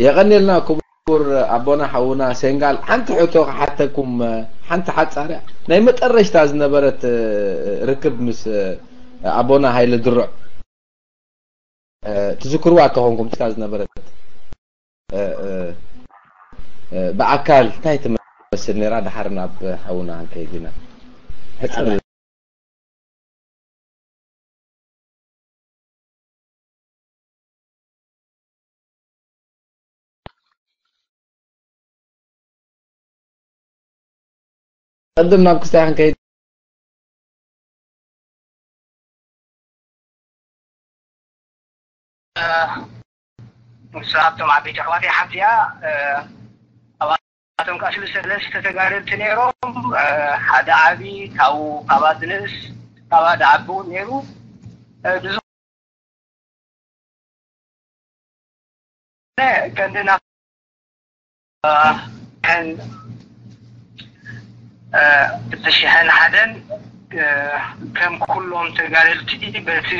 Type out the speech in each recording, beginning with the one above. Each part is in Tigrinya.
የቐንየልና ክቡር ኣቦና ሓውና ሴንጋል። ሓንቲ ሕቶ ክሓተኩም፣ ሓንቲ ሓጻርያ ናይ መጠረሽታ ዝነበረት ርክብ ምስ ኣቦና ሃይለ ድሩዕ ትዝክርዋ ከኾንኩም፣ ዝነበረት ብኣካል እንታይ ትመስል ነይራ? ድሓር ናብ ሓውና ክንከይድ ኢና። ሕጽር ቅድም ናብ ክስታይ ክንከይድ ንሳቶም ዓበይቲ ኣሕዋተይ ሓንቲ እያ። ኣባቶም ከዓ ሰለስተ ተጋደልቲ ነይሮም። ሓደ ዓቢ ካብኡ ካባቲ ንእስ ካባቲ ዓቢ እውን ነይሩ። ብዝኾነ ቀንድና ክልተ ሽሕን ሓደን ከም ኩሎም ተጋደልቲ በቲ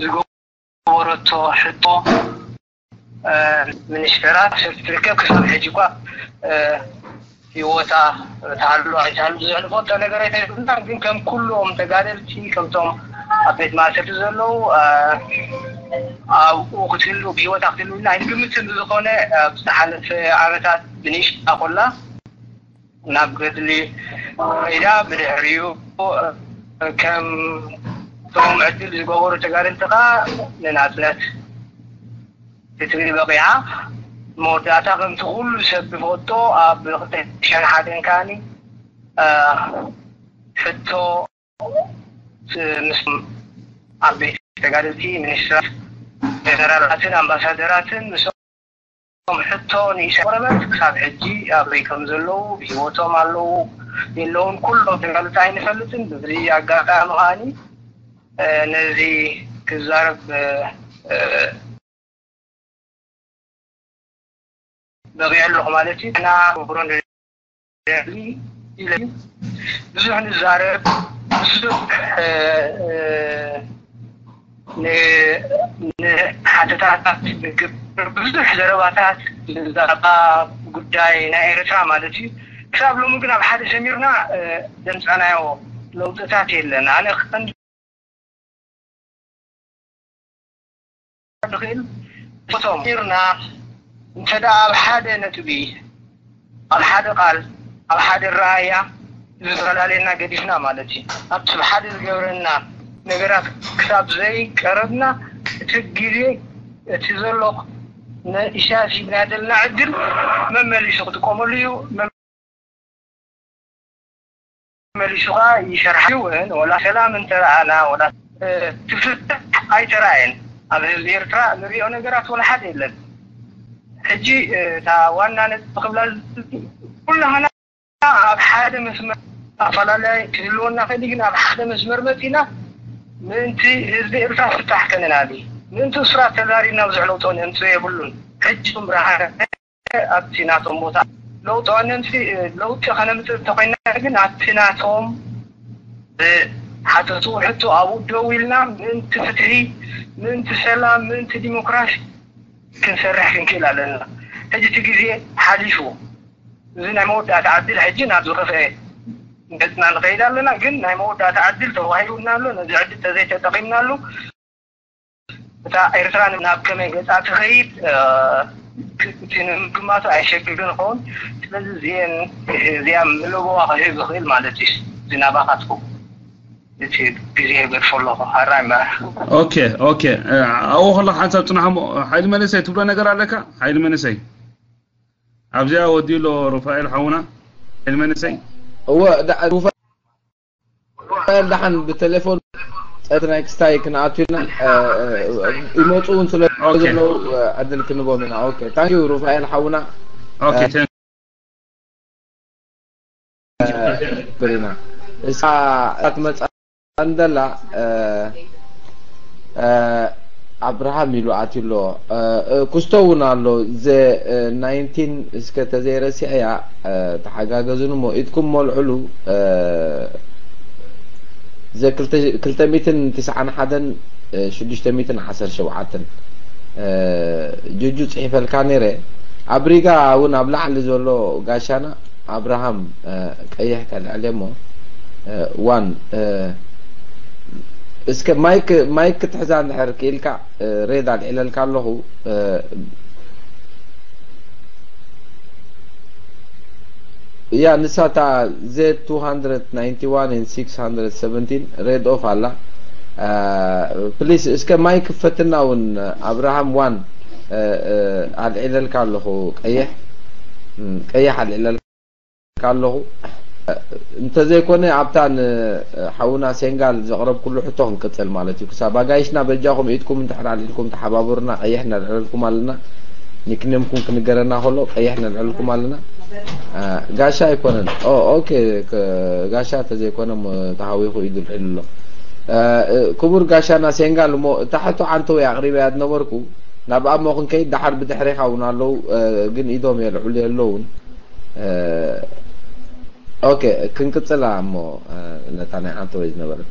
ዝገበረቶ ሕቶ ሚኒስተራት ትርከብ ክሳብ ሕጂ እኳ ህይወታ ትሃሉ ኣይትሃሉ ብዙሕ ንፈልጦ ነገር ኣይተብልና። ግን ከም ኩሎም ተጋደልቲ ከምቶም ኣብ ቤት ማእሰርቲ ዘለዉ ኣብኡ ክትህሉ ብህይወታ ክትህሉ ኢልና ኣይንግምትን። ብዝኾነ ኣብ ዝሓለፈ ዓመታት ብንእሽታ ኮላ ናብ ገድሊ ከይዳ ብድሕሪኡ ከም ቶም ዕድል ዝገበሩ ተጋደልቲ ከዓ ንናፅነት ክትብል በቂዓ። መወዳእታ ከምቲ ኩሉ ሰብ ዝፈልጦ ኣብ ክልተ ሽሕን ሓደን ከዓኒ ሕቶ ምስ ዓበይቲ ተጋደልቲ ሚኒስትራት ጀነራላትን ኣምባሳደራትን ምስ ሕቶ ንኢሳያስ ቆረበት ክሳብ ሕጂ ኣበይ ከም ዘለዉ ብህይወቶም ኣለዉ የለውን ኩሎም ተጋልቲ ኣይንፈልጥን። ብዚ ኣጋጣሚ ከዓኒ ነዚ ክዛረብ በቂዐ ኣለኹ ማለት እዩ። እና ክብሮ ብዙሕ ንዛረብ ብዙሕ ንሓተታታት ንግብር ብዙሕ ዘረባታት ብዛዕባ ጉዳይ ናይ ኤርትራ ማለት እዩ። ክሳብ ሎሚ ግን ኣብ ሓደ ሰሚርና ዘምፃናዮ ለውጥታት የለን። ኣነ ክቐንዲ ዝኽእል እቶም ኢርና እንተ ደኣ ኣብ ሓደ ነጥቢ ኣብ ሓደ ቃል ኣብ ሓደ ረኣያ ዝፈላለየና ገዲፍና ማለት እዩ። ኣብቲ ሓደ ዝገብረና ነገራት ክሳብ ዘይቀረብና እቲ ግዜ እቲ ዘሎ ንእሻ ሲግናደልና ዕድል መመሊሱ ክጥቀመሉ እዩ። መመሊሱ ከዓ ይሰርሓ እውን ወላ ሰላም እንተረኣና ወላ ትፍትሕ ኣይተረኣየን። ኣብ ህዝቢ ኤርትራ ንሪኦ ነገራት ወላ ሓደ የለን። ሕጂ እታ ዋና ነጥቢ ክብላ ኩላህና ኣብ ሓደ መስመር ኣፈላላይ ክህልወና ከሊ ግን ኣብ ሓደ መስመር መፂና ምእንቲ ህዝቢ ኤርትራ ፍታሕ ከነናዲ ምእንቲ እሱራት ተዛሪብና ብዙሕ ለውጦ ነምፅኦ የብሉን። ሕጂ ብርሃነ ኣብቲ ናቶም ቦታ ለውጢ ነምፂ ለውጢ ከነምፅእ እንተኮይና ግን ኣብቲ ናቶም ዝሓተቱ ሕቶ ኣብኡ ደው ኢልና ምእንቲ ፍትሒ ምእንቲ ሰላም ምእንቲ ዲሞክራሲ ክንሰርሕ ክንክእል ኣለና። ሕጂ እቲ ግዜ ሓሊፉ እዚ ናይ መወዳእታ ዕድል ሕጂ ናብ ዝኸፍአ ገፅና ንኸይድ ኣለና። ግን ናይ መወዳእታ ዕድል ተዋሂቡና ኣሎ። ነዚ ዕድል ተዘይተጠቒምናሉ እታ ኤርትራ ናብ ከመይ ገፃ ትኸይድ እቲ ንምግማቱ ኣየሸግርን ይኸውን። ስለዚ እዚአን እዚኣ መለጎዋ ክህብ ይኽእል ማለት እዩ። እዚ ናባኻትኩም እቲ ግዜ ይገድፎ ኣለኹ። ሓራይ መራሕ ኦኬ ኦኬ ኣብኡ ከለካ ሓንሳብ ፅናሕ እሞ ሓይሊ መንእሰይ ትብሎ ነገር ኣለካ ሓይሊ መንእሰይ ኣብዚኣ ወዲኡ ኣሎ ሩፋኤል ሓውና ሓይሊ መንእሰይ እወ ሩፋኤል ደሓን ብቴሌፎን ጸት ናይ ክስታይ ክንኣቱ ኢና ይመፁ እውን ስለ ዘለዉ ዕድል ክንቦም ኢና ኦኬ ታንኪዩ ሩፋኤል ሓውና ኦኬ ብሪና እሳ ትመፃ እንደላ ኣብርሃም ኢሉ ኣትዩ ኣሎ ክስቶ እውን ኣሎ ዘ ናይንቲን እስከ ተዘይረሲዐያ ተሓጋገዙን እሞ ኢድኩም መልዕሉ ዘ ክልተ ሚትን ትስዓን ሓደን ሽዱሽተ ሚትን ዓሰርተ ሸውዓተን እ፣ ጁጁ ጽሒፈልካ ነይረ። ኣብ ሪጋ እውን ኣብ ላዕሊ ዘሎ ጋሻና ኣብርሃም፣ እ፣ ቀይሕ ከልዕል እሞ፣ እ፣ ዋን፣ እ፣ እስከ ማይክ፣ ማይክ ክትሕዛ እንድሕር ክኢልካ፣ እ፣ ሬድ ኣልዒለልካ ኣለኹ። እ፣ ያ ንሳ እታ ዜድ two hundred ninety one and six hundred seventeen ሬድ ኦፍ ኣላ። ፕሊስ እስከ ማይክ ክፈትና እውን ኣብርሃም ዋን፣ እ፣ እ፣ ኣልዒለልካ ኣለኹ። ቀይሕ፣ እም፣ ቀይሕ ኣልዒለልካ ኣለኹ። እንተዘይኮነ ኣብታ ንሓውና ሴንጋል ዘቕረብኩሉ ሕቶ ክንቅጽል ማለት እዩ። ክሳብ ኣጋይሽና በጃኹም ኢድኩም እንድሕር ኣልዒልኩም ተሓባበሩና። ቀይሕ ነልዕለልኩም ኣለና። ኒክኔምኩም ክንገረና ከሎ ቀይሕ ነልዕለልኩም ኣለና። እ፣ ጋሻ ኣይኮነን። ኦ፣ ኦኬ፣ ከ-፣ ጋሻ ተዘይኮነ እሞ ተሃዊኹ ኢዱ ኣልዒሉ ኣሎ። እ፣ እ፣ ክቡር ጋሻና ሴንጋል እሞ እታ ሕቶ ዓንተወይ ኣቕሪበያ ዝነበርኩ ናብኣ እሞ ክንከይድ ደሓር ብድሕሬኻ እውን ኣለዉ፣ እ፣ ግን ኢዶም የልዕሉ የለውን። እ፣ ኦኬ፣ ክንቅጽላ እሞ፣ እ፣ ነታ ናይ ዓንተወይ ዝነበረት።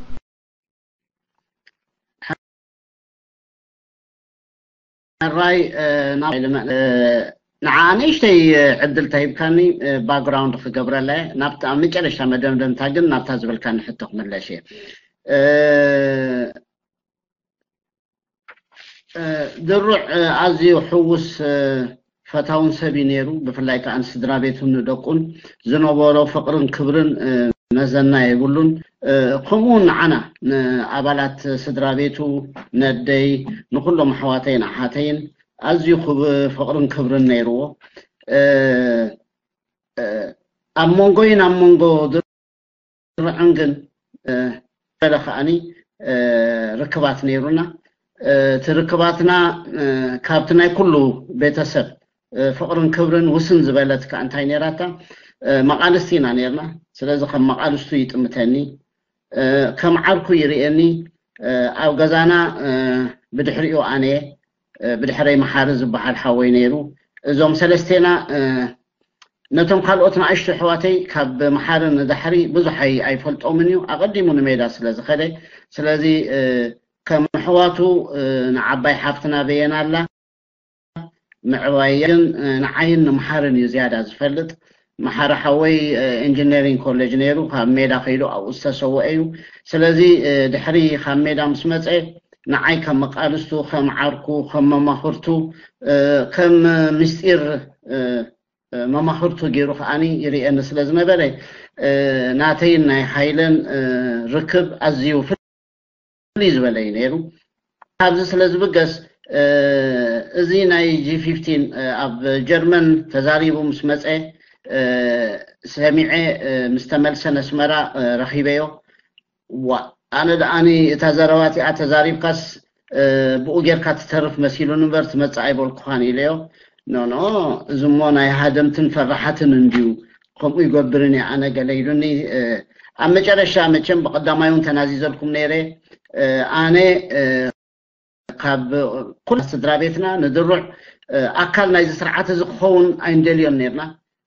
ሕራይ፣ እ፣ ናብ ኢለመ-፣ እ፣ ንዓ ንእሽተይ፣ እ፣ ዕድል ተሂብካኒ፣ እ፣ ባክግራውንድ ክገብረላ እየ። ናብታ ኣብ መጨረሻ መደምደምታ ግን ናብታ ዝበልካኒ ሕቶ ክምለሽ እየ። እ፣ እ፣ ድሩዕ፣ እ፣ ኣዝዩ ሕዉስ፣ እ፣ ፈታውን ሰብ እዩ ነይሩ። ብፍላይ ከኣ ንስድራ ቤቱን ንደቁን ዝነበሮ ፍቕርን ክብርን፣ እ፣ መዘና የብሉን። እ፣ ከምኡ እውን ንዓና፣ ንኣባላት ስድራ ቤቱ፣ ነደይ፣ ንኹሎም ኣሕዋተይን ኣሓተይን ኣዝዩ ክብ-፣ ፍቕርን ክብርን ነይርዎ። እ፣ እ፣ ኣብ መንጎይን ኣብ መንጎ ድሩዕን ግን፣ እ፣ ገለ ከኣኒ፣ እ፣ ርክባት ነይሩና። እ፣ እቲ ርክባትና፣ እ፣ ካብቲ ናይ ኩሉ ቤተሰብ፣ እ፣ ፍቕርን ክብርን ውስን ዝበለት ከኣ እንታይ ነይራታ? እ፣ መቓልስቲ ኢና ነይርና። ስለዚ ከም መቓልስቱ ይጥምተኒ። እ፣ ከም ዓርኩ ይርእየኒ። እ፣ ኣብ ገዛና፣ እ፣ ብድሕሪኡ ኣነ፣ እ፣ ብድሕረይ መሓሪ ዝበሃል ሓወይ ነይሩ። እዞም ሰለስቴና፣ እ፣ ነቶም ካልኦት ንኣሽቱ ኣሕዋተይ ካብ መሓሪ ንዳሕሪ ብዙሕ ኣይ-፣ ኣይፈልጦምን እዩ። ኣቐዲሙ ንሜዳ ስለ ዝኸደ፣ ስለዚ፣ እ፣ ከም ኣሕዋቱ፣ እ፣ ንዓባይ ሓፍትና በየን ኣላ። ምዕባየን፣ እ፣ ንዓይን ንመሓርን እዩ ዝያዳ ዝፈልጥ። መሓሪ ሓወይ፣ እ፣ ኢንጂነሪንግ ኮሌጅ ነይሩ፣ ካብ ሜዳ ከይዱ ኣብኡ ዝተሰወአ እዩ። ስለዚ፣ እ፣ ድሕሪ ካብ ሜዳ ምስ መጸ፣ ንዓይ ከም መቃልስቱ፣ ከም ዓርኩ፣ ከም መማኽርቱ፣ እ፣ ከም ምስጢር፣ እ፣ እ፣ መማኽርቱ ገይሩ ከኣኒ ይርእየኒ ስለ ዝነበረ፣ እ፣ ናተይን ናይ ሃይለን፣ እ፣ ርክብ ኣዝዩ ፍልይ ዝበለ እዩ ነይሩ። ካብዚ ስለ ዝብገስ፣ እ፣ እዚ ናይ ጂ ፊፍቲን፣ እ፣ ኣብ ጀርመን ተዛሪቡ ምስ መጸ፣ እ፣ ሰሚዐ፣ እ፣ ምስ ተመልሰ ነስመራ፣ እ፣ ረኺበዮ። ዋ፣ ኣነ ደኣኒ እታ ዘረባ እቲኣ ተዛሪብካስ፣ እ፣ ብኡ ጌርካ ትተርፍ መሲሉኒ እምበር ትመጽእ ኣይበልኩኻን ኢለዮ። ኖ፣ ኖ፣ እዚ እሞ ናይ ሃደምትን ፈራሓትን እንድዩ፣ ከምኡ ይገብርን እየ ኣነ ገለ ኢሉኒ። እ፣ ኣብ መጨረሻ መቸም ብቐዳማይ እውን ተናዚዘልኩም ነይረ። እ፣ ኣነ፣ እ፣ ካብ ኩላ ስድራ ቤትና ንድሩዕ፣ እ፣ ኣካል ናይዚ ስርዓት እዚ ክኸውን ኣይንደልዮን ነይርና።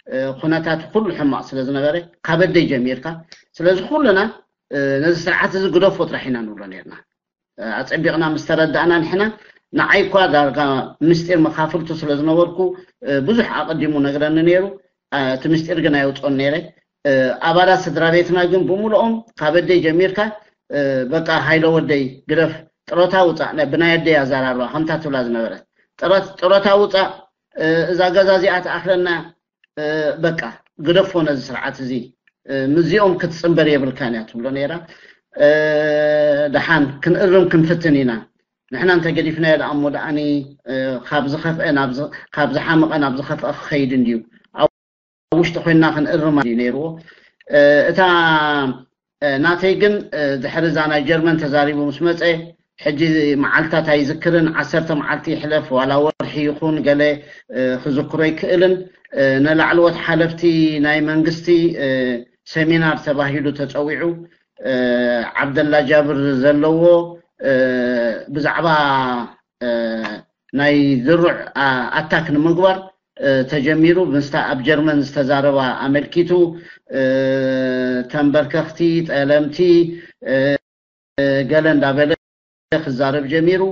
እ፣ ኩነታት ኩሉ ሕማቕ ስለ ዝነበረ፣ ካብ ኣደይ ጀሚርካ። ስለዚ ኩልና፣ እ፣ ነዚ ስርዓት እዚ ግደፎ ጥራሕ ኢና ንብሎ ነይርና። እ፣ ኣጸቢቕና ምስ ተረዳእና ንሕና፣ ንዓይ እኳ ዳርጋ ምስጢር መኻፍልቱ ስለ ዝነበርኩ፣ እ፣ ብዙሕ ኣቐዲሙ ነግረኒ ነይሩ። እ፣ እቲ ምስጢር ግን ኣይወጽኦን ነይረ። እ፣ ኣባላት ስድራ ቤትና ግን ብምሉኦም ካብ ኣደይ ጀሚርካ፣ እ፣ በቃ ሃይለ ወደይ ግደፍ፣ ጥሮታ ውጻእ፣ ነ-፣ ብናይ ኣደይ ኣዘራርባ ከምታ ትብላ ዝነበረት፣ ጥረት-፣ ጥሮታ ውጻእ፣ እ፣ እዛ ገዛ እዚኣ ትኣኽለና፣ እ፣ በቃ ግደፎ ነዚ ስርዓት እዚ፣ እ፣ ምስዚኦም ክትጽንበር የብልካን እያ ትብሎ ነይራ። እ፣ ደሓን ክንእርም ክንፍትን ኢና። ንሕና እንተገዲፍናዮ ደኣ እሞ ደኣኒ፣ እ፣ ካብ ዝኸፍአ ናብ ዝ-፣ ካብ ዝሓመቐ ናብ ዝኸፍአ ክኸይድ እንድዩ። ኣብ ውሽጢ ኮይንና ክንእርማ እዩ ነይርዎ። እ፣ እታ፣ እ፣ ናተይ ግን፣ እ፣ ድሕሪ እዛ ናይ ጀርመን ተዛሪቡ ምስ መጸ፣ ሕጂ መዓልታት ኣይዝክርን፣ ዓሰርተ መዓልቲ ይሕለፍ፣ ዋላ ወርሒ ይኹን ገለ፣ እ፣ ክዝክሮ ኣይክእልን። እ፣ ንላዕለዎት ሓለፍቲ ናይ መንግስቲ፣ እ፣ ሰሚናር ተባሂሉ ተጸዊዑ፣ እ፣ ዓብደላ ጃብር ዘለዎ፣ እ፣ ብዛዕባ፣ እ፣ ናይ ድሩዕ፣ ኣ-፣ ኣታክ ንምግባር፣ እ፣ ተጀሚሩ። ምስታ ኣብ ጀርመን ዝተዛረባ ኣመልኪቱ፣ እ፣ ተንበርከኽቲ፣ ጠለምቲ፣ እ፣ ገለ እንዳበለ ክዛረብ ጀሚሩ።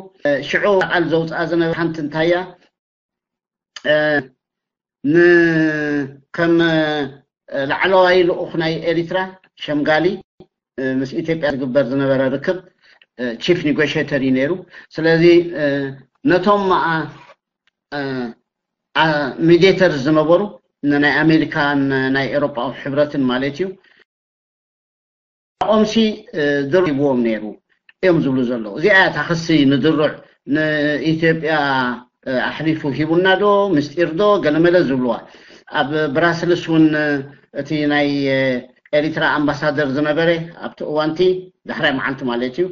ሽዑ ቃል ዘውፅኣ ዝነበረ ሓንቲ እንታያ፣ ን ከም ላዕለዋይ ልኡኽ ናይ ኤሪትራ ሸምጋሊ፣ ምስ ኢትዮጵያ ዝግበር ዝነበረ ርክብ፣ ቺፍ ኒጎሽተር እዩ ነይሩ። ስለዚ ነቶም ሚዲተር ዝነበሩ፣ ናይ ኣሜሪካን ናይ ኤሮጳዊ ሕብረትን ማለት እዩ፣ ኦምሲ ድርብዎም ነይሩ እዮም ዝብሉ ዘለዉ። እዚኣ እያ እታ ክሲ ንድሩዕ ንኢትዮጵያ ኣሕሊፉ ሂቡና ዶ ምስጢር ዶ ገለመለ ዝብልዋ። ኣብ ብራስልስ እውን እቲ ናይ ኤሪትራ ኣምባሳደር ዝነበረ ኣብቲ እዋንቲ ዳሕራይ መዓልቲ ማለት እዩ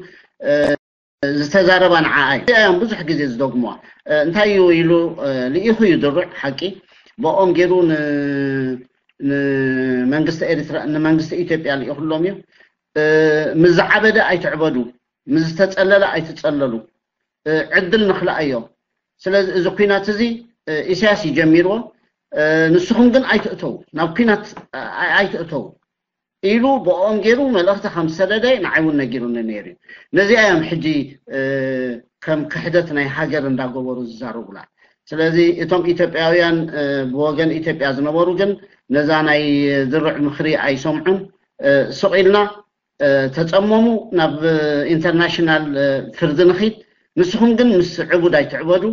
ዝተዛረባ ንዓኣ እዩ። እዚኣ እዮም ብዙሕ ግዜ ዝደግሙዋ። እንታይ እዩ ኢሉ ልኢኹ እዩ ድሩዕ ሓቂ። ብኦም ገይሩ ንመንግስቲ ኤሪትራ ንመንግስቲ ኢትዮጵያ ልኢኹሎም እዩ። ምስ ዝዓበደ ኣይትዕበዱ፣ ምስ ዝተፀለለ ኣይትፀለሉ፣ ዕድል ንኽልኣዮ። ስለዚ እዚ ኩናት እዚ ኢሳያስ እዩ ጀሚርዎ። ንስኹም ግን ኣይትእተው፣ ናብ ኩናት ኣይትእተው ኢሉ ብኦም ገይሩ መልእኽቲ ከም ዝሰደደ ንዓይ እውን ነጊሩኒ ነይሩ እዩ። ነዚኣ እዮም ሕጂ ከም ክሕደት ናይ ሃገር እንዳገበሩ ዝዛረቡላ። ስለዚ እቶም ኢትዮጵያውያን ብወገን ኢትዮጵያ ዝነበሩ ግን ነዛ ናይ ድሩዕ ምኽሪ ኣይሰምዑን። ስቕ ኢልና ተፀመሙ፣ ናብ ኢንተርናሽናል ፍርዲ ንኺድ። ንስኹም ግን ምስ ዕቡድ ኣይትዕበዱ።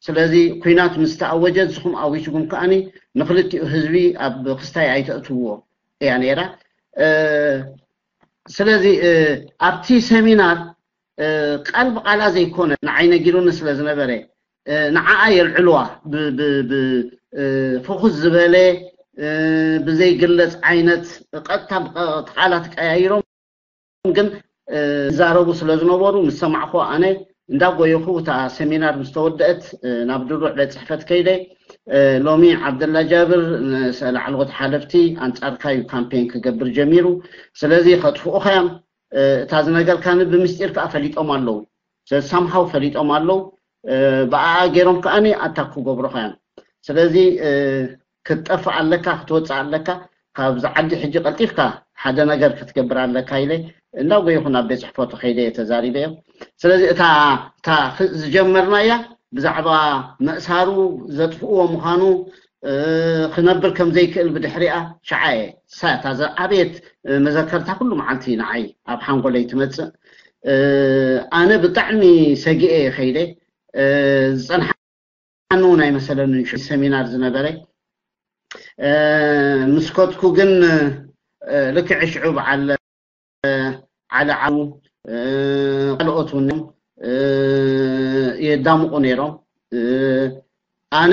ስለዚ ኩናት ምስ ተኣወጀ ንስኹም ኣዊጅኩም ከኣኒ ንክልቲኡ ህዝቢ ኣብ ክስታይ ኣይተእትውዎ እያ ነይራ። ስለዚ ኣብቲ ሰሚናር ቃል ብቓላ ዘይኮነ ንዓይ ነጊሩኒ ስለ ዝነበረ ንዓኣ የልዕልዋ ብፍኹስ ዝበለ ብዘይግለፅ ዓይነት ቀጥታ ቃላት ቀያይሮም ግን ይዛረቡ ስለ ዝነበሩ ምስ ሰማዕኹ ኣነ እንዳጎየኹ እታ ሰሚናር ምስ ተወደአት ናብ ድሩዕ ቤት ፅሕፈት ከይደ። ሎሚ ዓብደላ ጃብር ንሰ ላዕለዎት ሓለፍቲ ኣንፃርካ እዩ ካምፔን ክገብር ጀሚሩ። ስለዚ ከጥፍኡኻ እዮም። እታ ዝነገርካኒ ብምስጢር ከዓ ፈሊጦም ኣለዉ። ሳምሃው ፈሊጦም ኣለዉ። ብኣኣ ገይሮም ከዓኒ ኣታክ ክገብሩኻ እዮም። ስለዚ ክትጠፍእ ኣለካ፣ ክትወፅእ ኣለካ፣ ካብዚ ዓዲ ሕጂ ቀልጢፍካ ሓደ ነገር ክትገብር ኣለካ ኢለ እንዳጎየኹ ናብ ቤት ፅሕፈቱ ከይደ እየ ተዛሪበዮ። ስለዚ እታ እታ ዝጀመርናያ ብዛዕባ መእሳሩ ዘጥፍእዎ ምዃኑ ክነብር ከም ዘይክእል ብድሕሪኣ ሸዓ እየ ሳታ ዝዓበየት መዘከርታ ኩሉ መዓልቲ ንዓይ ኣብ ሓንጎለይ ትመፅእ። ኣነ ብጣዕሚ ሰጊኤ እየ ከይደ። ዝፀንሓኒ እውን ኣይመሰለንን ሰሚናር ዝነበረ። ምስ ከድኩ ግን ልክዕ ሽዑ በዓል ዓለ ዓው ካልኦት እውን የዳምቑ ነይሮም። ኣነ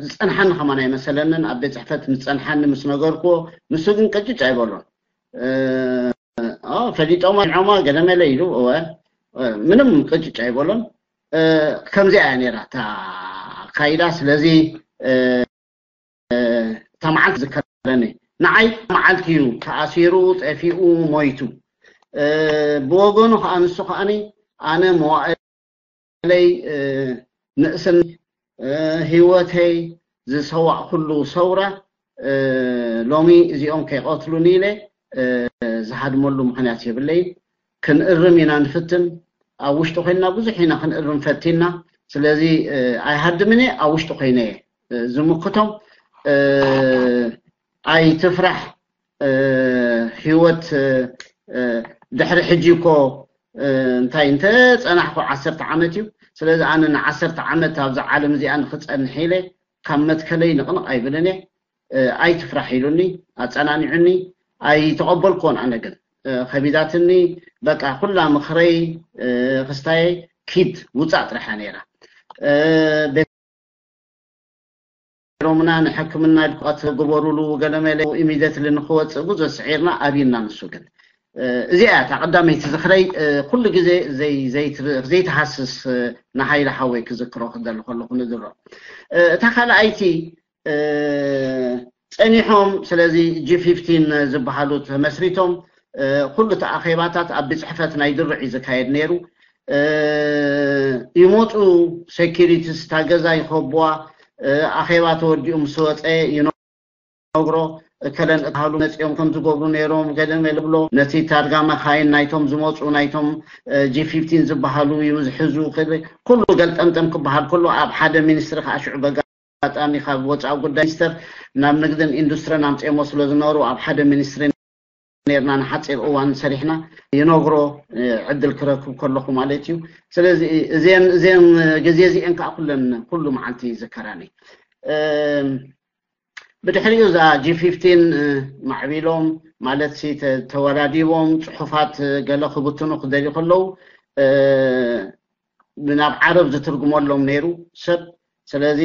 ዝፀንሓኒ ከማን ኣይመሰለንን። ኣብ ቤት ፅሕፈት ምስ ፀንሓኒ ምስ ነገርክዎ ንሱ ግን ቅጭጭ ኣይበሎን። ፈሊጦማ ዖማ ገለመለ ኢሉ እወ ምንም ቅጭጭ ኣይበሎን። ከምዚኣ እያ ነይራ እታ ኣካይዳ። ስለዚ እታ መዓልቲ ዝከረኒ ንዓይ መዓልቲ እዩ ተኣሲሩ፣ ጠፊኡ፣ ሞይቱ። ብወገኑ ከዓ ንሱ ከዓኒ ኣነ መዋእለይ ንእስን ህይወተይ ዝሰዋእኩሉ ሰውራ ሎሚ እዚኦም ከይቐትሉኒ ኢለ ዝሃድመሉ ምኽንያት የብለይን። ክንእርም ኢና ንፍትን። ኣብ ውሽጢ ኮይንና ብዙሕ ኢና ክንእርም ፈቲና። ስለዚ ኣይሃድምን እየ፣ ኣብ ውሽጢ ኮይነ እየ ዝምክቶም። ኣይትፍራሕ። ህይወት ድሕሪ ሕጂ እኮ እንታይ እንተ ጸናሕኩ ዓሰርተ ዓመት እዩ። ስለዚ ኣነ ንዓሰርተ ዓመት ኣብዛ ዓለም እዚኣ ንክጸንሕ ኢለ ካብ መትከለይ ንቕንቕ ኣይብልን እየ። ኣይትፍራሕ ኢሉኒ፣ ኣጸናኒዑኒ። ኣይተቐበልኩዎን ኣነ ግን ከቢዳትኒ። በቃ ኩላ ምኽረይ ክስታየይ ኪድ ውጻእ ጥራሓ ነይራ። ሮምና ንሕክምና ኢልኳት ግበሩሉ ገለመለ ኢሚደትሊ ንክወፅእ ብዙ ስዒርና ኣብይና። ንሱ ግን እዚኣ እያ እታ ቀዳመይቲ ዝኽረይ። ኩሉ ግዜ ዘይትሃስስ ንሃይለ ሓወይ ክዝክሮ ክደሊ ከለኹ ንድሮ። እታ ካልኣይቲ ጸኒሖም ስለዚ ጂ ፊፍቲን ዝበሃሉ ተመስሪቶም ኩሉ እቲ ኣኼባታት ኣብ ቤት ጽሕፈት ናይ ድርዕ እዩ ዝካየድ ነይሩ። ይመፁ፣ ሴኪሪቲስ እታ ገዛ ይኸብዋ። ኣኼባ ተወዲኡ ምስ ወፀ ክነግሮ፣ እከለን እትሃሉ መፂኦም ከም ዝገብሩ ነይሮም ገለ መለ ብሎ፣ ነቲ ታርጋ መኻይን ናይቶም ዝመፁ ናይቶም ጂ ፊፍቲን ዝበሃሉ እዩ ዝሕዙ። ኩሉ ገልጠምጠም ክበሃል ከሎ ኣብ ሓደ ሚኒስትሪ ከዓ ሽዑ በጋጣሚ ካብ ወፃኢ ጉዳይ ሚኒስተር ናብ ንግድን ኢንዱስትሪን ኣምፅኦሞ ስለ ዝነበሩ ኣብ ሓደ ሚኒስትሪ ነርና ንሓፂር እዋን ሰሪሕና ይነግሮ ዕድል ክረክብ ከለኹ ማለት እዩ። ስለዚ እዚን እዚን ግዜ እዚኤን ከዓ ኩለን ኩሉ መዓልቲ ይዝከራኒ። ብድሕሪኡ እዛ ጂ ፊፍቲን ማዕቢሎም ማለት ተወዳዲቦም ፅሑፋት ገለ ክብትኑ ክደልዩ ከለዉ ናብ ዓረብ ዝትርጉመሎም ነይሩ ሰብ። ስለዚ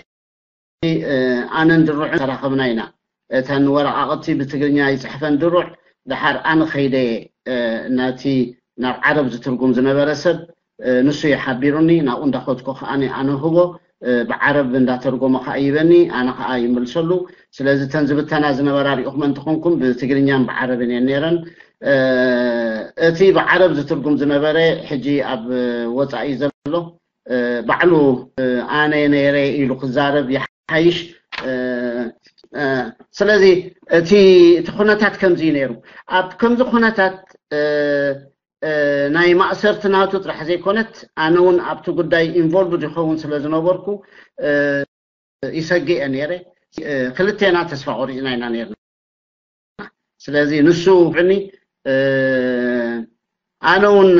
ኣነን ድሩዕ ተራኸብና ኢና። እተን ወረቃቅቲ ብትግርኛ ይፅሕፈን ድሩዕ፣ ድሓር ኣነ ከይደ ነቲ ናብ ዓረብ ዝትርጉም ዝነበረ ሰብ ንሱ ይሓቢሩኒ። ናብኡ እንዳኸድኩ ከዓ ኣነ ህቦ፣ ብዓረብ እንዳተርጎመ ከዓ ይበኒ፣ ኣነ ከዓ ይምልሰሉ። ስለዚ እተን ዝብተና ዝነበራ ሪእኹም እንተኾንኩም ብትግርኛን ብዓረብን እየን ነይረን። እቲ ብዓረብ ዝትርጉም ዝነበረ ሕጂ ኣብ ወፃኢ ዘሎ ባዕሉ ኣነ ነይረ ኢሉ ክዛረብ ይሓይሽ። ስለዚ እቲ እቲ ኩነታት ከምዚ እዩ ነይሩ። ኣብ ከምዚ ኩነታት ናይ ማእሰርቲ ናቱ ጥራሕ ዘይኮነት ኣነ እውን ኣብቲ ጉዳይ ኢንቮልቭድ ይኸውን ስለ ዝነበርኩ ይሰግእ እየ ነይረ። ክልቴና ተስፋ ቆሪፅና ኢና ነይርና። ስለዚ ንሱ ብዕኒ ኣነ እውን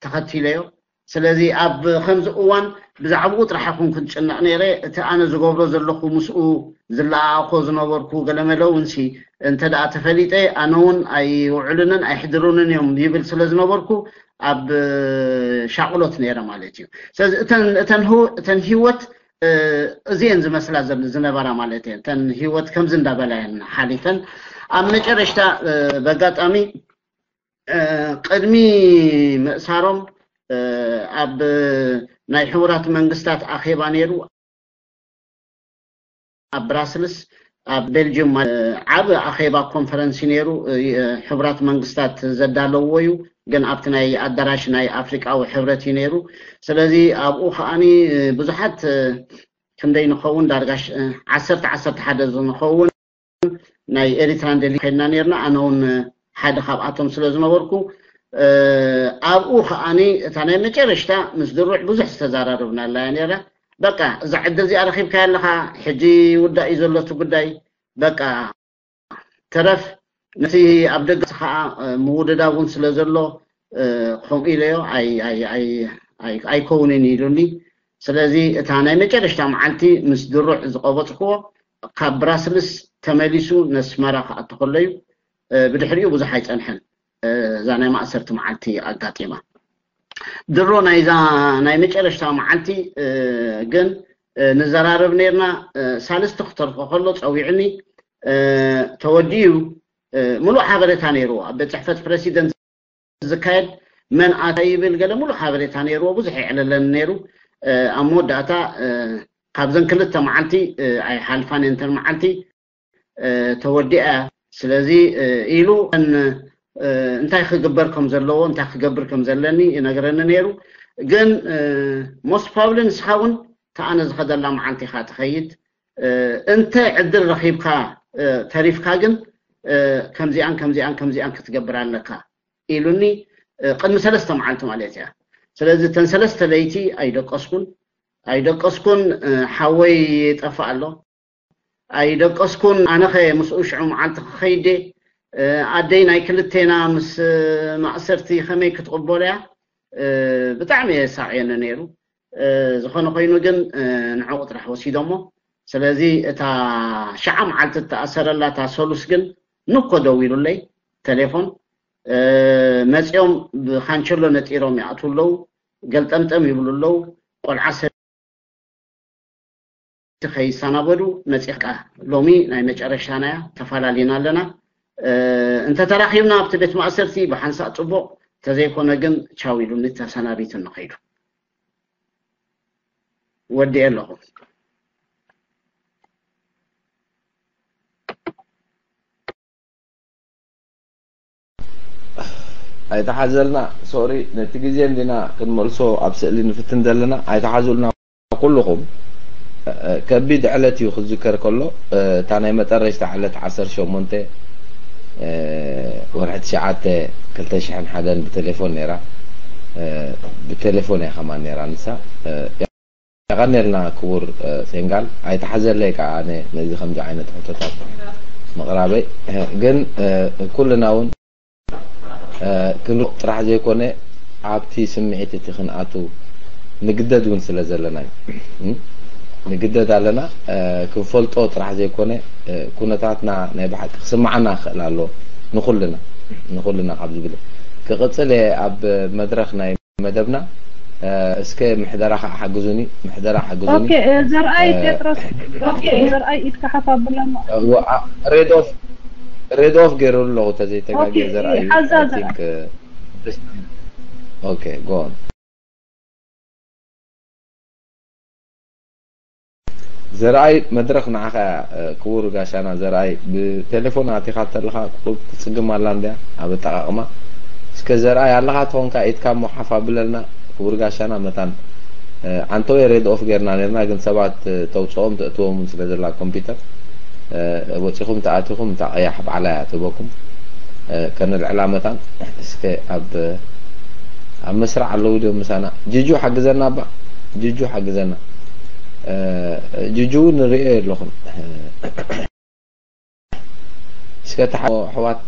ተኸቲለዮ። ስለዚ ኣብ ከምዚ እዋን ብዛዕባኡ ጥራሕ ይኹን ክንጭነቕ ነይረ። እቲ ኣነ ዝገብሮ ዘለኹ ምስኡ ዝለኣኣኾ ዝነበርኩ ገለመለ እውን ሲ እንተ ደኣ ተፈሊጠ ኣነ እውን ኣይውዕሉንን ኣይሕድሩንን እዮም ይብል ስለ ዝነበርኩ ኣብ ሻቕሎት ነይረ ማለት እዩ። ስለዚ እተን እተን ህው- እተን ህይወት እዚአን ዝመስላ ዝነበራ ማለት እየን። እተን ህይወት ከምዚ እንዳበላ እየን ሓሊፈን። ኣብ መጨረሽታ በጋጣሚ ቅድሚ ምእሳሮም ኣብ ናይ ሕቡራት መንግስታት ኣኼባ ነይሩ ኣብ ብራስልስ ኣብ ቤልጅም ዓብ ኣኼባ ኮንፈረንስ ነይሩ። ሕቡራት መንግስታት ዘዳለዎ እዩ፣ ግን ኣብቲ ናይ ኣዳራሽ ናይ ኣፍሪቃዊ ሕብረት እዩ ነይሩ። ስለዚ ኣብኡ ከዓኒ ብዙሓት ክንደይ ንኸውን ዳርጋ ዓሰርተ ዓሰርተ ሓደ ንኸውን ናይ ኤሪትራን ደሊ ከድና ነርና። ኣነ እውን ሓደ ካብኣቶም ስለ ዝነበርኩ ኣብኡ ከዓኒ እታ ናይ መጨረሽታ ምስ ድሩዕ ብዙሕ ዝተዛራረብናላ እያ ነራ። በቃ እዛ ዕድል እዚኣ ረኺብካያ ኣለኻ፣ ሕጂ ውዳእ እዩ ዘሎ እቲ ጉዳይ። በቃ ተረፍ ነቲ ኣብ ደገ ከዓ ምውድዳብ እውን ስለ ዘሎ ከምኡ ኢለዮ ኣይከውንን ኢሉኒ። ስለዚ እታ ናይ መጨረሽታ መዓልቲ ምስ ድሩዕ ዝቀበፅክዎ ካብ ብራስልስ ተመሊሱ ነስመራ ክኣቱ ከሎ እዩ። ብድሕሪኡ ብዙሕ ኣይፀንሐን እዛ ናይ ማእሰርቲ መዓልቲ ኣጋጢማ። ድሮ ናይዛ ናይ መጨረሽታ መዓልቲ ግን ንዘራረብ ነርና። ሳልስቲ ክተርፎ ከሎ ፀዊዕኒ። ተወዲኡ ምሉእ ሓበሬታ ነይርዎ ኣብ ቤት ፅሕፈት ፕረሲደንት ዝካየድ መን ኣታ ይብል ገለ ሙሉእ ሓበሬታ ነይርዎ። ብዙሕ የዕለለን ነይሩ። ኣብ መወዳእታ ካብዘን ክልተ መዓልቲ ኣይሓልፋን እየን እተን መዓልቲ። ተወዲኣ ስለዚ ኢሉ እንታይ ክግበር ከም ዘለዎ እንታይ ክገብር ከም ዘለኒ ይነግረኒ ነይሩ። ግን ሞስት ፕሮባብሊ ንስኻ እውን ተኣነ ዝኸደላ መዓልቲ ኢኻ ትኸይድ። እንተ ዕድል ረኺብካ ተሪፍካ ግን ከምዚኣን ከምዚኣን ከምዚኣን ክትገብር ኣለካ ኢሉኒ። ቅድሚ ሰለስተ መዓልቲ ማለት እያ። ስለዚ እተን ሰለስተ ለይቲ ኣይደቀስኩን ኣይደቀስኩን። ሓወይ ይጠፍእ ኣሎ ኣይደቀስኩን። ኣነኸ ምስኡ ሽዑ መዓልቲ ክኸይድ ኣደይ ናይ ክልቴና ምስ ማእሰርቲ ከመይ ክትቕበሎ እያ? ብጣዕሚ የሳቕየኒ ነይሩ። ዝኾነ ኮይኑ ግን ንዕኡ ጥራሕ ወሲዶሞ። ስለዚ እታ ሸዓ መዓልቲ እተኣሰረላ እታ ሰሉስ ግን ንኮ ደዊሉለይ ቴሌፎን። መፂኦም ብካንቸሎ ነጢሮም ይኣትዉ ኣለዉ። ገልጠምጠም ይብሉ ኣለዉ። ቆልዓ ሰበይቲ ከይሰናበዱ መፂኻ ሎሚ ናይ መጨረሻና እያ፣ ተፈላሊና ኣለና። እንተተራኺብና ኣብቲ ቤት ማእሰርቲ ብሓንሳእ ፅቡቕ፣ ተዘይኮነ ግን ቻው ኢሉኒ ተሰናቢቱኒ ከይዱ። ወዲኤ ኣለኹ። ኣይተሓዘልና። ሶሪ፣ ነቲ ግዜ እንዲና ክንመልሶ ኣብ ስእሊ ንፍትን ዘለና። ኣይተሓዙልና ኩልኹም። ከቢድ ዕለት እዩ ክዝከር ከሎ፣ እታ ናይ መጠረሽታ ዕለት ዓሰርተ ሸሞንተ ወርሒ ትሽዓተ ክልተ ሽሕን ሓደን ብቴሌፎን ነይራ። ብቴሌፎን እያ ከማን ነይራ ንሳ። የቐንየልና ክቡር ሴንጋል፣ ኣይተሓዘለይ ከዓ ኣነ ነዚ ከምዚ ዓይነት ሕቶታት ምቕራበይ። ግን ኩልና እውን ክንርቕ ጥራሕ ዘይኮነ፣ ኣብቲ ስምዒት እቲ ክንኣቱ ንግደድ እውን ስለ ዘለና እዩ። ንግደድ ኣለና። ክንፈልጦ ጥራሕ ዘይኮነ፣ ኩነታትና ናይ ብሓቂ ክስምዓና ክኽእል ኣሎ ንኹልና፣ ንኹልና ካብ ዝብል ክቕጽል እየ ኣብ መድረኽ ናይ መደብና። እስከ ምሕደራ ከዓ ሓግዙኒ፣ ምሕደራ ሓግዙኒ። ኦኬ፣ ዘርኣይ ጴጥሮስ፣ ኦኬ፣ ዘርኣይ ኢድካ ሓፍ ኣብለና። ሬድ ኦፍ ሬድ ኦፍ ገይሩ ኣለኹ ተዘይተጋግየ። ዘርኣይ ሓዛዛ። ኦኬ፣ ጎን። ዘርኣይ፣ መድረኽ ንዓኻ እያ። ክቡር ጋሻና ዘርኣይ፣ ብቴሌፎን ኣቲኻ ተለኻ ቁሩብ ትጽግም ኣላ እንድያ ኣብ ኣጠቓቕማ። እስከ ዘርኣይ ኣለኻ ተኾንካ ኢድካ እሞ ሓፍ ኣብለልና። ክቡር ጋሻና መታን ዓንተወይ ሬድ ኦፍ ጌርና ኔርና፣ ግን ሰባት ተውጽኦም ተእትዎም ስለ ዘላ ኮምፒውተር፣ ወጺኹም ተኣቲኹም እታ ቀያሕ ባዕላ እያ ትህበኩም። ከነልዕላ መታን። እስከ ኣብ ኣብ መስርዕ ኣለዉ ድዮም ምሳና? ጅጁ ሓግዘና፣ ኣባ ጅጁ ሓግዘና። ጅጁ እውን ንርእዮ የለኹም። እስከ እታ ኣሕዋት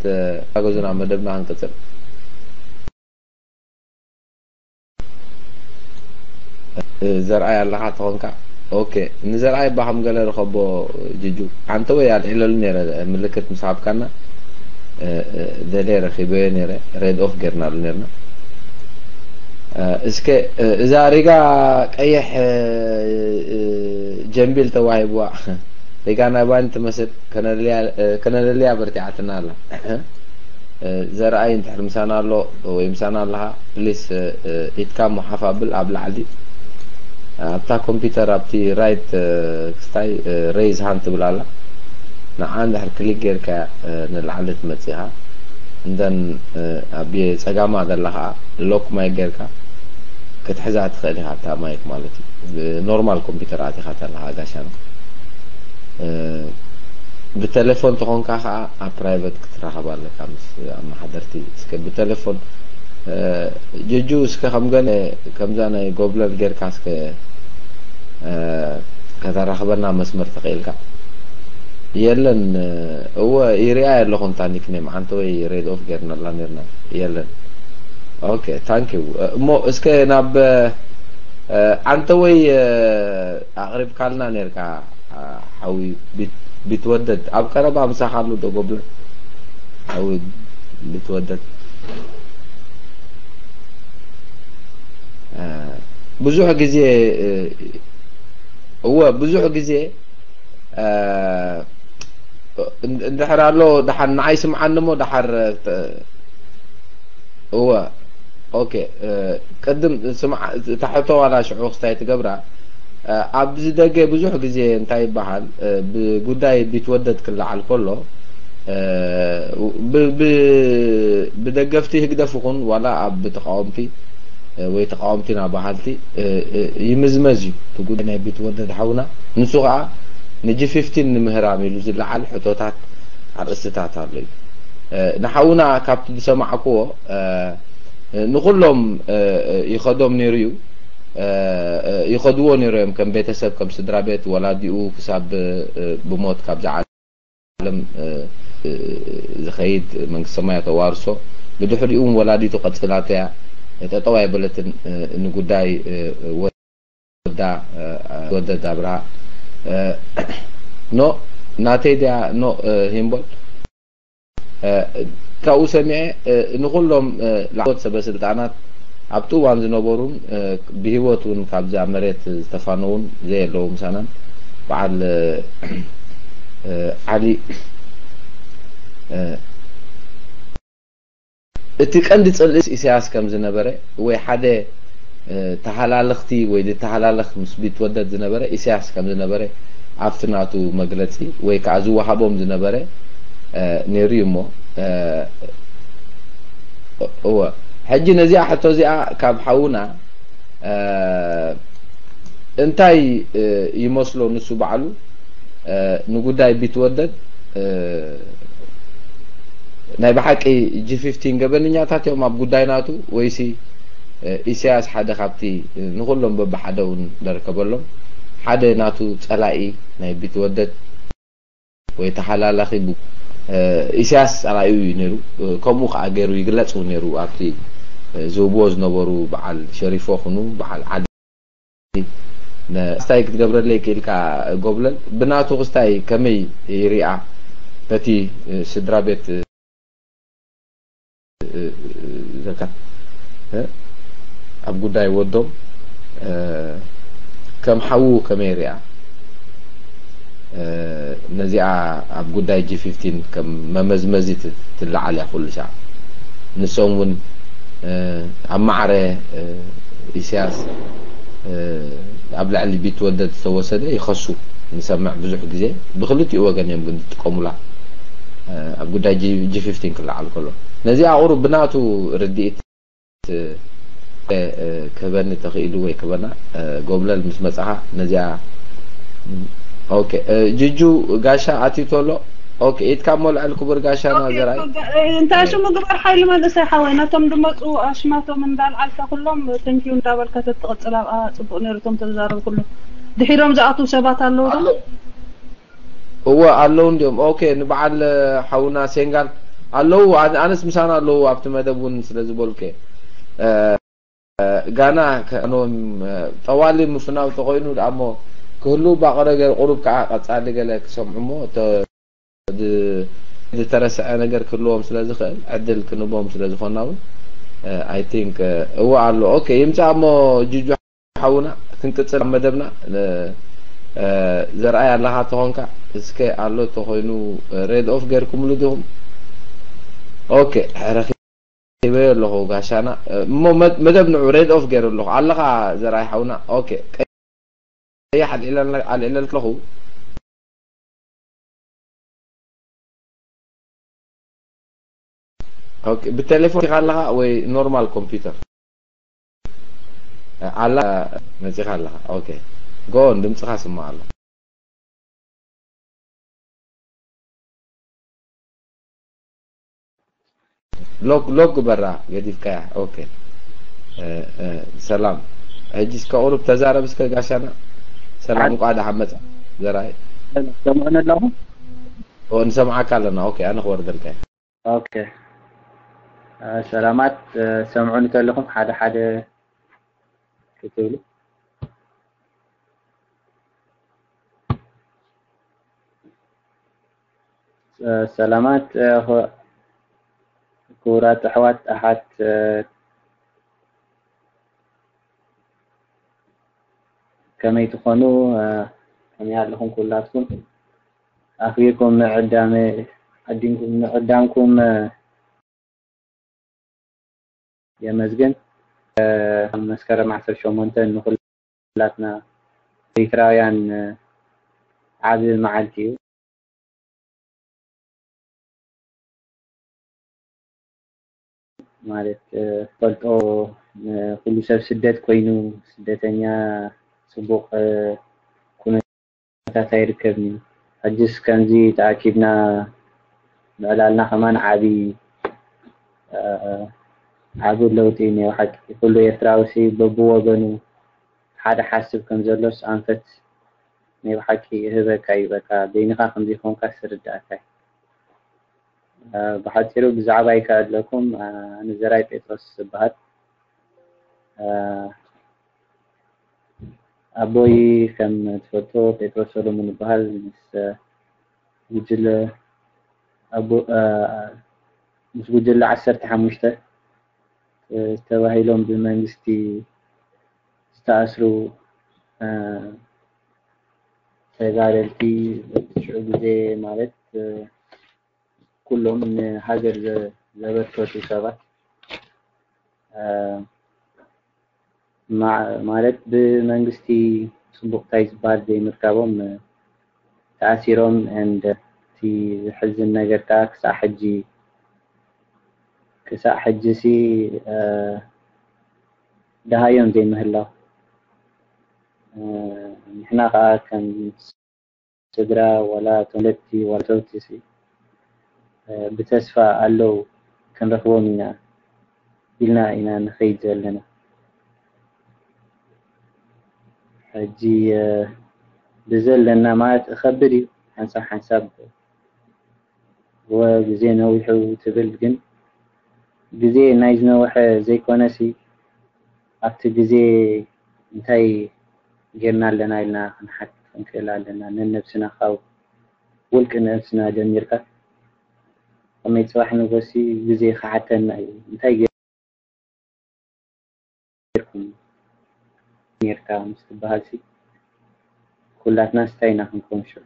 ሓገዙና፣ መደብና ክንቅጽል። ዘርኣይ ኣለኻ ተኾንካ? ኦኬ፣ ንዘርኣይ እባ ከም ገለ ርኸቦ። ጅጁ፣ ኣንተ ወይ ኣልዒለሉ ነይረ ምልክት ምስ ሃብካና፣ ደልየ ረኺበዮ ነይረ፣ ሬድ ኦፍ ጌርናሉ ነይርና። እስከ እዛ ሪጋ ቀይሕ ጀምቢል ተዋሂብዋ፣ ሪጋ ናይ ባኒ ትመስል፣ ከነለልያ በርቲዓትና ኣላ። ዘርኣይ እንድሕር ምሳና ኣሎ ወይ ምሳና ኣለኻ፣ ፕሊስ ኢድካ እሞ ሓፍ ኣብል ኣብ ላዕሊ ኣብታ ኮምፒውተር ኣብቲ ራይት ክስታይ ሬይዝ ሃንድ ትብል ኣላ። ንዓ እንድሕር ክሊክ ጌርካ ንላዕሊ ትመጽእ ኢኻ። እንደን ኣብ ጸጋማ ዘላ ኸኣ ሎክ ማይክ ጌርካ ክትሕዛ ትኽእል ኢኻ፣ እታ ማይክ ማለት እዩ። ኖርማል ኮምፒውተር ኣቲኻ ተለኻ ጋሻና። ብቴሌፎን ተኾንካ ኸኣ ኣብ ፕራይቨት ክትራኸብ ኣለካ ምስ ኣመሓደርቲ። እስከ ብቴሌፎን ጅጁ፣ እስከ ከም ገለ ከምዛ ናይ ጎብለል ጌርካ እስከ ከተራኽበና መስመር ተኽኢልካ። የለን። እወ፣ ይሪኣ ኣለኹ እንታ ኒክኔም ዓንተ ወይ ሬድ ኦፍ ጌርናላ ኔርና። የለን። ኦኬ፣ ታንክ ዩ። እሞ እስከ ናብ ዓንተ ወይ ኣቕሪብካልና ኔርካ። ሓዊ ቢትወደድ ኣብ ቀረባ ምሳኻ ኣሎ ዶ ጎብለ? ሓዊ ቢትወደድ ብዙሕ ግዜ፣ እወ፣ ብዙሕ ግዜ እንድሕር ኣሎ ደሓር ንዓይ ስምዓኒ እሞ ደሓር እወ። ኦኬ፣ ቅድም ስምዓ፣ እታ ሕቶ ዋላ ሽዑ ክስታይ ትገብራ። ኣብዚ ደገ ብዙሕ ግዜ እንታይ ይበሃል፣ ብጉዳይ ቢትወደድ ክለዓል ከሎ፣ ብደገፍቲ ህግደፍ ይኹን ዋላ ኣብ ተቃወምቲ ወይ ተቃወምቲ ኢና በሃልቲ ይምዝመዝ እዩ እቲ ጉዳይ ናይ ቢትወደድ ሓውና። ንሱ ከዓ ንጂ ፊፍቲን ንምህራም ኢሉ ዝለዓል ሕቶታት ኣርእስትታት ኣሎ እዩ። ንሓውና ካብቲ ዝሰማዕክዎ ንኹሎም ይኸዶም ነይሩ እዩ። ይኸድዎ ነይሩ እዮም፣ ከም ቤተሰብ፣ ከም ስድራ ቤት፣ ወላዲኡ ክሳብ ብሞት ካብዚ ዓለም ዝኸይድ መንግስተ ሰማያት ተዋርሶ። ብድሕሪኡ እውን ወላዲቱ ቀጺላቶ እያ። ጠጠው ኣይበለትን ንጉዳይ ወዳ ወደድ ኣብርሃ። ኖ ናተይ ድያ? ኖ ሂምቦል። ካብኡ ሰሚዐ ንኹሎም ላዕለዎት ሰበ ስልጣናት ኣብቲ እዋን ዝነበሩን ብህይወት እውን ካብዛ መሬት ዝተፋነውን ዘየለዉ ምሳናን በዓል ዓሊ እቲ ቀንዲ ጽልእስ ኢሳያስ ከም ዝነበረ ወይ ሓደ ተሃላልኽቲ ወይ ዝተሃላለኽ ምስ ቢትወደድ ዝነበረ ኢሳያስ ከም ዝነበረ ኣብቲ ናቱ መግለጺ ወይ ከዓ ዝወሃቦም ዝነበረ ነይሩ እዩ እሞ። እወ፣ ሕጂ ነዚኣ ሕቶ እዚኣ ካብ ሓውና እንታይ ይመስሎ ንሱ ባዕሉ ንጉዳይ ቢትወደድ? ናይ ብሓቂ ጂ ፊፍቲን ገበነኛታት እዮም ኣብ ጉዳይ ናቱ፣ ወይሲ ኢሳያስ ሓደ ካብቲ ንኹሎም በብሓደ እውን ደርከበሎም ሓደ ናቱ ጸላኢ ናይ ቢትወደድ ወይ ተሓላላኺ ኢሳያስ ጸላኢኡ እዩ ነይሩ። ከምኡ ከዓ ገይሩ ይግለጽ እውን ነይሩ ኣብቲ ዝህብዎ ዝነበሩ በዓል ሸሪፎ ኩኑ በዓል ዓዲ ክስታይ ክትገብረለይ ክኢልካ ጎብለል ብናቱ ክስታይ ከመይ ይሪኣ ነቲ ስድራ ቤት ዘካ ኣብ ጉዳይ ወዶም ከም ሓዉ ከመይ ይሪኣ ነዚኣ ኣብ ጉዳይ ጂ ፊፍቲን ከም መመዝመዚ ትለዓል እያ ኩሉ ሻዕ። ንሶም እውን ኣብ ማዕረ ኢሳያስ ኣብ ልዕሊ ቢትወደድ ዝተወሰደ ይኸሱ ንሰምዕ ብዙሕ ግዜ። ብክልቲኡ ወገን እዮም ግን ዝጥቀሙላ ኣብ ጉዳይ ጂ ፊፍቲን ክለዓል ከሎ። ነዚኣ ቁሩብ ብናቱ ርድኢት ክህበኒ ተኽኢሉ ወይ ክህበና ጎብለል ምስ መጻኻ ነዚኣ። ኦኬ፣ ጅጁ ጋሻ ኣትዩ ተሎ። ኦኬ፣ ኢድካ እሞ ልዕል ክቡር ጋሻና ዘርኣይ። እንታይ ሽሙ ግበር ሓይሊ መንእሰይ ሓወይ፣ ነቶም ድመፁ ኣሽማቶም እንዳልዓልካ ኩሎም ቴንኪዩ እንዳበልካ ተትቕፅል ኣብኣ ፅቡቕ ነይሩ። እቶም ተዛረቡ ኩሉ ድሒሮም ዝኣትዉ ሰባት ኣለዉ ዶ? እወ ኣለዉ እንዲዮም። ኦኬ፣ ንበዓል ሓውና ሴንጋል ኣለዉ። ኣነ- ኣነስ ምሳና ኣለዉ ኣብቲ መደብ እውን ስለ ዝበልኩ እየ። ጋና ከኖም ጠዋሊ ምፍናው ተኮይኑ ደኣ እሞ ክህሉ ባቕረ ገር ቁሩብ ከዓ ቀጻሊ ገለ ክሰምዑ እሞ ዝተረስዐ ነገር ክህልዎም ስለ ዝኽእል ዕድል ክንቦም ስለ ዝኾና እውን I think እወ ኣሎ። ኦኬ ይምጻእ እሞ ጅጁ ሓውና ክንቅጽል ኣብ መደብና። ዘርኣይ ኣለኻ ተኾንካ እስከ ኣሎ ተኾይኑ ሬድ ኦፍ ገርኩምሉ ዲኹም? ኦኬ ረኺበዮ ኣለኹ ጋሻና። እሞ መደብ ንዑ ሬድ ኦፍ ገይሩ ኣለኹ። ኣለኻ ዘርኣይ ሓውና? ኦኬ ቀይሕ ኣልዒለልኩ። ኦኬ ብቴሌፎን ኢኻ ኣለኻ ወይ ኖርማል ኮምፒውተር? ኣላ መጺኻ ኣለኻ። ኦኬ ጎን ድምጽኻ ስማዕ ኣሎ። ሎግ ሎግ ግበራ ገዲፍካያ። ኦኬ ሰላም። ሕጂ እስከ ቁሩብ ተዛረብ እስከ ጋሻና። ሰላም እንቋዕ ደሓን መጻ ዘርኣይ። ሰምዑኒ ኣለኹም? ንሰምዓካ ኣለና። ኦኬ ኣነ ክወርደልካ። ኦኬ ሰላማት። ሰምዑኒ ከለኹም ሓደ ሓደ ክትብሉ። ሰላማት ክቡራት ኣሕዋት ኣሓት ከመይ ትኾኑ? ከመይ ኣለኹም ኩላትኩም? ኣኽቢርኩም ምዕዳም ምዕዳምኩም የመስግን። መስከረም ዓሰርተ ሸሞንተ ንኹላትና ኤሪትራውያን ዓቢ መዓልቲ እዩ። ማለት ፈልጦ ኩሉ ሰብ ስደት ኮይኑ ስደተኛ ጽቡቕ ኩነታት ኣይርከብን እዩ። ሕጅስ ከምዚ ተኣኪብና ምዕላልና ከማን ዓቢ ዓቢ ለውጢ እዩ ናይ ብሓቂ። ኩሉ ኤርትራዊ ሲ በብወገኑ ሓደ ሓስብ ከም ዘሎስ ኣንፈት ናይ ብሓቂ ይህበካ እዩ። በቃ በይንኻ ከም ዘይኮንካ ስርዳእካ እዩ። ብሓፂሩ ብዛዕባይ ከዕለኩም ኣነ ዘርኣይ ጴጥሮስ ዝበሃል። ኣቦይ ከም ትፈልጦ ጴጥሮስ ሰሎሞን ይበሃል። ምስ ጉጅለ ኣቦ ምስ ጉጅለ ዓሰርተ ሓሙሽተ ተባሂሎም ብመንግስቲ ዝተኣስሩ ተጋደልቲ ሽዑ ግዜ ማለት ኩሎም ንሃገር ዘበርከቱ ሰባት ማለት ብመንግስቲ ፅቡቕ ታይ ዝበሃል ዘይምርካቦም ተኣሲሮም and እቲ ዝሕዝን ነገር ከዓ ክሳዕ ሕጂ ክሳዕ ሕጂ ሲ ደሃዮም ዘይምህላው ንሕና ከዓ ከም ስድራ ዋላ ተወለድቲ ዋላ ተውትሲ ብተስፋ ኣለዉ ክንረኽቦም ኢና ኢልና ኢና ንኸይድ ዘለና። ሕጂ ብዘለና ማለት እኸብድ እዩ ሓንሳብ ሓንሳብ ወ ግዜ ነዊሑ ትብል ግን ግዜ ናይ ዝነውሐ ዘይኮነሲ ኣብቲ ግዜ እንታይ ጌርና ኣለና ኢልና ክንሓት ክንክእል ኣለና። ነነብስና ካብ ውልቂ ነብስና ጀሚርካ ከመይ ፅባሕ ንጎሲ ግዜ ክሓተና እዩ። እንታይ ጌርኩም ኔርካ ምስ ትበሃል ሲ ኩላትና ስታይ ኢና ክንከውን ሽዑ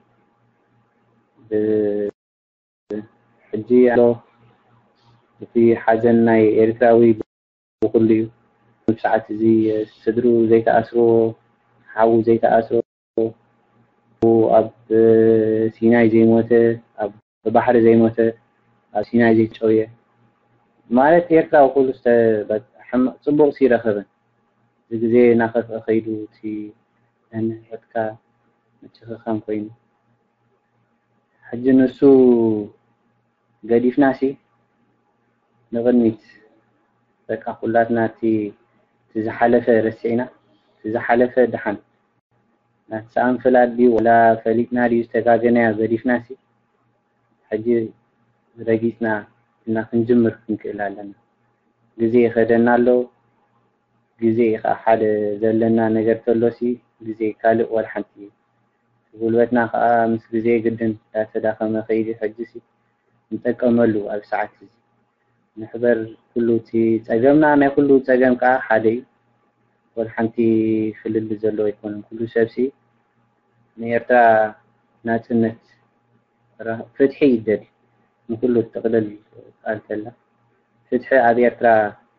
ሕጂ ኣሎ እቲ ሓዘን ናይ ኤርትራዊ ብኩሉ እዩ። ኣብ ሰዓት እዚ ስድሩ ዘይተኣስርዎ ሓዉ ዘይተኣስሮ ኣብ ሲናይ ዘይሞተ ኣብ ባሕሪ ዘይሞተ ኣብ ሲናይ ዘይጨውየ ማለት ኤርትራዊ ኩሉ ጽቡቕ ሲ ረኸበ እዚ ግዜ ናኸፍአ ከይዱ እቲ ንሕትካ ምጭኽኻን ኮይኑ ሕጂ ንሱ ገዲፍናሲ ንቕድሚት በቃ ኩላትና እቲ ዝሓለፈ ረሲዕና እቲ ዝሓለፈ ደሓን ናቲ ሰኣን ፍላጥ ድዩ ወላ ፈሊጥና ድዩ ዝተጋገናዮ ገዲፍናሲ ሕጂ ረጊፅና እና ክንጅምር ክንክእል ኣለና። ግዜ ይኸደና ኣሎ። ግዜ ከዓ ሓደ ዘለና ነገር ተሎሲ ግዜ ካልእ ወላ ሓንቲ እዩ። ጉልበትና ከዓ ምስ ግዜ ግድን እንዳተዳኸመ ከይዲ ሕጂሲ ንጠቀመሉ ኣብ ሰዓት እዚ ንሕበር ኩሉ እቲ ፀገምና ናይ ኩሉ ፀገም ከዓ ሓደ እዩ። ወላ ሓንቲ ፍልል ዘሎ ኣይኮነን ኩሉ ሰብሲ ንኤርትራ ናፅነት ፍትሒ ይደል ንኩሉ ጥቕልል ቃል ተላ ፍትሒ ኣብ ኤርትራ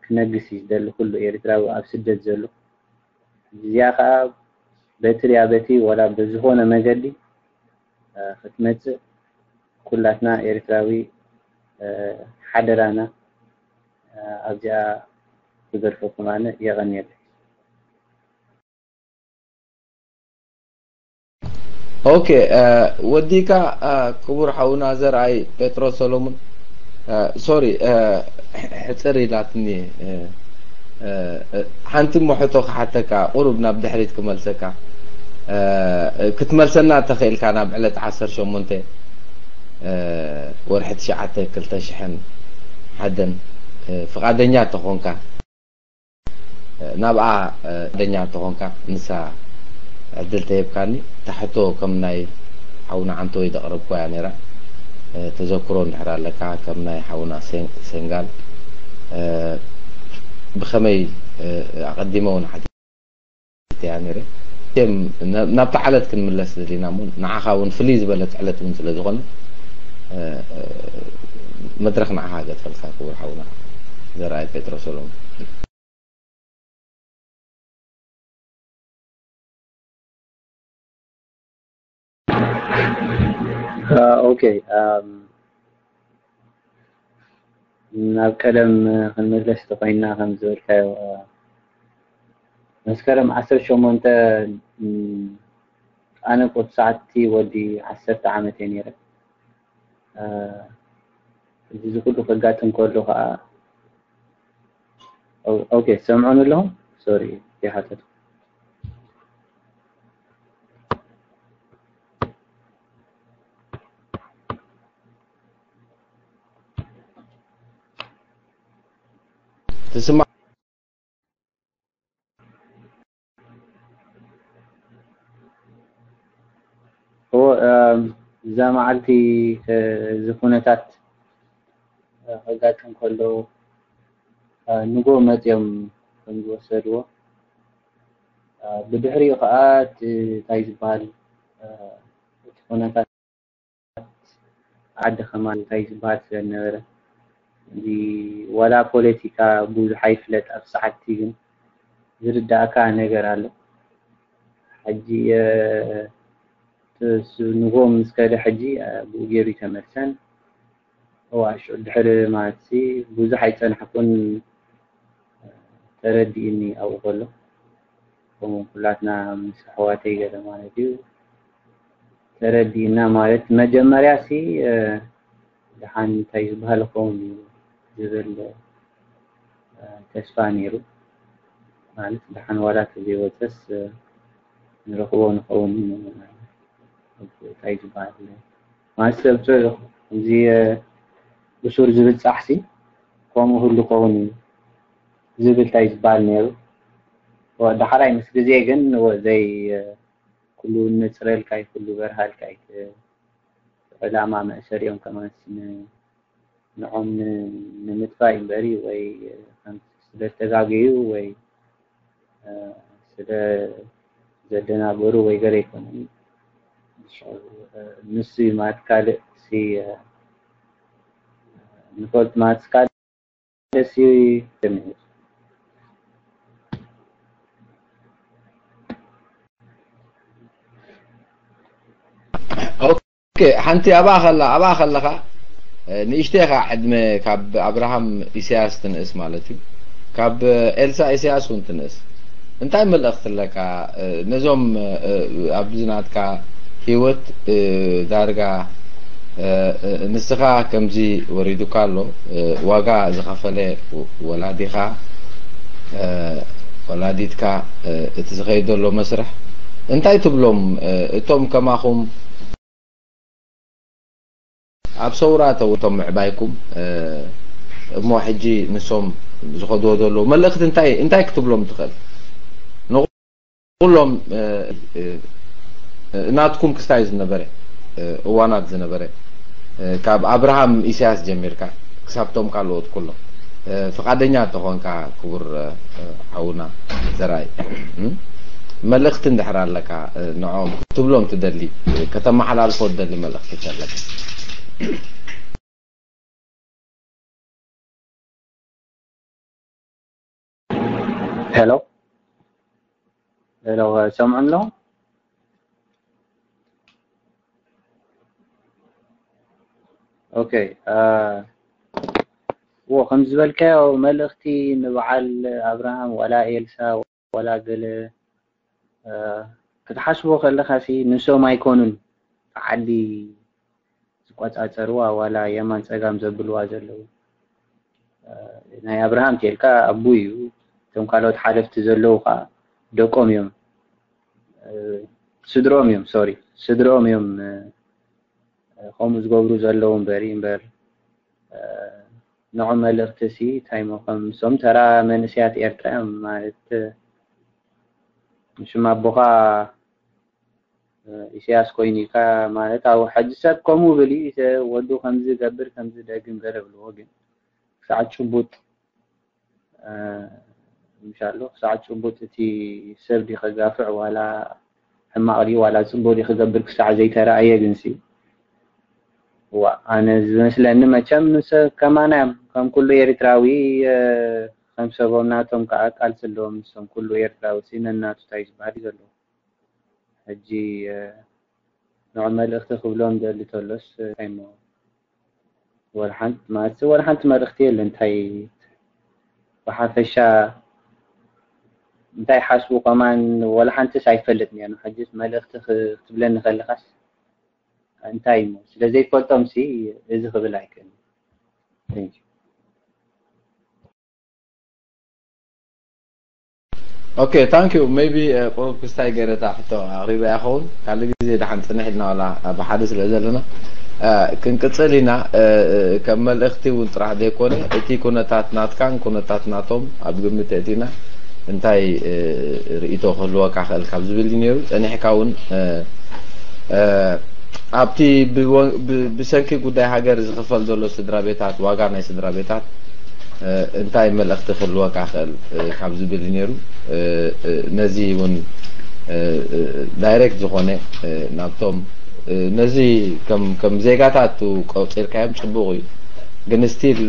ክነግስ እዩ ዝደሊ ኩሉ ኤርትራዊ ኣብ ስደት ዘሎ እዚኣ ከዓ በቲ ድያ በቲ ወላ ብዝኾነ መገዲ ክትመፅእ ኩላትና ኤርትራዊ ሓደራና ኣብዚኣ ክገድፈኩም ኣነ የቐንየለይ። ኦኬ ወዲካ ክቡር ሓውና ዘርኣይ ጴጥሮስ ሰሎሙን ሶሪ ሕፅር ኢላትኒ ሓንቲ እሞ ሕቶ ክሓተካ ቁሩብ ናብ ድሕሪት ክመልሰካ ክትመልሰና ተኽእልካ ናብ ዕለት ዓሰርተ ሸሞንተ ወርሒ ትሽዓተ ክልተ ሽሕን ሓደን ፍቓደኛ ተኾንካ ናብኣ ደኛ እንተኾንካ ንሳ ዕድል ተሂብካኒ ታሕቶ ከም ናይ ሓውና ዓንተወይ ዘቕረብኩዋ እያ ነይራ ተዘክሮ እንድሕር ኣለካ ከም ናይ ሓውና ሴንጋል ብኸመይ ኣቐዲመ እውን ሓቲተያ ነይረ ናብታ ዓለት ክንምለስ ደሊና እሞ ንዓኻ እውን ፍልይ ዝበለት ዕለት እውን ስለ ዝኾነ መድረኽ ንዓኻ ገድፈልካ ክቡር ሓውና ዘርኣይ ጴጥሮስ ሰሎሞን ኦኬ ናብ ቀደም ክንምለስ ተኮይንና ከም ዝበልካዮ መስከረም ዓሰርተ ሸሞንተ ኣነ ቁርሳዕቲ ወዲ ዓሰርተ ዓመት እየ ነይረ እዚ ኩሉ ከጋጥም ከሎ ከዓ ኦኬ ሰምዑን ኣለኹም ሶሪ ይሓተት ትስማዕ እዛ መዓልቲ እዚ ኩነታት ከጋጥም ከሎ ንጎ መፅኦም ከም ዝወሰድዎ ብድሕሪኡ ከዓ እንታይ ዝበሃል እቲ ኩነታት ዓዲ ከማን እንታይ ዝበሃል ስለ ዝነበረ እዚ ዋላ ፖለቲካ ብዙሕ ኣይፍለጥ ኣብ ሰዓትቲ ግን ዝርዳእካ ነገር ኣሎ ሕጂ ንጎ ምስ ከደ ሕጂ ብኡ ገይሩ ይተመልሰን እዋ ሽዑ ድሕሪ ማለት ብዙሕ ኣይፀናሕኩን ተረዲእኒ ኣብኡ ከሎ ከምኡ ኩላትና ምስ ኣሕዋተይ ገለ ማለት እዩ ተረዲእና። ማለት መጀመርያ ሲ ደሓን እንታይ ዝበሃል ኸውን እዩ ዝብል ተስፋ ነይሩ። ማለት ደሓን ዋላ ተዘይወፀስ ንረኽቦ ንኸውን እንታይ ዝበሃል ማለት ሰብ እዚ እሱር ዝብል ፃሕሲ ከምኡ ህሉ ኸውን እዩ ዝብል እንታይ ዝበሃል ነይሩ። ዳሕራይ ምስ ግዜ ግን ዘይ ኩሉ ነፅረልካ እዩ፣ ኩሉ በርሃልካ እዩ። ዕላማ መእሰሪኦም ከማን ንዖም ንምጥፋእ እዩ እምበሪ ወይ ስለዝተጋገዩ ወይ ስለ ዘደናገሩ ወይ ገለ ኣይኮነን። ንሱ እዩ ማለት ካልእ ንፈልጥ ማለት ካልእ ደስ ይብል። ኦኬ፣ ሓንቲ ኣብኣ ከላ ኣብኣ ከለኻ ንእሽተይ ኢኻ ዕድመ ካብ ኣብርሃም ኢሳያስ ትንእስ ማለት እዩ፣ ካብ ኤልሳ ኢሳያስ እውን ትንእስ። እንታይ መልእኽቲ ኣለካ ነዞም ኣብዚ ናትካ ህይወት ዳርጋ ንስኻ ከምዚ ወሪዱካ ኣሎ፣ ዋጋ ዝኸፈለ ወላዲኻ ወላዲትካ እቲ ዝኸይድ ዘሎ መስርሕ እንታይ ትብሎም? እቶም ከማኹም ኣብ ሰውራ ተውቶም ምዕባይኩም እሞ ሕጂ ንሶም ዝኸድዎ ዘለዉ መልእኽቲ እንታይ እንታይ ክትብሎም ትኽእል? ንኹሎም ናትኩም ክስታይ ዝነበረ እዋናት ዝነበረ ካብ ኣብርሃም ኢሳያስ ጀሚርካ ክሳብቶም ካልኦት ኩሎም ፍቓደኛ እንተኾንካ ክቡር ሓውና ዘርኣይ መልእኽቲ እንድሕር ኣለካ ንዕኦም ክትብሎም ትደሊ ከተመሓላልፎ ትደሊ መልእኽቲ ተለካ። ሄሎ ሄሎ ሰምዑ ኣለኹም? ኦኬ እዎ ከም ዝበልካዮ መልእኽቲ ንበዓል ኣብርሃም ዋላ ኤልሳ ዋላ ገለ ክትሓስቦ ከለኻ ሲ ንሶም ኣይኮኑን ዓዲ ዝቆጻጸርዋ ዋላ የማን ጸጋም ዘብልዋ ዘለዉ ናይ ኣብርሃም ቴልካ ኣቡ እዩ። እቶም ካልኦት ሓለፍቲ ዘለዉ ከዓ ደቆም እዮም ስድሮም እዮም ሶሪ ስድሮም እዮም ከምኡ ዝገብሩ ዘለዉ እምበሪ እምበር ንዑ መልእኽቲ ሲ እንታይ ሞ ከም ሶም ተራ መንእሰያት ኤርትራ እዮም ማለት ሽም ኣቦኻ ኢሳያስ ኮይኑ ኢልካ ማለት ኣብ ሕጂ ሰብ ከምኡ ብል እዩ ወዱ ከምዚ ገብር ከምዚ ደግም ገለ ብልዎ ግን ክሳዕ ጭቡጥ ምሻሎ ክሳዕ ጭቡጥ እቲ ሰብ ዲ ከጋፍዕ ዋላ ሕማቕ ዲ ዋላ ጽቡቅ ዲ ክገብር ክሳዕ ዘይተረኣየ ግንሲ ዋ ኣነ ዝመስለኒ መቸም ከማና እዮም ከም ኩሉ ኤርትራዊ ከም ሰቦም ናቶም ከዓ ቃልሲ ኣለዎም ንሶም ኩሉ ኤርትራዊ ሲ ነናቱ እንታይ ዝበሃል እዩ ዘለዎ ሕጂ ንዑ መልእኽቲ ክብሎም ደሊ ተሎስ እንታይ እሞ ወላ ሓንቲ ማለት ወላ ሓንቲ መልእኽቲ የለ እንታይ ብሓፈሻ እንታይ ሓስቡ ከማን ወላ ሓንቲስ ኣይፈልጥን እየ ሕጂስ መልእኽቲ ክትብለኒ ከለኻስ እንታይ እሞ ስለ ዘይፈልጦም ሲ እዚ ክብል ኣይክእልን Okay, thank you. Maybe ቁሩብ ክስታይ ገይረ እታ ሕቶ ኣቕሪበያ ይኸውን። ካልእ ግዜ ደሓን ጽንሕ ኢልና ዋላ ብሓደ ስለ ዘለና ክንቅጽል ኢና። ከም መልእኽቲ እውን ጥራሕ ዘይኮነ እቲ ኩነታት ናትካን ኩነታት ናቶም ኣብ ግምት ኣእቲና እንታይ ርእይቶ ክህልወካ ክእል ካብ ዝብል እዩ ነይሩ። ጸኒሕካ እውን ኣብቲ ብሰንኪ ጉዳይ ሃገር ዝኽፈል ዘሎ ስድራ ቤታት ዋጋ ናይ ስድራ ቤታት እንታይ መልእኽቲ ክህልወካ ክእል ካብ ዝብል እዩ ነይሩ። ነዚ እውን ዳይሬክት ዝኾነ ናብቶም ነዚ ከም ዜጋታት ቆፂርካዮም ፅቡቕ እዩ፣ ግን ስቲል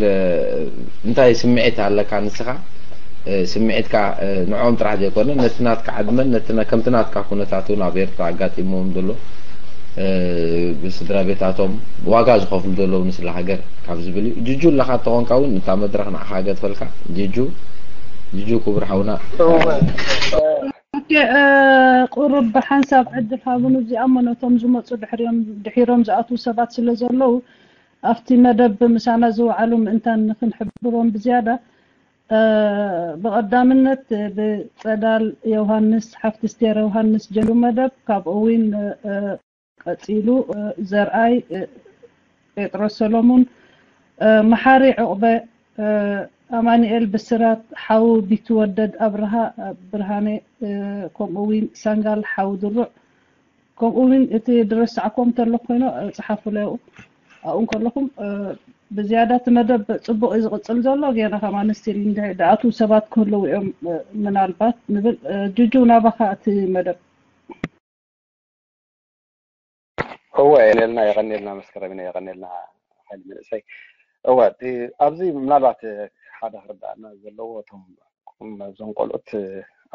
እንታይ ስምዒት ኣለካ ንስኻ? ስምዒትካ ንዕኦም ጥራሕ ዘይኮነ ነቲ ናትካ ዕድመን ነቲ ከምቲ ናትካ ኩነታት እውን ኣብ ኤርትራ ኣጋጢሞም ዘሎ ብስድራ ቤታቶም ዋጋ ዝኸፍሉ ዘለዉ ንስለ ሃገር ካብ ዝብል እዩ። ጅጁ ኣለኻ እንተኾንካ እውን እታ መድረኽ ንዓኻ ገድፈልካ። ጅጁ ጅጁ ክቡር ሓውና ኦኬ፣ እ፣ ቁሩብ ብሓንሳብ ዕድል ሃቡን እዚኣሞ ነቶም ዝመፁ ድሕሪኦም ድሒሮም ዝኣትዉ ሰባት ስለ ዘለዉ ኣብቲ መደብ ምሳና ዝወዓሉ ምእንታን ንክንሕብሮም ብዝያዳ፣ እ፣ ብቐዳምነት ብፀዳል ዮሃንስ ሓፍቲ ስቴር ዮሃንስ ጀሉ መደብ፣ ካብኡ እውን፣ እ፣ ቀፂሉ፣ እ፣ ዘርኣይ፣ እ፣ ጴጥሮስ ሰሎሙን፣ እ፣ መሓሪ ዑቕበ፣ እ፣ ኣማኑኤል ብስራት፣ ሓው ቢትወደድ ኣብርሃ፣ እ፣ ብርሃነ፣ እ፣ ከምኡ እውን ሳንጋል ሓው ድሩዕ፣ ከምኡ እውን እቲ ድረሳዕኮም እንተሎ ኮይኖ፣ እ፣ ጸሓፉለይ ኣብኡ። ኣብኡ እንከለኹም፣ እ፣ ብዝያዳ እቲ መደብ ጽቡቕ እዩ ዝቕጽል ዘሎ። ጌና ከማን ስቲል እንድዒ ድኣትዉ ሰባት ክህልዉ እዮም፣ እ፣ ምናልባት ንብል። እ፣ ጁጁ ናባኻ እቲ መደብ። እወ፣ የቐኔልና፣ የቐኔልና መስከረሚና፣ የቐኔልና ሓይሊ መንእሰይ። እወ፣ እቲ ኣብዚ ምናልባት ሓደ ክርዳእና ዘለዎ፣ እቶም እዞም ቆልዑት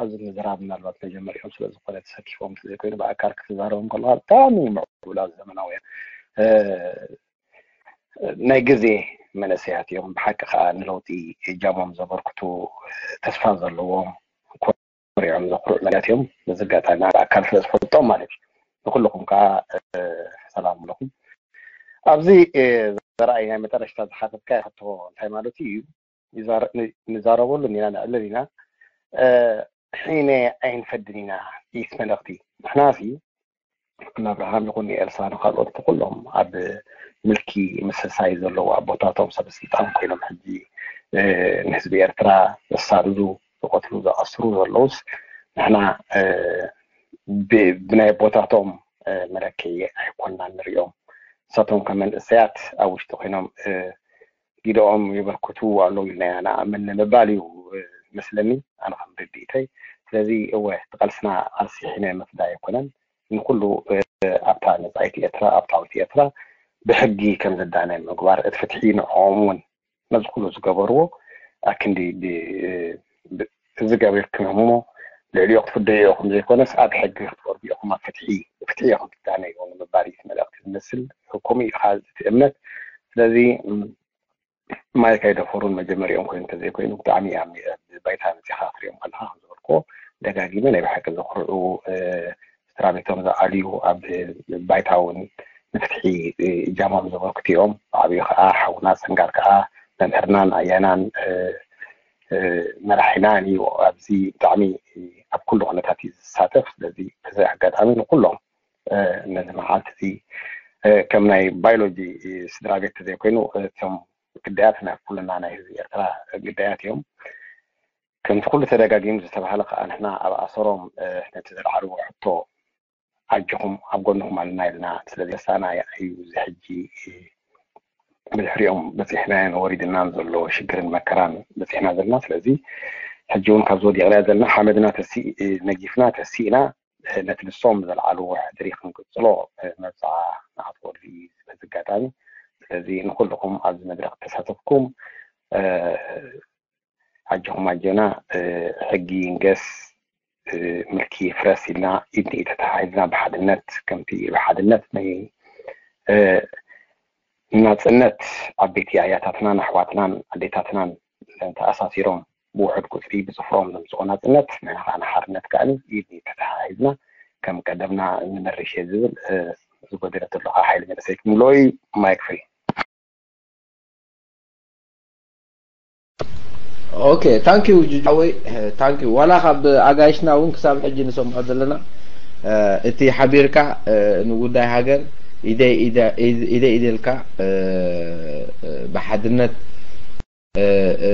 ኣብዚ ምዝራብ ምናልባት መጀመሪኦም ስለ ዝኾነ ተሰኪፎም ዘይኮይኑ ብኣካል ክትዛረቦም ከለኻ ብጣዕሚ ምዕቡላት ዘመናውያን፣ እ፣ ናይ ግዜ መንእሰያት እዮም። ብሓቂ ከዓ ንለውጢ እጃሞም ዘበርክቱ፣ ተስፋ ዘለዎም፣ ኮሪዖም ዘኩርዑ መናት እዮም። በዚ ኣጋጣሚ ብኣካል ስለ ዝፈልጦም ማለት እዩ። ንኩልኹም ከዓ፣ እ፣ ሰላም ኣለኹም። ኣብዚ፣ እ፣ ዘርኣይ ናይ መጨረሽታ ዝሓተትካዮ ሕቶ እንታይ ማለት እዩ? ይዛረ-፣ ን-፣ ንዛረበሉ ኢና፣ ነዕልል ኢና። እ፣ ሒነ ኣይንፈድን ኢና። ኢት መልእኽቲ ንሕናሲ ንኣብርሃም ይኹን ንኤልሳ ንኻልኦት ንኩሎም ኣብ ምልኪ ምስሳይ ዘለዉ ኣቦታቶም ሰብ ስልጣን ኮይኖም ሕጂ፣ እ፣ ንህዝቢ ኤርትራ ዘሳድዱ፣ ዝቐትሉ፣ ዝኣስሩ ዘለዉስ ንሕና፣ እ፣ ብ-፣ ብናይ ኣቦታቶም፣ እ፣ መለክዒ ኣይኮንና ንሪኦም። ንሳቶም ከም መንእሰያት ኣብ ውሽጢ ኮይኖም፣ እ፣ ግደኦም የበርክቱ ኣለዉ ኢልና ኢና ንኣምን ንምባል እዩ፣ እ፣ መስለኒ፣ ኣነ ከም ርድኢተይ። ስለዚ እወ፣ እቲ ቃልስና ቃልሲ ሒነ ምፍዳይ ኣይኮነን። ንኩሉ፣ እ፣ ኣብታ ነጻይቲ ኤርትራ፣ ኣብታ ዓወት ኤርትራ ብሕጊ ከም ዝዳነ ምግባር፣ እቲ ፍትሒ ንዕኦም እውን ነዚ ኩሉ ዝገበርዎ ኣክንዲ ብ-፣ ብ-፣ እዚ ገቢርኩም እሞ ልዕሊኡ ክትፍደዩ ኢኹም ዘይኮነስ ኣብ ሕጊ ክትወርዱ ኢኹም፣ ኣብ ፍትሒ፣ ፍትሒ ኢኹም ትዳነዩ ንምባል እዩ እቲ መልእኽቲ ዝመስል። ከምኡ እዩ ከዓ እቲ እምነት። ስለዚ፣ ም፣ ማይክ ኣይደፈሩን መጀመሪኦም ኮይኑ እንተዘይኮይኑ ብጣዕሚ ኣብ ባይታ መፂኻ ክትሪኦም ከለኻ ከም ዝበልክዎ ደጋጊመ ናይ ብሓቂ ዘኹርዑ፣ እ፣ ስድራ ቤቶም ዝኣልዩ ኣብ ባይታ እውን ንፍትሒ፣ እ፣ እጃሞም ዘበርክቱ እዮም። ብዓብዩ ከዓ ሓውና ሰንጋል ከዓ መምህርናን ኣያናን፣ እ፣ እ፣ መራሒናን እዩ። ኣብዚ ብጣዕሚ ኣብ ኩሉ ኩነታት እዩ ዝሳተፍ። ስለዚ በዚ ኣጋጣሚ ንኩሎም፣ እ፣ ነዚ መዓልቲ እዚ፣ እ፣ ከም ናይ ባዮሎጂ፣ እ፣ ስድራ ቤት ተዘይኮይኑ፣ እ፣ እቶም ግዳያት ናይ ኩልና ናይ ህዝቢ ኤርትራ ግዳያት እዮም። ከምቲ ኩሉ ተደጋጊሙ ዝተባህለ ከዓ ንሕና ኣብ ኣሰሮም፣ እ፣ ነቲ ዘልዓልዎ ሕቶ ኣጆኹም ኣብ ጎንኹም ኣለና ኢልና ስለ ዘሳና እዩ እዚ ሕጂ፣ እ፣ ብድሕሪኦም በፂሕናዮን ወሪድናን ዘሎ ሽግርን መከራን በፂሕና ዘለና። ስለዚ ሕጂ እውን ካብ ዝወዲቕና ዘለና ሓመድና ተሲ-፣ እ፣ ነጊፍና ተሲእና፣ እ፣ ነቲ ንሶም ዘልዓልዎ ሕድሪ ክንቅፅሎ፣ እ፣ መብፅዓ ንኣትወሉ እዩ በዚ ኣጋጣሚ። ስለዚ ንኩልኹም ኣብዚ መድረክ ተሳተፍኩም፣ እ፣ ኣጆኹም ኣጆና፣ እ፣ ሕጊ ይንገስ፣ እ፣ ምልኪ ይፍረስ ኢልና ኢድ ንኢድ ተተሓሒዝና ብሓድነት ከምቲ ብሓድነት ናይ፣ እ፣ ናጽነት ዓበይቲ ኣያታትናን ኣሕዋትናን ኣዴታትናን ተኣሳሲሮም ብውሑድ ቁጽሪ ብጽፍሮም ዘምጽኦ ናጽነት ንሕና ከዓ ንሓርነት ከዓ ኢድ ንኢድ ተተሓሒዝና ከም ቀደምና ንመርሽ እየ ዝብል፣ እ፣ ዝጎደለ ዘለኻ ሓይሊ መንእሰይ ክምልኦ እዩ። ማይክ ፍሪ። ኦኬ፣ ታንክ ዩ ጁጁ ሓወይ፣ ታንክ ዩ። ዋላ ካብ ኣጋይሽና እውን ክሳብ ሕጂ ንሰምዖ ዘለና፣ እ፣ እቲ ሓቢርካ፣ እ፣ ንጉዳይ ሃገር ኢደይ ኢደ-፣ ኢደ-፣ ኢደ ኢደልካ፣ እ፣ እ፣ ብሓድነት፣ እ፣ እ፣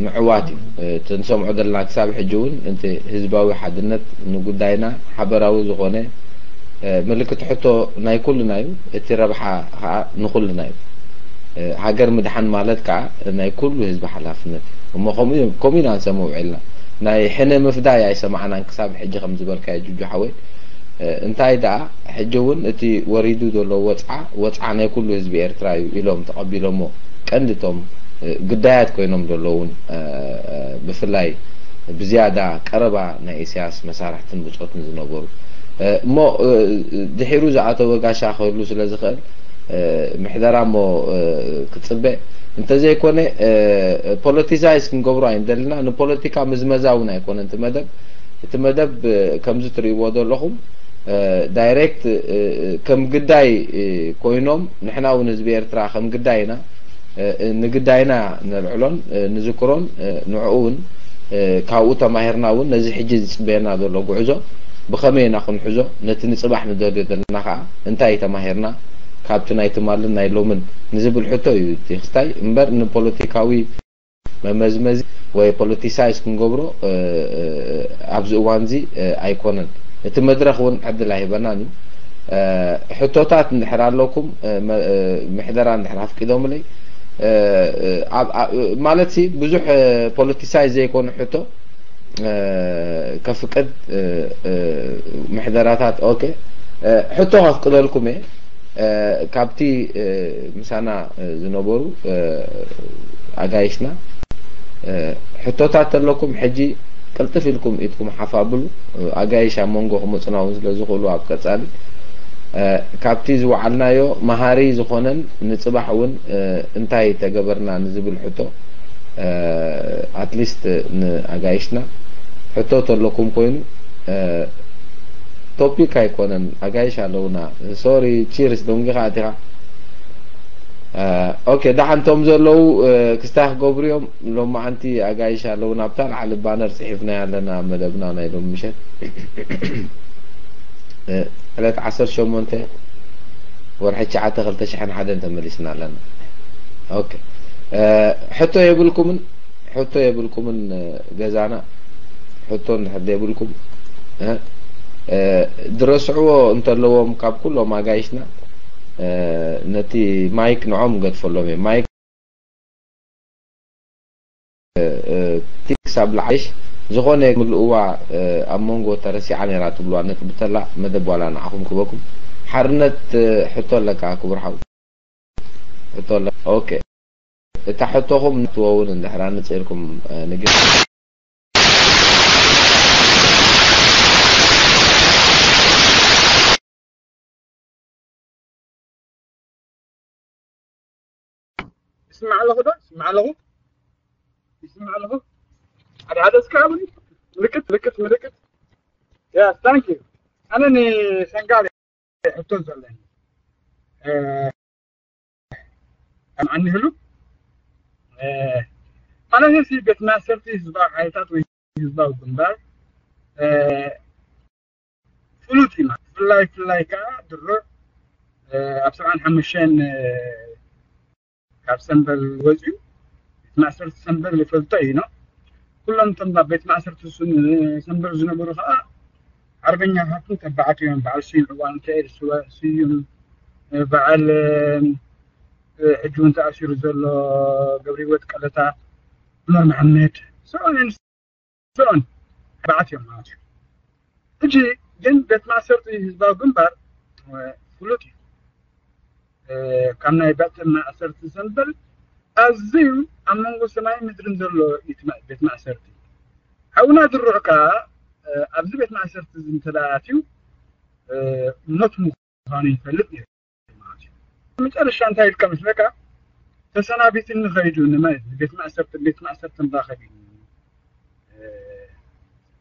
ምዕዋት እዩ። እ፣ እቲ ንሰምዖ ዘለና ክሳብ ሕጂ እውን እቲ ህዝባዊ ሓድነት ንጉዳይና ሓበራዊ ዝኾነ፣ እ፣ ምልክት ሕቶ ናይ ኩልና እዩ። እቲ ረብሓ ከዓ ንኩልና እዩ። እ፣ ሃገር ምድሓን ማለት ከዓ ናይ ኩሉ ህዝቢ ሓላፍነት እዩ። እሞ ከምኡ እዩ፣ ከምኡ ኢና ንሰምዕ ውዒልና። ናይ ሕነ ምፍዳይ ኣይሰማዕናን ክሳብ ሕጂ ከም ዝበልካዮ ጁጁ ሓወይ። እ፣ እንታይ ደኣ ሕጂ እውን እቲ ወሪዱ ዘሎ ወጽዓ፣ ወጽዓ ናይ ኩሉ ህዝቢ ኤርትራ እዩ ኢሎም ተቐቢሎሞ ቀንዲ እቶም፣ እ፣ ግዳያት ኮይኖም ዘለውን፣ እ፣ እ፣ ብፍላይ ብዝያዳ ቀረባ ናይ ኢሳያስ መሳርሕትን ብጾትን ዝነበሩ። እ፣ እሞ፣ እ፣ ድሒሩ ዝኣተወ ጋሻ ክህሉ ስለ ዝኽእል፣ እ፣ ምሕደራ እሞ፣ እ፣ ክጽበ እንተዘይኮነ፣ እ፣ ፖለቲሳይዝ ክንገብሮ ኣይንደልና። ንፖለቲካ ምዝመዛ እውን ኣይኮነን እቲ መደብ። እቲ መደብ ከምዚ ትርእይዎ ዘለኹም ዳይሬክት ከም ግዳይ ኮይኖም፣ ንሕና እውን ህዝቢ ኤርትራ ከም ግዳይና ንግዳይና ነልዕሎን ንዝክሮን፣ ንዕኡ እውን ካብኡ ተማሂርና እውን ነዚ ሕጂ ዝፅበየና ዘሎ ጉዕዞ ብኸመይ ኢና ክንሕዞ፣ ነቲ ንፅባሕ ንደልዮ ዘለና ከዓ እንታይ ተማሂርና ካብቲ ናይ ትማልን ናይ ሎምን ንዝብል ሕቶ እዩ እቲ ክስታይ እምበር ንፖለቲካዊ መመዝመዚ ወይ ፖለቲሳይዝ ክንገብሮ ኣብዚ እዋን እዚ ኣይኮነን። እቲ መድረኽ እውን ዕድል ኣይህበናን እዩ። ሕቶታት እንድሕር ኣለኩም፣ ምሕደራ እንድሕር ኣፍቂዶምለይ፣ ማለት ብዙሕ ፖለቲሳይዝ ዘይኮነ ሕቶ ከፍቅድ፣ ምሕደራታት። ኦኬ፣ ሕቶ ከፍቅደልኩም እየ። ካብቲ ምሳና ዝነበሩ ኣጋይሽና ሕቶታት ተለኩም ሕጂ ቅልጥፍ ኢልኩም ኢድኩም ሓፍ ኣብሉ። ኣጋይሽ ኣብ መንጎ ክመፁና እውን ስለ ዝኽእሉ ኣብ ቀፃሊ ካብቲ ዝወዓልናዮ መሃሪ ዝኾነን ንፅባሕ እውን እንታይ ተገበርና ንዝብል ሕቶ ኣትሊስት ንኣጋይሽና ሕቶ ተለኩም ኮይኑ ቶፒክ ኣይኮነን። ኣጋይሽ ኣለውና። ሶሪ፣ ቺርስ ደንጊኻ ኣቲኻ። ኦኬ፣ ደሓን ቶም ዘለዉ ክስታይ ክገብሩ እዮም። ሎማዓንቲ ኣጋይሽ ኣለውና። ኣብታ ላዕሊ ባነር ፅሒፍናያ ኣለና ኣብ መደብና ናይ ሎሚ ምሸት ዕለት ዓሰርተ ሸሞንተ ወርሒ ትሽዓተ ክልተ ሽሕን ሓደን ተመሊስና ኣለና። ኦኬ፣ ሕቶ የብልኩምን? ሕቶ የብልኩምን? ገዛና ሕቶ እንድሕር ዘይብልኩም፣ ድረስዕዎ እንተለዎም ካብ ኩሎም ኣጋይሽና፣ ነቲ ማይክ ንዖም ገድፈሎም እየ። ማይክ ቲክስ ኣብ ላዕሊሽ ዝኾነ ምልእዋ ኣብ መንጎ ተረሲዓ ነይራ ትብልዋ ነጥቢ ተላ መደብ ዋላ ንዓኹም ክበኩም። ሓርነት፣ ሕቶ ኣለካ ክቡር ሓው? ሕቶ ኣለካ? ኦኬ። እታ ሕቶኹም ንትወውን እንድሕር ኣንጽርኩም ንግር ይስማዕ ኣለኹ ዶ? ይስማዕ ኣለኹ? ይስማዕ ኣለኹ? ሓደ ሓደ እስከ ኣብኒ ምልክት ምልክት ምልክት። Yes, thank you. ኣነ ንሰንጋል ሕቶ ዘለኒ ኣንህሉ ማለት ሲ ቤት ማእሰርቲ ህዝባዊ ሓይልታት ወይ ህዝባዊ ግንባር ፍሉጥ ኢና። ብፍላይ ብፍላይ ከዓ ድሮ ኣብ ሰብዓን ሓሙሽተን ካብ ሰምበል ወፂኡ ቤት ማእሰርቲ ሰምበል ይፈልጦ እዩ ነው። ኩሎም እቶም ኣብ ቤት ማእሰርቲ ሰምበል ዝነበሩ ከዓ ሓርበኛታትን ተባዕት እዮም። በዓል ስዩም ዕዋን፣ ሚካኤል ስዩም፣ በዓል ሕጂ እውን ተኣሲሩ ዘሎ ገብረ ህይወት ቀለታ፣ ዑመር መሓመድ፣ so on and so on ተባዕት እዮም ማለት እዩ። ሕጂ ግን ቤት ማእሰርቲ ህዝባዊ ግንባር ፍሉጥ እዩ። ካብ ናይ ቤት ማእሰርቲ ሰምበል ኣዝዩ ኣብ መንጎ ሰማይን ምድርን ዘሎ እዩ እቲ ቤት ማእሰርቲ። ሓውና ድሩዕ ከኣ ኣብዚ ቤት ማእሰርቲ እዚ እንተ ደኣ ኣትዩ ሞት ምዃኑ ይፈልጥ ነይሩ ማለት እዩ። መጨረሻ እንታይ ኢልካ መስለካ? ተሰናቢትኒ ኸይዱ ንመ-፣ ቤት ማእሰርቲ፣ ቤት ማእሰርቲ ንራኸብ ኢሉ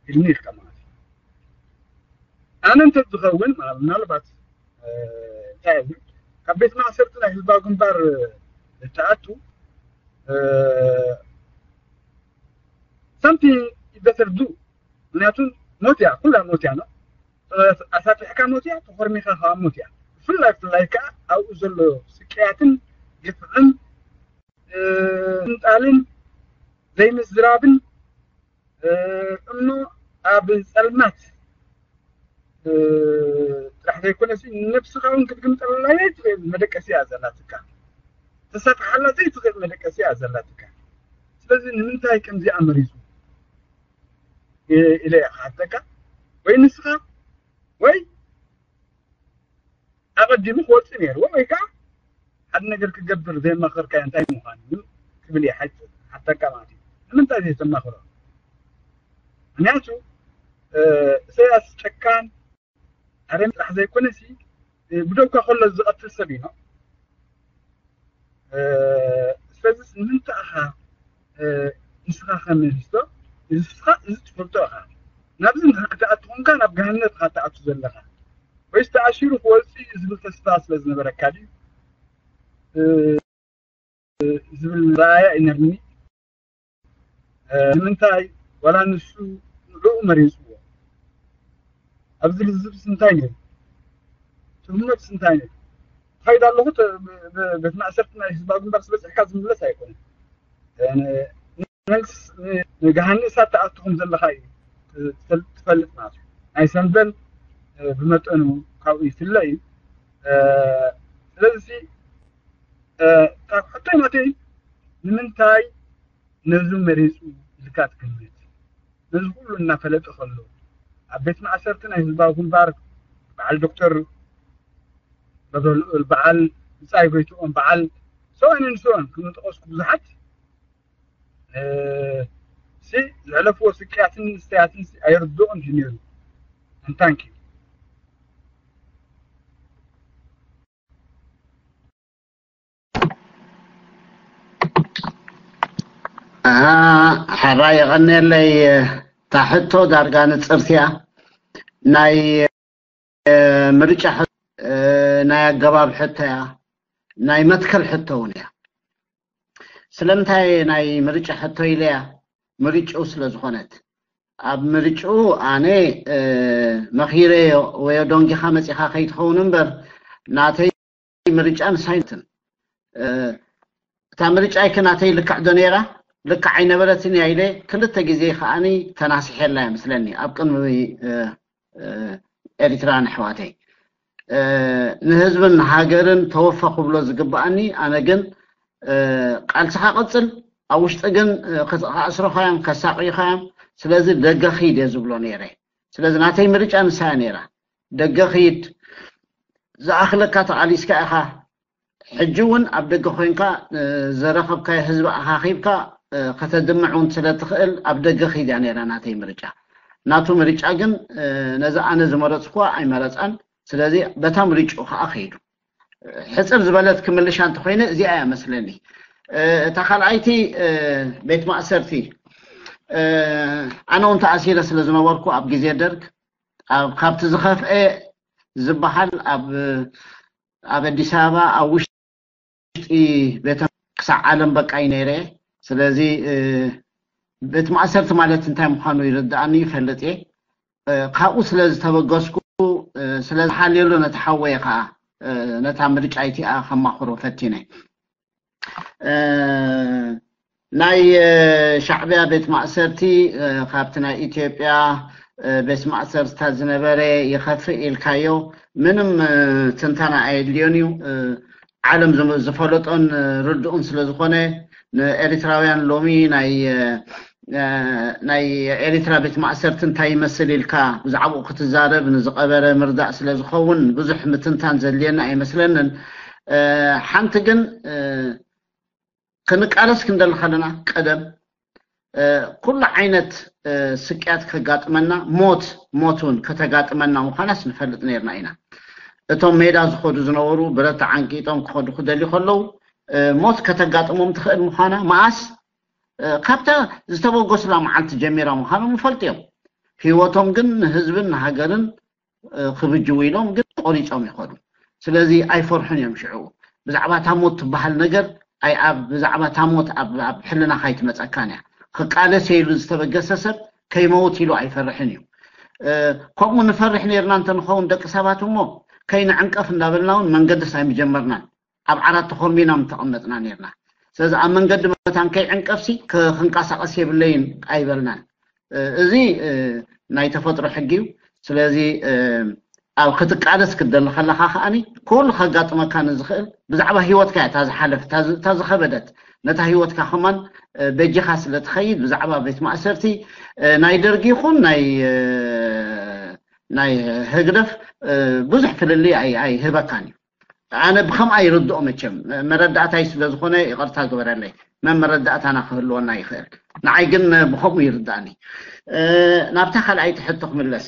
ኢልኒ ኢልካ ማለት እዩ። ኣነ እንተ ዝኸውን ምናልባት እንታይ እብል፣ ካብ ቤት ማእሰርቲ ናይ ህዝባዊ ግንባር እትኣቱ something you better do። ምክንያቱ ሞት እያ፣ ኩላ ሞት እያ ነው። ኣሳጢሕካ ሞት እያ፣ ተኾርሚኻ ከዓ ሞት እያ። ብፍላይ ብፍላይ ከዓ ኣብኡ ዘሎ ስቅያትን ግፍዕን ምንጣልን ዘይምዝራብን እሞ ኣብ ጸልማት ጥራሕ ዘይኮነሲ ነብስኻ እውን ክትግምጠላ ዘይትኽእል መደቀሲ እያ ዘላትካ። ተሳፍሓላ ዘይትኽእል መደቀሲ እያ ዘላትካ። ስለዚ ንምንታይ ከምዚኣ መሪጹ ኢለ እየ ክሓተካ። ወይ ንስኻ ወይ ኣቐዲሙ ክወጽእ ነይርዎ ወይ ከዓ ሓደ ነገር ክገብር ዘየማኸርካዮ እንታይ ምዃኑ ክብል እየ ሓተካ ማለት እዩ። ንምንታይ ዘይተማኽሮ? ምክንያቱ ኢሳያስ ጨካን ኣረም ጥራሕ ዘይኮነሲ ብደውካ ከሎ ዝቐትል ሰብ እዩ። ስለዚ ንምንታይ ኢኻ ንስኻ ከመልስቶ ንስኻ እዚ ትፈልጦ ኢኻ። ናብዚ ክትኣቱ ኮንካ ናብ ገሃነት ኢኻ ትኣቱ ዘለኻ ወይስ ተኣሲሩ ክወፅእ እዩ ዝብል ተስፋ ስለ ዝነበረካ ድዩ ዝብል ራእያ ይነርኒ። ንምንታይ ዋላ ንሱ ንዕኡ መሪፅዎ ኣብዚ ልዝብስ እንታይ ነይሩ? ትህመት እንታይ ነይሩ? ትኸይድ ኣለኹ ቤት ማእሰርቲ ናይ ህዝባዊ ግንባር ዝበፅሕካ ዝምለስ ኣይኮነን። ንገሃኒ እሳት ተኣትኹም ዘለኻ እዩ ትፈልጥ ማለት እዩ። ናይ ሰንበል ብመጠኑ ካብኡ ይፍለ እዩ። ስለዚ ካብ ሕቶይ ናተይ ንምንታይ ነዚ መሪፁ ኢልካ ትግምት? ነዚ ኩሉ እናፈለጠ ከሎ ኣብ ቤት ማእሰርቲ ናይ ህዝባዊ ግንባር በዓል ዶክተር ገብረልኡል፣ በዓል ብፃይ ጎይትኦም፣ በዓል ሰውኣንን ሰውኣን ክምጠቐስኩ ብዙሓት ሲ ዘሕለፍዎ ስቅያትን ንስተያትን ኣይርድኦን እዩ ነይሩ። ንታንኪ ሓራ የቐነለይ። እታ ሕቶ ዳርጋ ንፅርትያ ናይ ምርጫ ናይ ኣገባብ ሕቶ እያ፣ ናይ መትከል ሕቶ እውን እያ። ስለምንታይ ናይ ምርጫ ሕቶ ኢለያ? ምርጭኡ ስለ ዝኾነት። ኣብ ምርጭኡ ኣነ መኺረዮ ወዮ ዶንጊኻ መፂኻ ከይትኸውን እምበር ናተይ ምርጫ ንሳይንትን እታ ምርጫ ይከ ናተይ ልክዕ ዶ ነይራ? ልክዕ ኣይነበረትን እያ ኢለ ክልተ ግዜ ከዓኒ ተናሲሐላ እያ ምስለኒ ኣብ ቅድሚ ኤሪትራን ኣሕዋተይ። ንህዝብን ሃገርን ተወፈ ክብሎ ዝግብኣኒ፣ ኣነ ግን ቃልስኻ ቀጽል፣ ኣብ ውሽጢ ግን ክኣስሩኻ እዮም፣ ከሳቕዩኻ እዮም፣ ስለዚ ደገ ኺድ እየ ዝብሎ ነይረ። ስለዚ ናተይ ምርጫ ንሳ እያ ነይራ። ደገ ኺድ፣ ዝኣኽለካ ተቓሊስካ ኢኻ፣ ሕጂ እውን ኣብ ደገ ኮይንካ ዘረኸብካዮ ህዝቢ ኣኻኺብካ ከተድምዕ እውን ስለ ትኽእል ኣብ ደገ ኺድ እያ ነይራ ናተይ ምርጫ። ናቱ ምርጫ ግን ነዚ ኣነ ዝመረፅኩዋ ኣይመረፃን። ስለዚ በታ ምርጭኡ ከዓ ከይዱ። ሕፅር ዝበለት ክምልሻ እንተኮይነ እዚኣ እያ መስለኒ። እታ ካልኣይቲ ቤት ማእሰርቲ ኣነ እውን ተኣሲረ ስለ ዝነበርኩ ኣብ ግዜ ደርግ ካብቲ ዝኸፍአ ዝበሃል ኣብ ኣብ ኣዲስ ኣበባ ኣብ ውሽጢ ቤተ ክሳዕ ዓለም በቃ እዩ ነይረ። ስለዚ ቤት ማእሰርቲ ማለት እንታይ ምዃኑ ይርድኣኒ ይፈልጥ እየ። ካብኡ ስለ ዝተበገስኩ ስለ ዝሓልየሉ ነቲ ሓወየ ከዓ ነታ ምርጫ ኢቲኣ ከማኽሮ ፈቲነ። ናይ ሻዕቢያ ቤት ማእሰርቲ ካብቲ ናይ ኢትዮጵያ ቤት ማእሰርትታት ዝነበረ ይኸፍእ ኢልካዮ ምንም ትንተና ኣየድልዮን እዩ። ዓለም ዝፈለጦን ርድኡን ስለ ዝኾነ ንኤሪትራውያን ሎሚ ናይ ናይ ኤሪትራ ቤት ማእሰርቲ እንታይ ይመስል ኢልካ ብዛዕባኡ ክትዛረብ ንዝቐበረ ምርዳእ ስለ ዝኸውን ብዙሕ ምትንታን ዘድልየና ኣይመስለንን። ሓንቲ ግን ክንቃለስ ክንደሊ ከለና ቀደም ኩሉ ዓይነት ስቅያት ከጋጥመና ሞት ሞት እውን ከተጋጥመና ምዃናስ ንፈልጥ ነርና ኢና። እቶም ሜዳ ዝኸዱ ዝነበሩ ብረት ተዓንቂጦም ክኸዱ ክደልዩ ከለዉ ሞት ከተጋጥሞም ትኽእል ምዃና መኣስ ካብታ ዝተበገሱላ መዓልቲ ጀሚራ ምዃኖም ይፈልጡ እዮም። ህይወቶም ግን ንህዝብን ንሃገርን ክብጅዉ ኢሎም ግን ቆሪፆም ይኸዱ። ስለዚ ኣይፈርሑን እዮም ሽዑ። ብዛዕባ እታ ሞት ትበሃል ነገር ኣይ ኣብ ብዛዕባ እታ ሞት ኣብ ኣብ ሕልናኻ ኣይትመፀካን እያ። ክቃለስ እየ ኢሉ ዝተበገሰ ሰብ ከይመውት ኢሉ ኣይፈርሕን እዩ። ከምኡ ንፈርሕ ነርና እንተንኸውን ደቂ ሰባት እሞ ከይንዕንቀፍ እንዳበልና እውን መንገድስ ኣይምጀመርናን። ኣብ ዓራት ተኾርሚና ምተቐመጥና ነርና። ስለዚ ኣብ መንገዲ መታን ከይዕንቀፍሲ ክንቀሳቐስ የብለይን ኣይበልናን። እዚ ናይ ተፈጥሮ ሕጊ እዩ። ስለዚ ኣብ ክትቃለስ ክትደሊ ከለኻ ከዓኒ ኩሉ ከጋጥመካ ንዝኽእል ብዛዕባ ህይወትካ እያ እታ ዝሓለፍ እታ ዝኸበደት ነታ ህይወትካ ከማን በጂኻ ስለ ትኸይድ ብዛዕባ ቤት ማእሰርቲ ናይ ደርጊ ይኹን ናይ ናይ ህግደፍ ብዙሕ ፍልልይ ኣይህበካን እዩ። ኣነ ብከምኣ ይርድኦ መቸም መረዳእታይ ስለ ዝኾነ ይቕርታ ግበረለይ። መን መረዳእታና ክህልወና ይኽእል። ንዓይ ግን ብከምኡ ይርዳእኒ። ናብታ ካልኣይቲ ሕቶ ክምለስ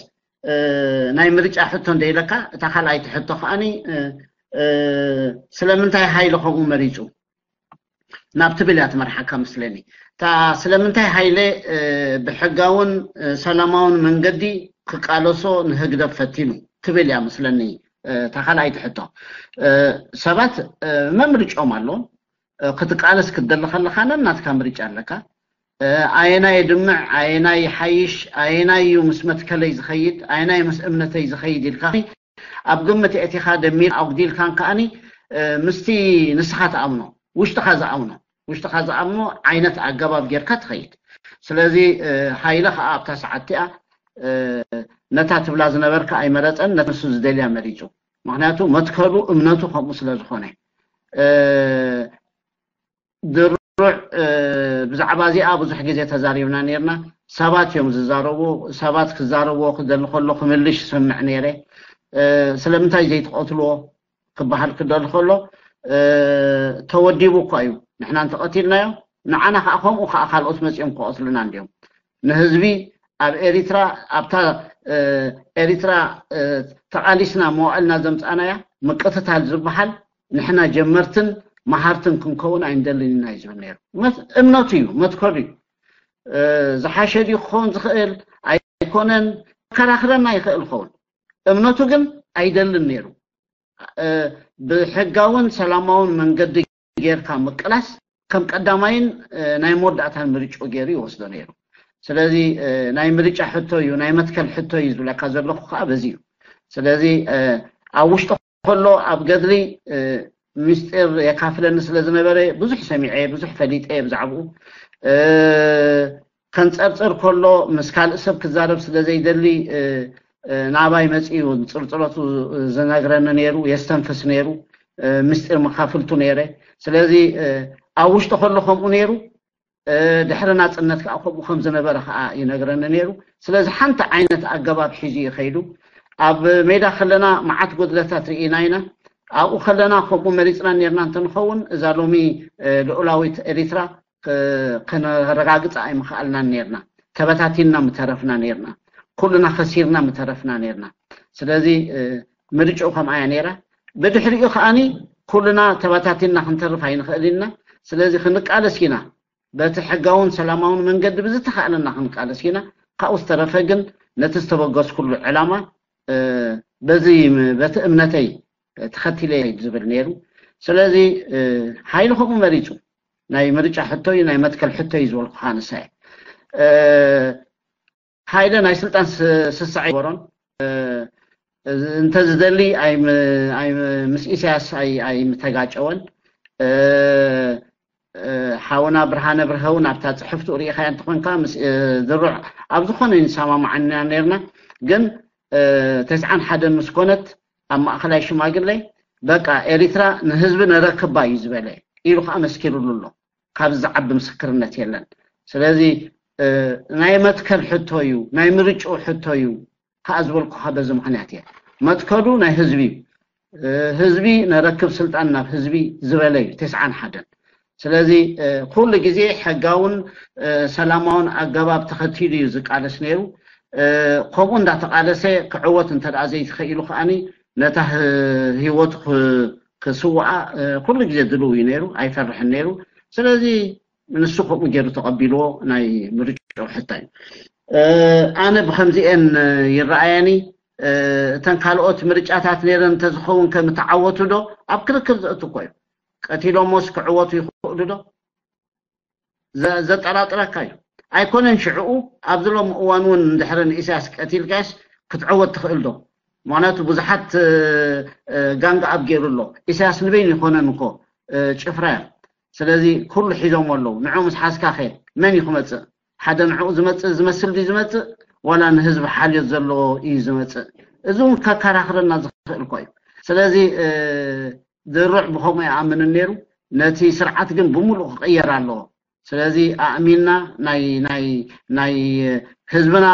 ናይ ምርጫ ሕቶ እንደ ኢለካ እታ ካልኣይቲ ሕቶ ከዓኒ ስለምንታይ ሃይለ ከምኡ መሪፁ? ናብ ትብል እያ ትመርሓካ መስለኒ። እታ ስለምንታይ ሃይለ ብሕጋውን ሰላማውን መንገዲ ክቃለሶ ንህግደፍ ፈቲኑ ትብል እያ መስለኒ። እታ ካልኣይቲ ሕቶ ሰባት መምርጫኦም ኣለዎም። ክትቃለስ ክትደሊ ከለኻ ነናትካ ምርጫ ኣለካ። ኣየናይ የድምዕ፣ ኣየናይ ይሓይሽ፣ ኣየናይ እዩ ምስ መትከለይ ዝኸይድ፣ ኣየናይ ምስ እምነተይ ዝኸይድ ኢልካ ኣብ ግምት ኣእቲኻ ደሚር ኣጉዲልካን ከኣኒ ምስቲ ንስኻ ትኣምኖ፣ ውሽጥኻ ዝኣምኖ ውሽጥኻ ዝኣምኖ ዓይነት ኣገባብ ጌርካ ትኸይድ። ስለዚ ሃይለ ከዓ ኣብታ ሰዓት እቲኣ ነታ ትብላ ዝነበርካ ኣይመረፀን፣ ነቲ ንሱ ዝደልያ መሪፁ። ምክንያቱ መትከሉ እምነቱ ከምኡ ስለ ዝኾነ። ድሩዕ ብዛዕባ እዚኣ ብዙሕ ግዜ ተዛሪብና ነርና። ሰባት እዮም ዝዛረቡ። ሰባት ክዛረብዎ ክደሊ ከሎ ክምልሽ ይሰምዕ ነይረ። ስለምንታይ ዘይትቐትልዎ ክበሃል ክደሊ ከሎ ተወዲቡ እኳ እዩ፣ ንሕና እንተቐቲልናዮ ንዓና ከዓ ከምኡ ከዓ ካልኦት መፂኦም ክቐትሉና እንዲዮም። ንህዝቢ ኣብ ኤሪትራ ኣብታ ኤሪትራ ተቓሊስና መዋእልና ዘምፃእናያ ምቅትታል ዝበሃል ንሕና ጀመርትን መሃርትን ክንከውን ኣይንደልን ኢና እዩ ዝብል ነይሩ። እምነቱ እዩ፣ መትከሉ እዩ። ዝሓሸ ድዩ ክኸውን ዝኽእል ኣይኮነን ከራኽረና ይኽእል ኸውን። እምነቱ ግን ኣይደልን ነይሩ። ብሕጋውን ሰላማውን መንገዲ ጌርካ ምቅላስ ከም ቀዳማይን ናይ መወዳእታን ምርጫ ገይሩ ይወስዶ ነይሩ። ስለዚ ናይ ምርጫ ሕቶ እዩ፣ ናይ መትከል ሕቶ እዩ ዝብለካ ዘለኹ ከዓ በዚ እዩ። ስለዚ ኣብ ውሽጢ ከሎ ኣብ ገድሊ ምስጢር የካፍለኒ ስለ ዝነበረ ብዙሕ ሰሚዐ፣ ብዙሕ ፈሊጠ ብዛዕባኡ። ከንፀርፅር ከሎ ምስ ካልእ ሰብ ክዛረብ ስለ ዘይደሊ ናባይ መፂኡ ፅርፅረቱ ዝነግረኒ ነይሩ፣ የስተንፍስ ነይሩ፣ ምስጢር መካፍልቱ ነይረ። ስለዚ ኣብ ውሽጢ ከሎ ከምኡ ነይሩ፣ ድሕሪ ናፅነት ከዓ ከምኡ ከም ዝነበረ ከዓ ይነግረኒ ነይሩ። ስለዚ ሓንቲ ዓይነት ኣገባብ ሒዙ እዩ ከይዱ። ኣብ ሜዳ ከለና መዓት ጎድለታት ርኢና ኢና። ኣብኡ ከለና ከምኡ መሪፅና ነርና እንተንኸውን እዛ ሎሚ ልኡላዊት ኤሪትራ ከነረጋግፃ ኣይምኽኣልናን ነርና። ተበታቲንና ምተረፍና ነርና። ኩልና ከሲርና ምተረፍና ነርና። ስለዚ ምርጭኡ ከምኣ እያ ነይራ። ብድሕሪኡ ከዓኒ ኩልና ተበታቲንና ክንተርፍ ኣይንኽእል ኢና። ስለዚ ክንቃለስ ኢና። በቲ ሕጋውን ሰላማውን መንገዲ ብዝተኻእለና ክንቃለስ ኢና። ካብኡ ዝተረፈ ግን ነቲ ዝተበገስኩሉ ዕላማ በዚ በቲ እምነተይ ተኸቲለ ዝብል ነይሩ። ስለዚ ሓይሊ ከምኡ መሪፁ። ናይ ምርጫ ሕቶ እዩ፣ ናይ መትከል ሕቶ እዩ ዝበልኩ ንሳይ ሓይለ ናይ ስልጣን ስሳዕ ይበሮን እንተዝደሊ ምስ ኢሳያስ ኣይምተጋጨወን። ሓውና ብርሃነ ብርሀውን ኣብታ ፅሕፍቱ ርኢኻያ እንተኾንካ ምስ ድሩዕ ኣብ ዝኾነ ንሰማማዓና ነርና። ግን ተስዓን ሓደን ምስ ኮነት ኣብ ማእኸላይ ሽማግለ በቃ ኤሪትራ ንህዝቢ ነረክባ እዩ ዝበለ ኢሉ ከዓ መስኪሩሉ ኣሎ። ካብዚ ዝዓቢ ምስክርነት የለን። ስለዚ ናይ መትከል ሕቶ እዩ፣ ናይ ምርጭኡ ሕቶ እዩ ከዓ ዝበልኩካ በዚ ምክንያት እየ። መትከሉ ናይ ህዝቢ እዩ። ህዝቢ ነረክብ ስልጣን ናብ ህዝቢ ዝበለ እዩ ተስዓን ሓደን። ስለዚ ኩሉ ግዜ ሕጋውን ሰላማውን ኣገባብ ተኸቲሉ እዩ ዝቃለስ ነይሩ። ከምኡ እንዳተቃለሰ ክዕወት እንተ ዘይተኸኢሉ ከዓኒ ነታ ህይወቱ ክስውኣ ኩሉ ግዜ ድልው እዩ ነይሩ፣ ኣይፈርሕን ነይሩ። ስለዚ ንሱ ከምኡ ገይሩ ተቐቢልዎ ናይ ምርጫ ሕቶ እዩ። ኣነ ብከምዚኤን ይረኣየኒ። እተን ካልኦት ምርጫታት ነይረን እንተዝኸውን ከምተዓወቱ ዶ ኣብ ክርክር ዘእቱ እኮ እዩ። ቀቲሎሞስ ክዕወቱ ይኽእሉ ዶ? ዘጠራጥረካ እዩ። ኣይኮነን ሽዕኡ ኣብዚ ሎም እዋን እውን እንድሕሪ ንኢሳያስ ቀቲልካስ ክትዕወት ትኽእል ዶ? ምክንያቱ ብዙሓት ጋንግ ኣብ ገይሩ ኣሎ። ኢሳያስ ንበይኑ ይኮነን እኮ ጭፍራ እዮም። ስለዚ ኩሉ ሒዞም ኣለዉ። ንዑ ምስ ሓዝካ ከ መን እዩ ክመፅእ? ሓደ ንዕኡ ዝመፅእ ዝመስል ድዩ ዝመፅእ ዋላ ንህዝቢ ሓልዮት ዘለዎ እዩ ዝመፅእ? እዚ እውን ከከራኽረና ዝኽእል እኮ እዩ። ስለዚ ድሩዕ ብኸምኡ ይኣምንን ነይሩ። ነቲ ስርዓት ግን ብምሉእ ክቕየር ኣለዎ። ስለዚ ኣእሚንና ናይ ናይ ናይ ህዝብና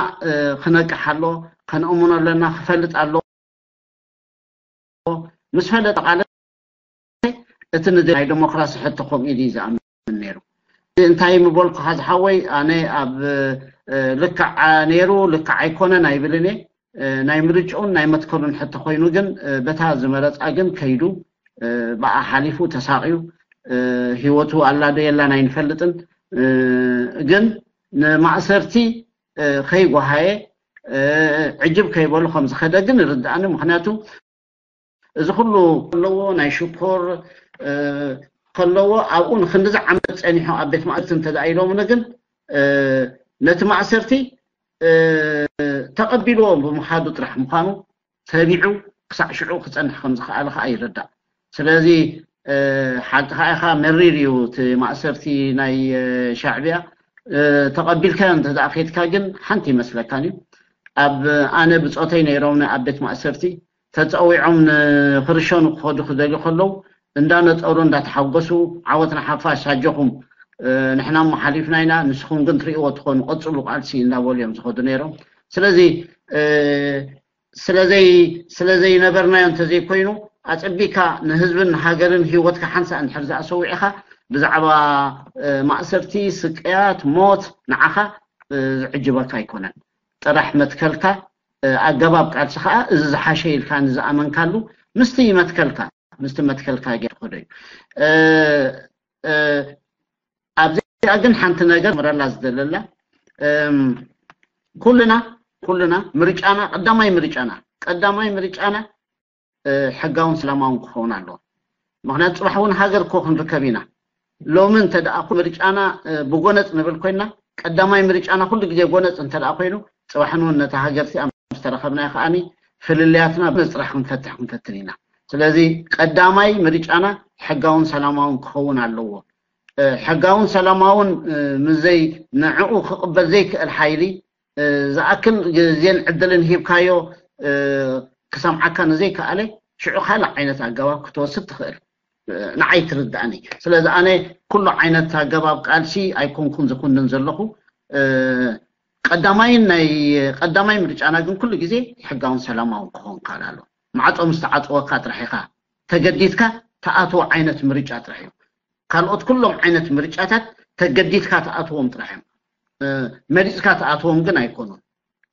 ክነቅሕ ኣሎ፣ ከነእምኖ ኣለና፣ ክፈልጥ ኣሎ። ምስ ፈለጠ ቃለ እቲ ናይ ዲሞክራሲ ሕቶ ከምኡ ኢሉ እዩ ዝኣምን ነይሩ። እንታይ ምበልኩኻ ዝሓወይ፣ ኣነ ኣብ ልክዕ ነይሩ ልክዕ ኣይኮነን ኣይብልን እየ። ናይ ምርጭኡን ናይ መትከሉን ሕቶ ኮይኑ ግን በታ ዝመረፃ ግን ከይዱ ብኣ ሓሊፉ ተሳቕዩ እ፣ ህይወቱ ኣላ ዶ የላን ኣይንፈልጥን። እ፣ ግን ንማእሰርቲ፣ እ፣ ከይጓሃየ፣ እ፣ ዕጅብ ከይበሉ ከም ዝኸደ ግን ይርድኣኒ። ምኽንያቱ እዚ ኩሉ ከለዎ፣ ናይ ሽኮር፣ እ፣ ከለዎ፣ ኣብኡ ንክንድዚ ዓመት ጸኒሑ ኣብ ቤት ማእሰርቲ እንተ ደኣ ኢሎምኒ ግን፣ እ፣ ነቲ ማእሰርቲ፣ እ፣ ተቐቢልዎ ብምኻዱ ጥራሕ ምዃኑ ተቢዑ ክሳዕ ሽዑ ክጸንሕ ከም ዝኸኣለ ከኣ ይርዳእ። ስለዚ፣ እ፣ ሓቂ ከኣ ኢኻ፣ መሪር እዩ እቲ ማእሰርቲ ናይ፣ እ፣ ሻዕብያ። እ፣ ተቐቢልካዮ እንተ ደኣ ኬድካ ግን ሓንቲ ይመስለካን እዩ። ኣብ፣ ኣነ ብጾተይ ነይሮም ኣብ ቤት ማእሰርቲ፣ ተጸዊዖም ንክርሸኑ ክኸዱ ክደልዩ ከለዉ፣ እንዳነጠሩ እንዳተሓጎሱ፣ "ዓወት ንሓፋሽ፣ ኣጆኹም፣ እ፣ ንሕና እሞ ሓሊፍና ኢና፣ ንስኹም ግን ትርእይዎ ትኾኑ፣ ቀጽሉ ቃልሲ" እንዳበሉ እዮም ዝኸዱ ነይሮም። ስለዚ፣ እ፣ ስለዘይ-፣ ስለዘይነበርናዮ እንተዘይኮይኑ፣ ኣጸቢካ ንህዝብን ንሃገርን ህይወትካ ሓንሳእ እንድሕር ዝኣሰዊዕኻ፣ ብዛዕባ፣ እ፣ ማእሰርቲ፣ ስቅያት፣ ሞት ንዓኻ፣ እ፣ ዝዕጅበካ ኣይኮነን። ጥራሕ መትከልካ፣ እ፣ ኣገባብ ቃልሲ ኸኣ እዚ ዝሓሸ ኢልካ ንዝኣመንካሉ ምስቲ መትከልካ፣ ምስቲ መትከልካ ጌር ትኸዶ እዩ። እ፣ እ፣ ኣብዚኣ ግን ሓንቲ ነገር ምረላ ዝደለላ፣ እም፣ ኩልና፣ ኩልና ምርጫና፣ ቀዳማይ ምርጫና፣ ቀዳማይ ምርጫና፣ እ፣ ሕጋውን ሰላማውን ክኸውን ኣለዎ። ምኽንያቱ ጽባሕ እውን ሃገር እኮ ክንርከብ ኢና። ሎሚ እንተ ደኣ ኩሉ ምርጫና፣ እ፣ ብጎነጽ ንብል ኮይና፣ ቀዳማይ ምርጫና ኩሉ ግዜ ጎነጽ እንተ ደኣ ኮይኑ፣ ጽባሕ ንውን ነታ ሃገር እዚኣ ምስ ተረኸብናዮ ከኣኒ ፍልልያትና ብመጽራሕ ክንፈትሕ ክንፈትን ኢና። ስለዚ ቀዳማይ ምርጫና ሕጋውን ሰላማውን ክኸውን ኣለዎ። እ፣ ሕጋውን ሰላማውን፣ እ፣ ምዘይ ንዕኡ ክቕበል ዘይክእል ሓይሊ፣ እ፣ ዝኣክል ግዜን ዕድልን ሂብካዮ፣ እ፣ ክሰምዓካ ንዘይከኣለ፣ ሽዑ ካልእ ዓይነት ኣገባብ ክትወስድ ትኽእል። እ፣ ንዓይ ትርድኣኒ። ስለዚ ኣነ ኩሉ ዓይነት ኣገባብ ቃልሲ ኣይኮንኩን ዝኩንን ዘለኹ። እ፣ ቀዳማይን ናይ ቀዳማይ ምርጫና ግን ኩሉ ግዜ ሕጋውን ሰላማውን ክኸውን ክኽእል ኣለዎ። ማዕጾ ምስ ተዓጽወካ ጥራሕ ኢኻ ተገዲድካ ትኣትዎ ዓይነት ምርጫ ጥራሕ እዩ። ካልኦት ኩሎም ዓይነት ምርጫታት ተገዲድካ ትኣትዎም ጥራሕ እዮም። እ፣ መሪጽካ ትኣትዎም ግን ኣይኮኑን።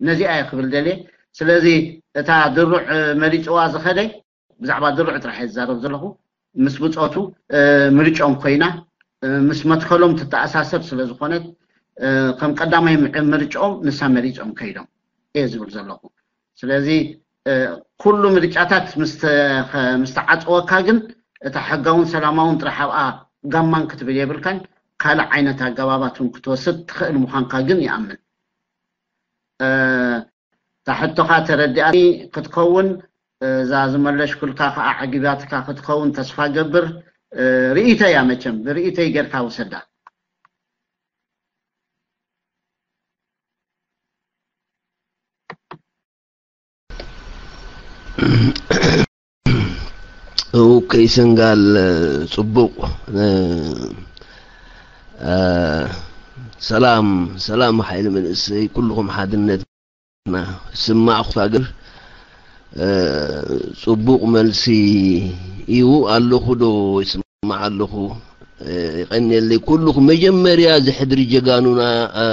ነዚኣ እየ ክብል ደልየ። ስለዚ እታ ድሩዕ፣ እ፣ መሪጽዋ ዝኸደ፣ ብዛዕባ ድሩዕ ጥራሕ እየ ዝዛረብ ዘለኹ። ምስ ብጾቱ፣ እ፣ ምርጫኦም ኮይና፣ እ፣ ምስ መትከሎም ትተኣሳሰር ስለ ዝኾነት፣ እ፣ ከም ቀዳማይ ምዕ-፣ ምርጫኦም ንሳ መሪጾም ከይዶም እየ ዝብል ዘለኹ። ስለዚ፣ እ፣ ኩሉ ምርጫታት ምስ ተ-፣ ኸ-፣ ምስ ተዓጽወካ ግን እታ ሕጋውን ሰላማውን ጥራሕ ኣብኣ ጋማን ክትብል የብልካን። ካልእ ዓይነት ኣገባባት እውን ክትወስድ ትኽእል ምዃንካ ግን ይኣምን። እ፣ እታ ሕቶኻ ተረዲኣኒ ክትከውን፣ እ፣ እዛ ዝመለሽኩልካ ከኣ ዓጊባትካ ክትከውን ተስፋ ገብር። እ፣ ርእይቶይ እያ መቸም፣ ብርእይቶይ ጌርካ ውሰዳ። ኦኬ፣ ሰንጋል፣ እ፣ ጽቡቕ። እ፣ እ፣ ሰላም፣ ሰላም ሓይሊ መንእሰይ፣ ኩልኹም ሓድነትና ስማዕኹ ሃገር። እ፣ ጽቡቕ መልሲ እዩ። ኣለኹ ዶ ይስማዕ ኣለኹ? እ፣ ይቐንየለይ። ኩልኹም መጀመርያ ዝሕድሪ ጀጋኑና፣ እ፣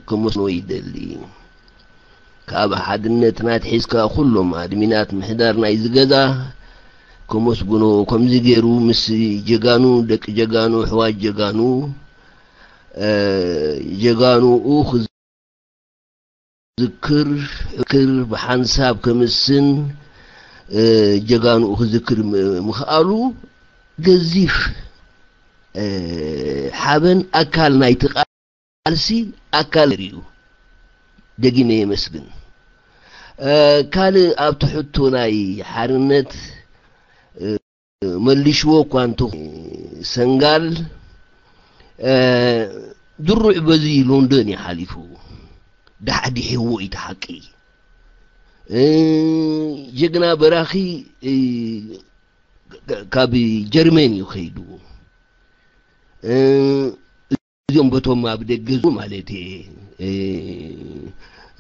ክመስኖ ይደሊ። ካብ ሓድነትና ኣትሒዝካ ኩሎም ኣድሚናት ምሕዳር ናይዚ ገዛ ከመስግኖ፣ ከምዚ ገይሩ ምስ ጀጋኑ፣ ደቂ ጀጋኑ፣ ኣሕዋት ጀጋኑ፣ እ፣ ጀጋኑኡ ክዝክር፣ ክር ብሓንሳብ ከምስን፣ እ፣ ጀጋኑኡ ክዝክር ም-፣ ምኽኣሉ ገዚፍ፣ እ፣ ሓበን ኣካል ናይቲ ቃልሲ ኣካል እዩ። ደጊመ የመስግን። እ፣ ካልእ ኣብቲ ሕቶ ናይ ሓርነት፣ እ፣ መልሽዎ እኳ እንተ ሰንጋል፣ እ፣ ድሩዕ በዚ ሎንዶን እዩ ሓሊፉ። ዳሕዲሕዎ እዩ እቲ ሓቂ። እ፣ ጀግና በራኺ፣ እ፣ ካብ ጀርመን እዩ ከይዱ። እ፣ እዚኦም በቶም ኣብ ደገ ዙ ማለት እየ፣ እ፣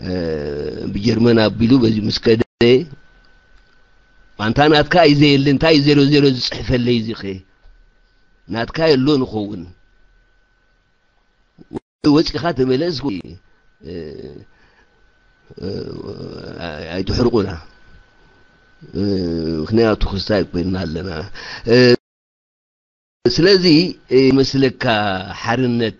እ፣ ብጀርመን ኣቢሉ በዚ ምስ ከደ፣ ኣንታ ናትካ እዩ ዘየለ፣ እንታይ እዩ ዜሮ ዜሮ ዝጽሕፈለይ እዚ ኸ? ናትካ የሎ ንኸውን። ወጺኻ ተመለስ፣ እ፣ እ፣ ኣይትሕርቁና። እ፣ ምኽንያቱ ክስታይ ኮይንና ኣለና። እ፣ ስለዚ ይመስለካ ሓርነት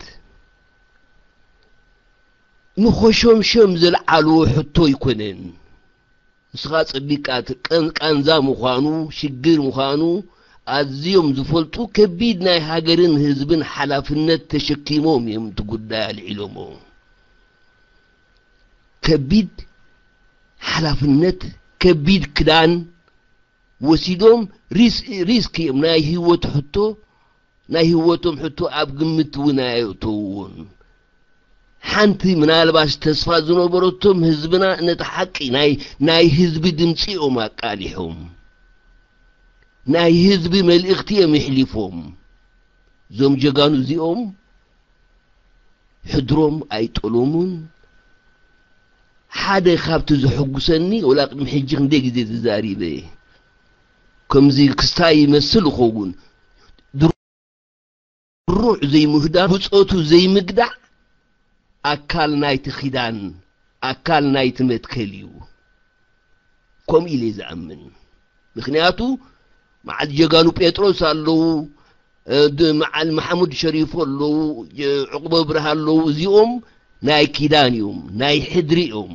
ንኾሾምሸም ዘልዓልዎ ሕቶ ኣይኮነን። ንስኻ ጸቢቃ እቲ ቀን-፣ ቃንዛ ምዃኑ፣ ሽግር ምዃኑ ኣዝዮም ዝፈልጡ፣ ከቢድ ናይ ሃገርን ህዝብን ሓላፍነት ተሸኪሞም እዮም እቲ ጉዳይ ኣልዒሎሞ። ከቢድ ሓላፍነት፣ ከቢድ ክዳን ወሲዶም ሪስ-፣ ሪስክ እዮም። ናይ ህይወት ሕቶ፣ ናይ ህይወቶም ሕቶ ኣብ ግምት እውን ኣየእተውዎን። ሓንቲ ምናልባሽ ተስፋ ዝነበረቶም ህዝብና ነቲ ሓቂ ናይ፣ ናይ ህዝቢ ድምጺ እዮም ኣቃሊሖም። ናይ ህዝቢ መልእኽቲ እዮም የሕሊፎም። እዞም ጀጋኑ እዚኦም ሕድሮም ኣይጠለሙን። ሓደ ካብቲ ዘሐጉሰኒ፣ ወላ ቅድሚ ሕጂ ክንደይ ግዜ ተዛሪበ፣ ከምዚ ክስታይ ይመስል ይኸውን፣ ድሩዕ ዘይምህዳን፣ ብጾቱ ዘይምግዳዕ ኣካል ናይቲ ኪዳን፣ ኣካል ናይቲ መትከል እዩ። ከምኡ ኢለ ዝኣምን። ምኽንያቱ መዓል ጀጋኑ ጴጥሮስ ኣለዉ፣ እ፣ ድ-፣ መዓል መሓሙድ ሸሪፎ ኣለዉ፣ የ-፣ ዕቁበ ብርሃ ኣለዉ። እዚኦም ናይ ኪዳን እዮም፣ ናይ ሕድሪ እዮም።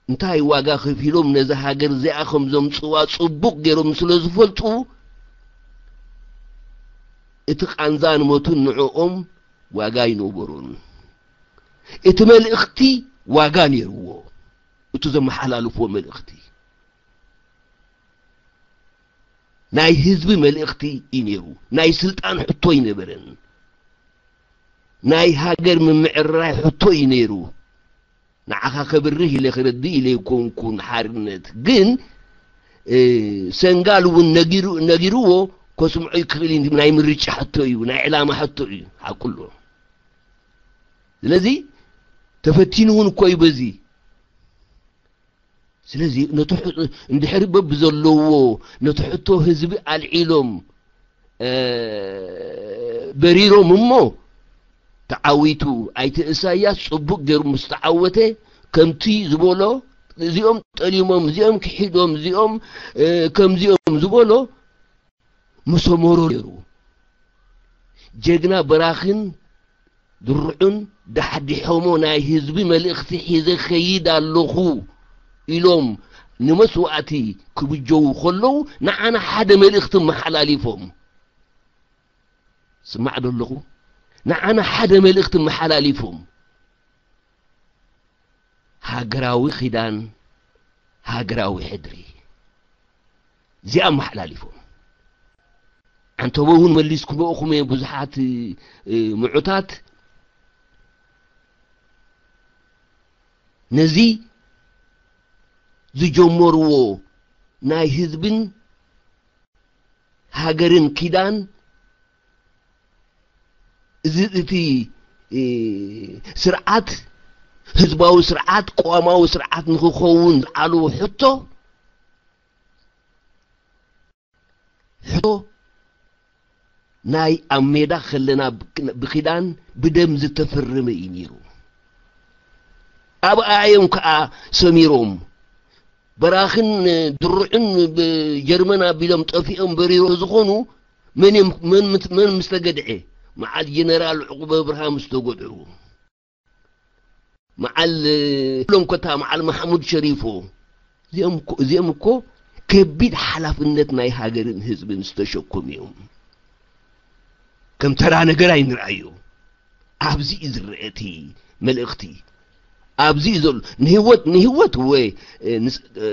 እንታይ ዋጋ ከፊሎም ነዛ ሃገር እዚኣ ከም ዘምጽዋ ጽቡቕ ገይሮም ስለ ዝፈልጡ፣ እቲ ቃንዛን ሞትን ንዕኦም ዋጋ ኣይነበሮን። እቲ መልእኽቲ ዋጋ ነይርዎ። እቲ ዘመሓላልፎ መልእኽቲ ናይ ህዝቢ መልእኽቲ እዩ ነይሩ። ናይ ስልጣን ሕቶ ኣይነበረን። ናይ ሃገር ምምዕርራይ ሕቶ እዩ ነይሩ። ንዓኻ ከብርህ ኢለ ክረድእ ኢለ ኣይኮንኩን ሓርነት። ግን፣ እ፣ ሰንጋል እውን ነጊሩ-፣ ነጊርዎ ከስምዖ ይክእል እዩ። ናይ ምርጫ ሕቶ እዩ፣ ናይ ዕላማ ሕቶ እዩ። ሓቁ ኣሎ። ስለዚ ተፈቲኑ እውን እኮ እዩ በዚ። ስለዚ ነቲ ሕ-፣ እንድሕሪ በብዘለዎ ነቲ ሕቶ ህዝቢ ኣልዒሎም፣ እ፣ በሪሮም እሞ ተዓዊቱ። ኣይተ ኢሳያስ ጽቡቕ ገይሩ ምስ ተዓወተ፣ ከምቲ ዝበሎ፣ እዚኦም ጠሊሞም፣ እዚኦም ክሒዶም፣ እዚኦም፣ እ፣ ከምዚኦም ዝበሎ ምሰመሮ ነይሩ። ጀግና በራኽን ድርዑን ዳሕዲሖሞ ናይ ህዝቢ መልእኽቲ ሒዘ ኸይድ ኣለኹ ኢሎም ንመስዋእቲ ክብጀዉ ከለዉ፣ ንዓና ሓደ መልእኽቲ መሓላሊፎም። ስማዕ ዶ ኣለኹ? ንዓና ሓደ መልእኽቲ መሓላሊፎም። ሃገራዊ ኪዳን፣ ሃገራዊ ሕድሪ። እዚኣ ኣመሓላሊፎም። ዓንተቦ እውን መሊስኩምኦ እኹም እየ ብዙሓት፣ እ፣ ምዑታት። ነዚ ዝጀመርዎ ናይ ህዝብን ሃገርን ኪዳን፣ እዚ እቲ፣ እ፣ ስርዓት፣ ህዝባዊ ስርዓት፣ ቅዋማዊ ስርዓት ንኽኸውን ዝዓልዎ ሕቶ፣ ሕቶ ናይ ኣብ ሜዳ ከለና ብ-፣ ብኪዳን ብደም ዝተፈረመ እዩ ነይሩ። ኣብኣ እዮም ከኣ ሰሚሮም። በራኽን ድሩዕን ብጀርመን ኣቢሎም ጠፊኦም በሪሮ ዝኾኑ መን እዮም፣ መን ምት-፣ መን ምስ ተገድዐ? መዓል ጀነራል ዕቁበ ብርሃ ምስ ተጎድዑ። መዓል፣ ኩሎም ኮታ መዓል ማሕሙድ ሸሪፎ። እዚኦም እኮ፣ እዚኦም እኮ ከቢድ ሓላፍነት ናይ ሃገርን ህዝብን ዝተሸከሙ እዮም። ከም ተራ ነገር ኣይንርኣዮ። ኣብዚ እዩ ዝረአ እቲ መልእኽቲ። ኣብዚ እዩ ዘሎ። ንህይወት፣ ንህይወት ወይ፣ እ፣ ንስ-፣ እ፣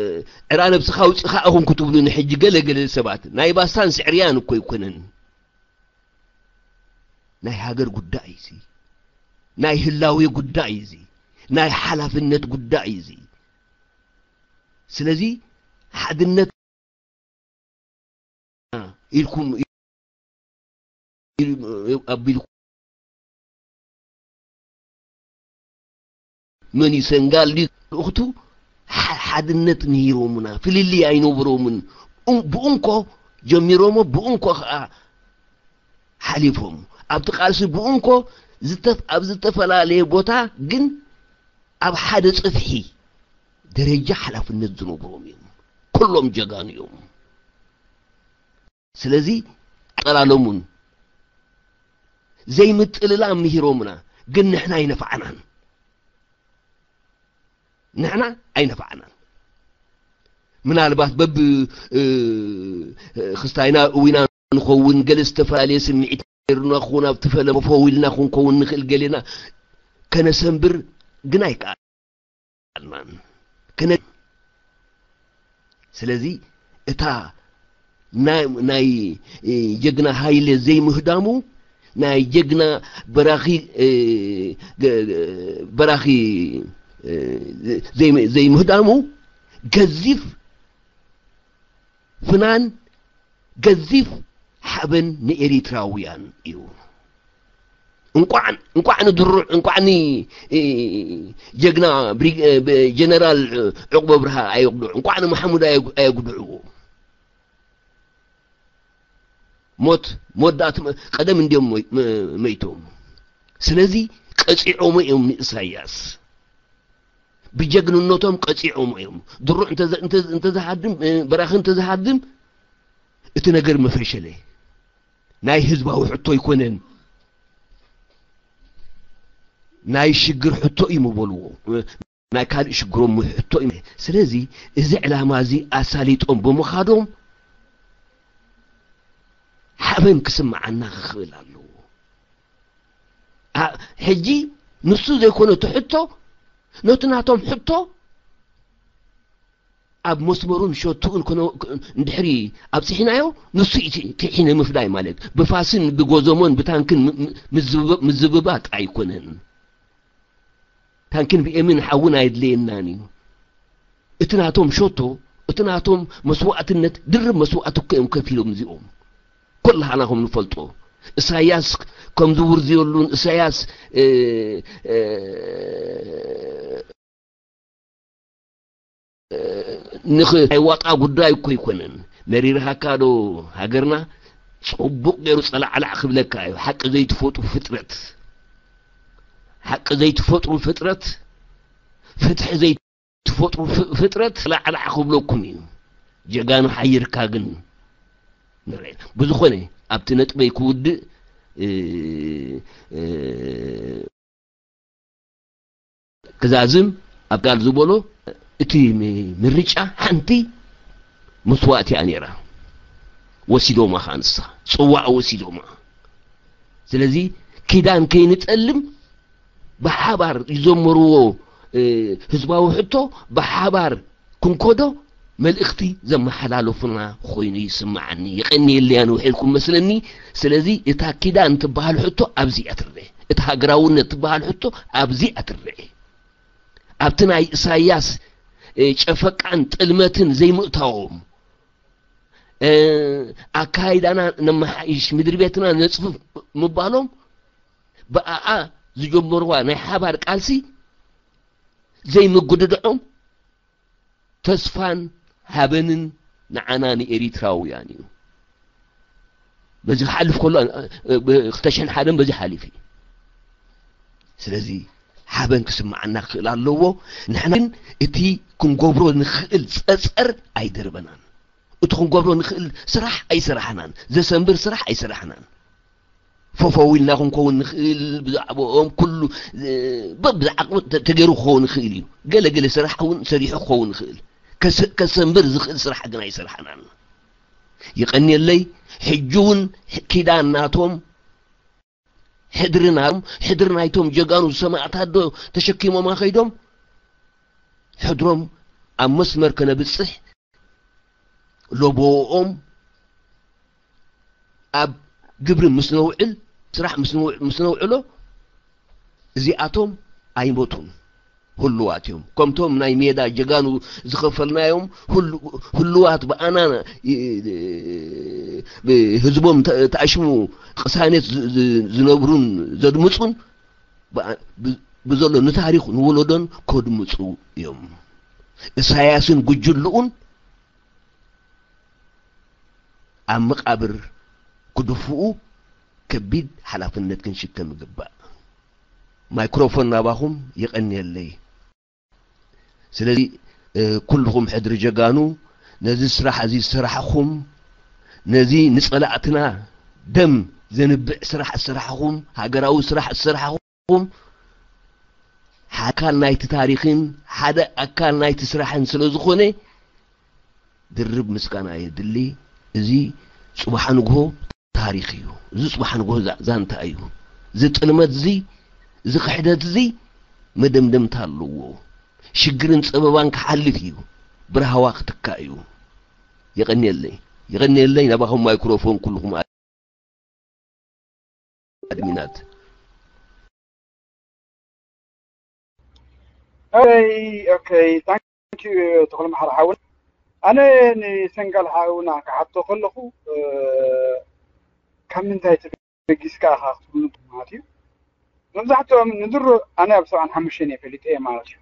ዕራ ነብስኻ ኣውጽኻ ኢኹም ክትብሉ ንሕጂ ገለ ገለ ሰባት። ናይ ባስታን ስዕርያን እኮ ኣይኮነን። ናይ ሃገር ጉዳይ እዚ። ናይ ህላዌ ጉዳይ እዚ። ናይ ሓላፍነት ጉዳይ እዚ። ስለዚ ሓድነት ኢልኩም ኣቢልኩም መን እዩ ሰንጋል ድዩ? ልእኽቱ ሓ-፣ ሓድነት ነይሮምና፣ ፍልልይ ኣይነበሮምን። ኡን-፣ ብኡንኮ ጀሚሮሞ፣ ብኡንኮ ኸዓ ሓሊፎም። ኣብቲ ቃልሲ ብኡንኮ ዝተፍ-፣ ኣብ ዝተፈላለየ ቦታ ግን ኣብ ሓደ ጽፍሒ ደረጃ ሓላፍነት ዝነበሮም እዮም። ኩሎም ጀጋኑ እዮም። ስለዚ ኣይጠላለሙን። ዘይምጥልላ ምሂሮምና፣ ግን ንሕና ኣይነፋዕናን። ንሕና ኣይነፋዕናን። ምናልባት በብ ክስታይና እዊና ንኸውን፣ ገለ ዝተፈላለየ ስምዒት ነይሩና ክኸውን፣ ኣብ ትፈለ መፈው ኢልና ክንከውን ንኽእል፣ ገሌና ከነሰንብር ግን ኣይከኣልናን። ከነ ስለዚ እታ ናይ ጀግና ሃይለ ዘይምህዳሙ፣ ናይ ጀግና በራኺ በራኺ ዘይምህዳሙ ገዚፍ ፍናን፣ ገዚፍ ሓበን ንኤሪትራውያን እዩ። እንቋዕ እንቋዕ ንድሩዕ እንቋዕ ጀግና ጀነራል ዕቁበ ብርሃ ኣየጉድዑ፣ እንቋዕ ንማሕሙድ ኣየጉድዕዎ። ሞት መወዳእቲ ቀደም እንዲዮም መይቶም። ስለዚ ቀፂዖሞ እዮም ንእሳያስ። ብጀግንነቶም ቀፂዖሞ እዮም። ድሩዕ እንተዝሃድም፣ በራኺ እንተዝሃድም እቲ ነገር መፈሸለ። ናይ ህዝባዊ ሕቶ ኣይኮነን፣ ናይ ሽግር ሕቶ እዩ ምበልዎ። ናይ ካልእ ሽግሮም ሕቶ እዩ። ስለዚ እዚ ዕላማ እዚ ኣሳሊጦም ብምኻዶም ሓበን ክስምዓና ክኽእል ኣለዎ። ሕጂ ንሱ ዘይኮነ እቲ ሕቶ፣ ነቲ ናቶም ሕቶ ኣብ መስመሩን ሸቱኡን እንድሕሪ ኣብፅሒናዮ፣ ንሱ እዩ እቲ ሒነ ምፍዳይ ማለት። ብፋስን ብጎዘሞን ብታንክን ምዝብባጥ ኣይኮነን። ታንክን ቢኤምን ሓውን ኣየድለየናን እዩ። እቲ ናቶም ሸቶ፣ እቲ ናቶም መስዋእትነት፣ ድርብ መስዋእቲ እኮ እዮም ከፊሎም እዚኦም። ኩላህና ከም ንፈልጦ፣ እሳያስ ከም ዝውርዝየሉን እሳያስ ንኽ ኣይዋጣ ጉዳይ እኮ ኣይኮነን። መሪርሃካ ዶ ሃገርና? ጽቡቕ ገይሩ ጸላዕላዕ ክብለካ እዩ። ሓቂ ዘይትፈጥሩ ፍጥረት፣ ሓቂ ዘይትፈጥሩ ፍጥረት፣ ፍትሒ ዘይትፈጥሩ ፍጥረት ጸላዕላዕ ክብለኩም እዩ። ጀጋኑ ሓይርካ ግን ንርኤ። ብዝኾነ ኣብቲ ነጥበይ ክውድእ ክዛዝም ኣብ ጋል ዝበሎ፣ እቲ ምርጫ ሓንቲ መስዋእቲ እያ ነይራ። ወሲዶማ ኸዓ ንሳ ጽዋዕ ወሲዶማ። ስለዚ ኪዳን ከይንጠልም ብሓባር ዝዘመርዎ ህዝባዊ ሕቶ ብሓባር ክንከዶ መልእኽቲ ዘመሓላለፉና ኮይኑ ይስምዓኒ። የቐንየለይ፣ ኣነ ውሒድኩም መስለኒ። ስለዚ እታ ኪዳን ትበሃል ሕቶ ኣብዚ እያ ትረአ። እታ ሃገራውነት ትበሃል ሕቶ ኣብዚ እያ ትረአ። ኣብቲ ናይ ኢሳያስ ጨፈቃን ጥልመትን ዘይምእታዎም፣ ኣካይዳና ነመሓይሽ፣ ምድሪ ቤትና ነጽፍፍ ምባሎም፣ ብኣኣ ዝጀመርዋ ናይ ሓባር ቃልሲ ዘይምጉድድዖም ተስፋን ሓበንን ንዓና ንኤሪትራውያን እዩ። በዚ ክሓልፍ ከሎ፣ ብ-፣ ክልተ ሽሕን ሓደን በዚ ሓሊፉ እዩ። ስለዚ ሓበን ክስምዓና ክኽእል ኣለዎ። ንሕና ግን እቲ ክንገብሮ ንኽእል ጸጸር ኣይደርበናን። እቲ ክንገብሮ ንኽእል ስራሕ ኣይሰራሕናን። ዘሰንብር ስራሕ ኣይሰራሕናን። ፈፈው ኢልና ክንከውን ንኽእል፣ ብዛዕባኦም ኩሉ፣ እ፣ በብዝዓቕሙ ተ-፣ ተገይሩ ክኸውን ይኽእል እዩ። ገለ ገለ ስራሕ እውን ሰሪሑ ክኸውን ይኽእል። ከሰ-፣ ከሰንብር ዝኽእል ስራሕ ግን ኣይሰራሕናን። ይቐንየለይ፣ ሕጂ እውን ኪዳን ናቶም፣ ሕድሪ ናቶም፣ ሕድሪ ናይቶም ጀጋኑ ሰማእታት ዶ ተሸኪሞማ ከይዶም? ሕድሮም ኣብ መስመር ከነብጽሕ፣ ለቦኦም ኣብ ግብሪ ምስ ነውዕል፣ ስራሕ ምስ ነውዕ-፣ ምስ ነውዕሎ፣ እዚኣቶም ኣይሞቱን፣ ህሉዋት እዮም። ከምቶም ናይ ሜዳ ጀጋኑ ዝኸፈልናዮም ህሉ-፣ ህሉዋት ብኣና ይ-፣ ብህዝቦም ተ-፣ ተኣሽሙ ቅሳነት ዝ-፣ ዝ-፣ ዝነብሩን ዘድምጹን ብኣ-፣ ብ-፣ ብዘሎ ንታሪኽ ንወለዶን ከድምጹ እዮም። እሳያስን ጉጅልኡን ኣብ መቓብር ክድፍኡ ከቢድ ሓላፍነት ክንሽከም ይግባእ። ማይክሮፎን ናባኹም፣ የቐንየለይ። ስለዚ፣ እ፣ ኩልኹም ሕድሪ ጀጋኑ፣ ነዚ ስራሕ እዚ ዝሰራሕኹም፣ ነዚ ንጸላእትና ደም ዘንብዕ ስራሕ ዝሰራሕኹም፣ ሃገራዊ ስራሕ ዝሰራሕኹም፣ ሓደ ኣካል ናይቲ ታሪኽን ሓደ ኣካል ናይቲ ስራሕን ስለ ዝኾነ፣ ድርብ ምስጋና የድሊ። እዚ ጽባሕ ንግሆ ታሪኽ እዩ። እዚ ጽባሕ ንግሆ ዛ-፣ ዛንታ እዩ። እዚ ጥልመት እዚ፣ እዚ ክሕደት እዚ መደምደምታ ኣለዎ። ሽግርን ጸበባን ክሓልፍ እዩ። ብራህዋ ክትካእ እዩ። የቐንየለይ። የቐንየለይ። ናባኹም ማይክሮፎን ኩልኹም ኣድሚናት። Okay, okay. Thank you, ተኽለ መሓሪ ሓውና። ኣነ ንሰንጋል ሓውና ክሓቶ ከለኹ፣ እ፣ ካብ ምንታይ ተበጊስካ ኢኻ ክትብሉ ማለት እዩ። መብዛሕትኦም ንድሮ፣ ኣነ ኣብ ሰብዓን ሓሙሽተን እየ ፈሊጠ ማለት እዩ።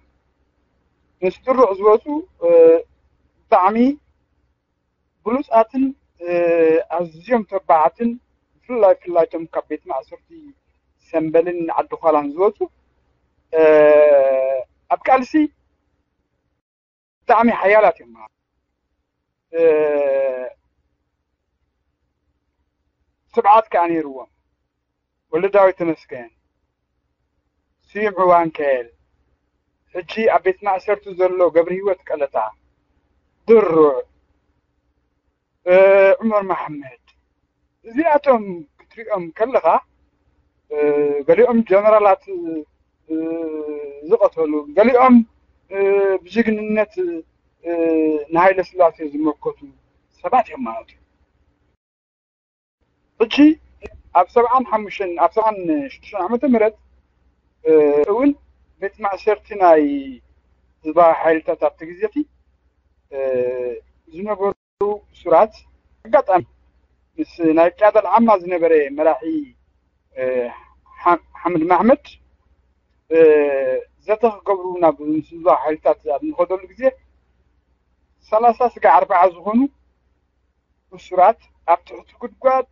ምስ ድሮ ዝወፁ፣ እ፣ ብጣዕሚ ብሉፃትን፣ እ፣ ኣዝዮም ተባዓትን፣ ብፍላይ፣ ብፍላይ እቶም ካብ ቤት ማእሰርቲ ሰምበልን ዓዲ ዃላን ዝወፁ፣ እ፣ ኣብ ቃልሲ ብጣዕሚ ሓያላት እዮም። እ፣ ትብዓት ከኣ ነይርዎም። ወልደዳዊት ተመስገን፣ ስዩም ዕዋንከል፣ ሕጂ ኣብ ቤት ማእሰርቲ ዘሎ ገብረሂወት ቀለታ፣ ድሩዕ፣ እ፣ ዑመር መሓመድ፣ እዚኣቶም ክትሪኦም ከለኻ፣ እ፣ ገሊኦም ጀነራላት፣ እ፣ ዝቐተሉ፣ ገሊኦም፣ እ፣ ብጅግንነት፣ እ፣ ንሃይለ ስላሴ ዝመከቱ ሰባት እዮም ማለት እዩ። ሕጂ ኣብ ሰብዓን ሓሙሽተን፣ ኣብ ሰብዓን ሽዱሽተን ዓመተ ምህረት፣ እ፣ እውን ቤት ማእሰርቲ ናይ ህዝባዊ ሓይልታት ኣብቲ ግዜ እቲ፣ እ፣ ዝነበሩ እሱራት፣ ኣጋጣሚ ምስ ናይ ቅያዳ ዓማ ዝነበረ መራሒ፣ እ፣ ሓ-፣ ሓምድ ማሕመድ፣ እ፣ ዘተ ክገብሩ ናብ ምስ ህዝባዊ ሓይልታት ኣብ ንኸደሉ ግዜ፣ ሰላሳ ስጋዕ ኣርብዓ ዝኾኑ እሱራት ኣብ ትሕቲ ጉድጓድ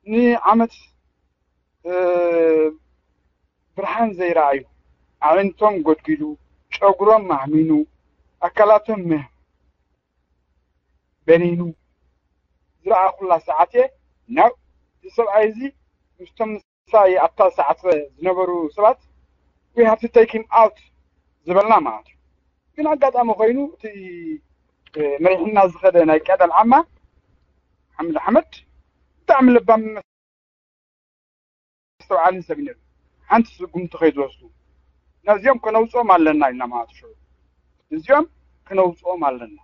ንዓመት፣ እ፣ ብርሃን ዘይረኣዩ፣ ኣዒንቶም ጎድጒዱ፣ ጨጉሮም ማህሚኑ፣ ኣካላቶም መህ-፣ በኒኑ ዝረኣኹላ ሰዓት እየ፣ ናብ፣ እዚ ሰብኣይ እዚ ምስቶም ምሳይ ኣብታ ሰዓት ዝነበሩ ሰባት፣ "We have to take him out" ዝበልና ማለት እዩ። ግን ኣጋጣሚ ኮይኑ እቲ፣ እ፣ መሪሕና ዝኸደ ናይ ቅያዳ ዓማ ሓምድ ኣሕመድ ብጣዕሚ ለባም መስተውዓልን ሰብ እዩ ነይሩ። ሓንቲ ስጉምቲ ከይዝወስዱ፣ ነዚኦም ከነውፅኦም ኣለና ኢልና ማለት እዩ። ነዚኦም ከነውፅኦም ኣለና።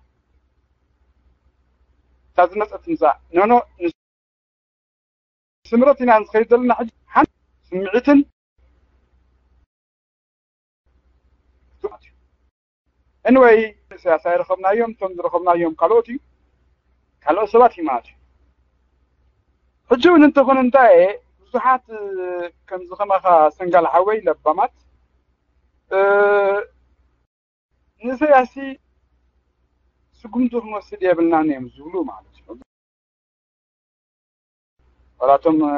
እታ ዝመፀት ምፃእ፣ ኖ፣ ኖ፣ ስምረት ኢና ንኸይድ ዘለና። ሕጂ ሓንቲ ስምዒትን፣ anyway፣ ኢሳያስ ኣይረኸብናዮም፣ እቶም ዝረኸብናዮም ካልኦት እዩ፣ ካልኦት ሰባት እዩ ማለት እዩ። ሕጂ እውን እንተኾነ እንታይ እየ፣ ብዙሓት፣ እ፣ ከምዚ ከማኻ ሰንጋል ሓወይ ለባማት፣ እ፣ ንኢሳያስ ስጉምቲ ክንወስድ የብልናን እዮም ዝብሉ ማለት እዩ። ዋላ እቶም፣ እ፣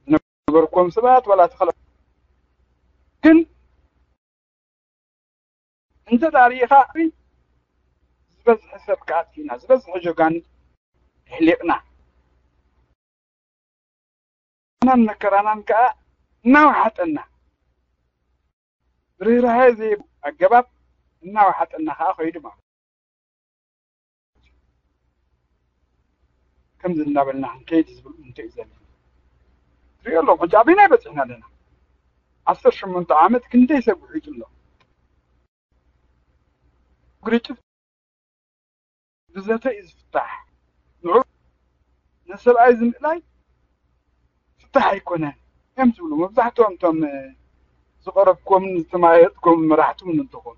ዝነበርኩዎም ሰባት ዋላ እቲ ካልኦት። ግን እንተ ደኣ ርኢኻ ዝበዝሐ ሰብ ከኣ ኣጥፊእና፣ ዝበዝሐ ጀጋኑ ኣሕሊቕና። ናን መከራናን ከኣ እናወሓጠና፣ ርህራሄ ዘይብሉ ኣገባብ እናወሓጠና ከኣ ከይዱ ማለት እዩ። ከምዚ እናበልና ክንከይድ ዝብል እንተ እዩ ዘለና። ትሪኦ ኣለኹም፣ ሕጂ ኣበይናይ በፂሕና ኣለና? ዓሰርተ ሸሞንተ ዓመት ክንደይ ሰብ ውሒጡ ኣሎ? ግርጭት ብዘተ እዩ ዝፍታሕ። ንዑ ንሰብኣይ ዝምእላይ ፍታሕ ኣይኮነን እዮም ዝብሉ መብዛሕትኦም እቶም፣ እ፣ ዝቐረብኩዎምን ዝተመያየጥኩዎም መራሕቲ እውን እንተኾኑ።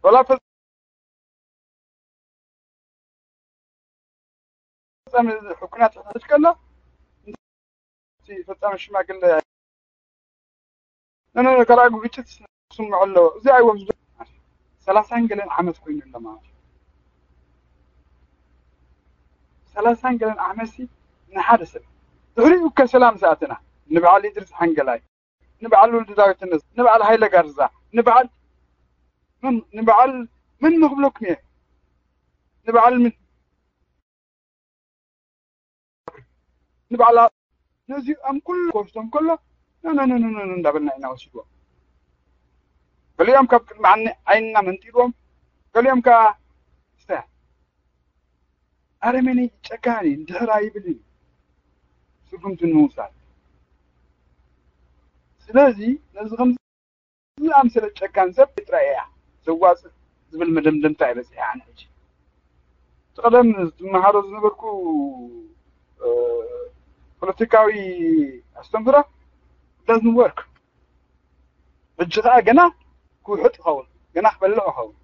ዋላ ፈ-፣ ፈጻሚ ኩናት ክሕተት ከሎ፣ እቲ ፈጻሚ ሽማግለ፣ ኖ፣ ኖ፣ ኖ፣ ካልኣይ ግጭት ክስምዖ ኣለዎ። እዚ ኣይዎም ዝብል ሰላሳን ገለን ዓመት ኮይኑ ኣሎ ማለት እዩ። ሰላሳን ገለን ዓመት ሲ ንሓደ ሰብ። ድሕሪኡ ከ ሰላም ዝኣተና፣ ንበዓል ኢድሪስ ሓንገላይ፣ ንበዓል ወልደ ዳዊት ተነስ፣ ንበዓል ሃይለ ጋርዛ፣ ንበዓል መን፣ ንበዓል መን ንኽብለኩም እየ? ንበዓል ምን? ንባዕላ ነዚኦም ኩሉ ክወስዶም ከሎ፣ ኖ፣ ኖ፣ ኖ፣ ኖ፣ ኖ፣ ኖ እንዳበልና ኢና ወሲድዎም። ገሊኦም ካብ ቅድሚ ዓይኒ-፣ ዓይንና መንጢልዎም፣ ገሊኦም ከኣ ስተ-፣ ኣረመኔ፣ ጨካኒ፣ ድሕር ኣይብልን እዩ ስጉምቲ ንምውሳድ። ስለዚ ነዚ ከምዚ ዝኣምሰለ ጨካን ሰብ ጥራይ እያ ዘዋፅእ ዝብል መደምደምታ እየ በፂሐ ኣነ ሕጂ። እቲ ቀደም ዝመሃሮ ዝነበርኩ፣ እ፣ ፖለቲካዊ ኣስተምህሮ doesn't work። ሕጂ ከዓ ገና ክውሕጥ ይኸውን፣ ገና ክበልዕ ይኸውን።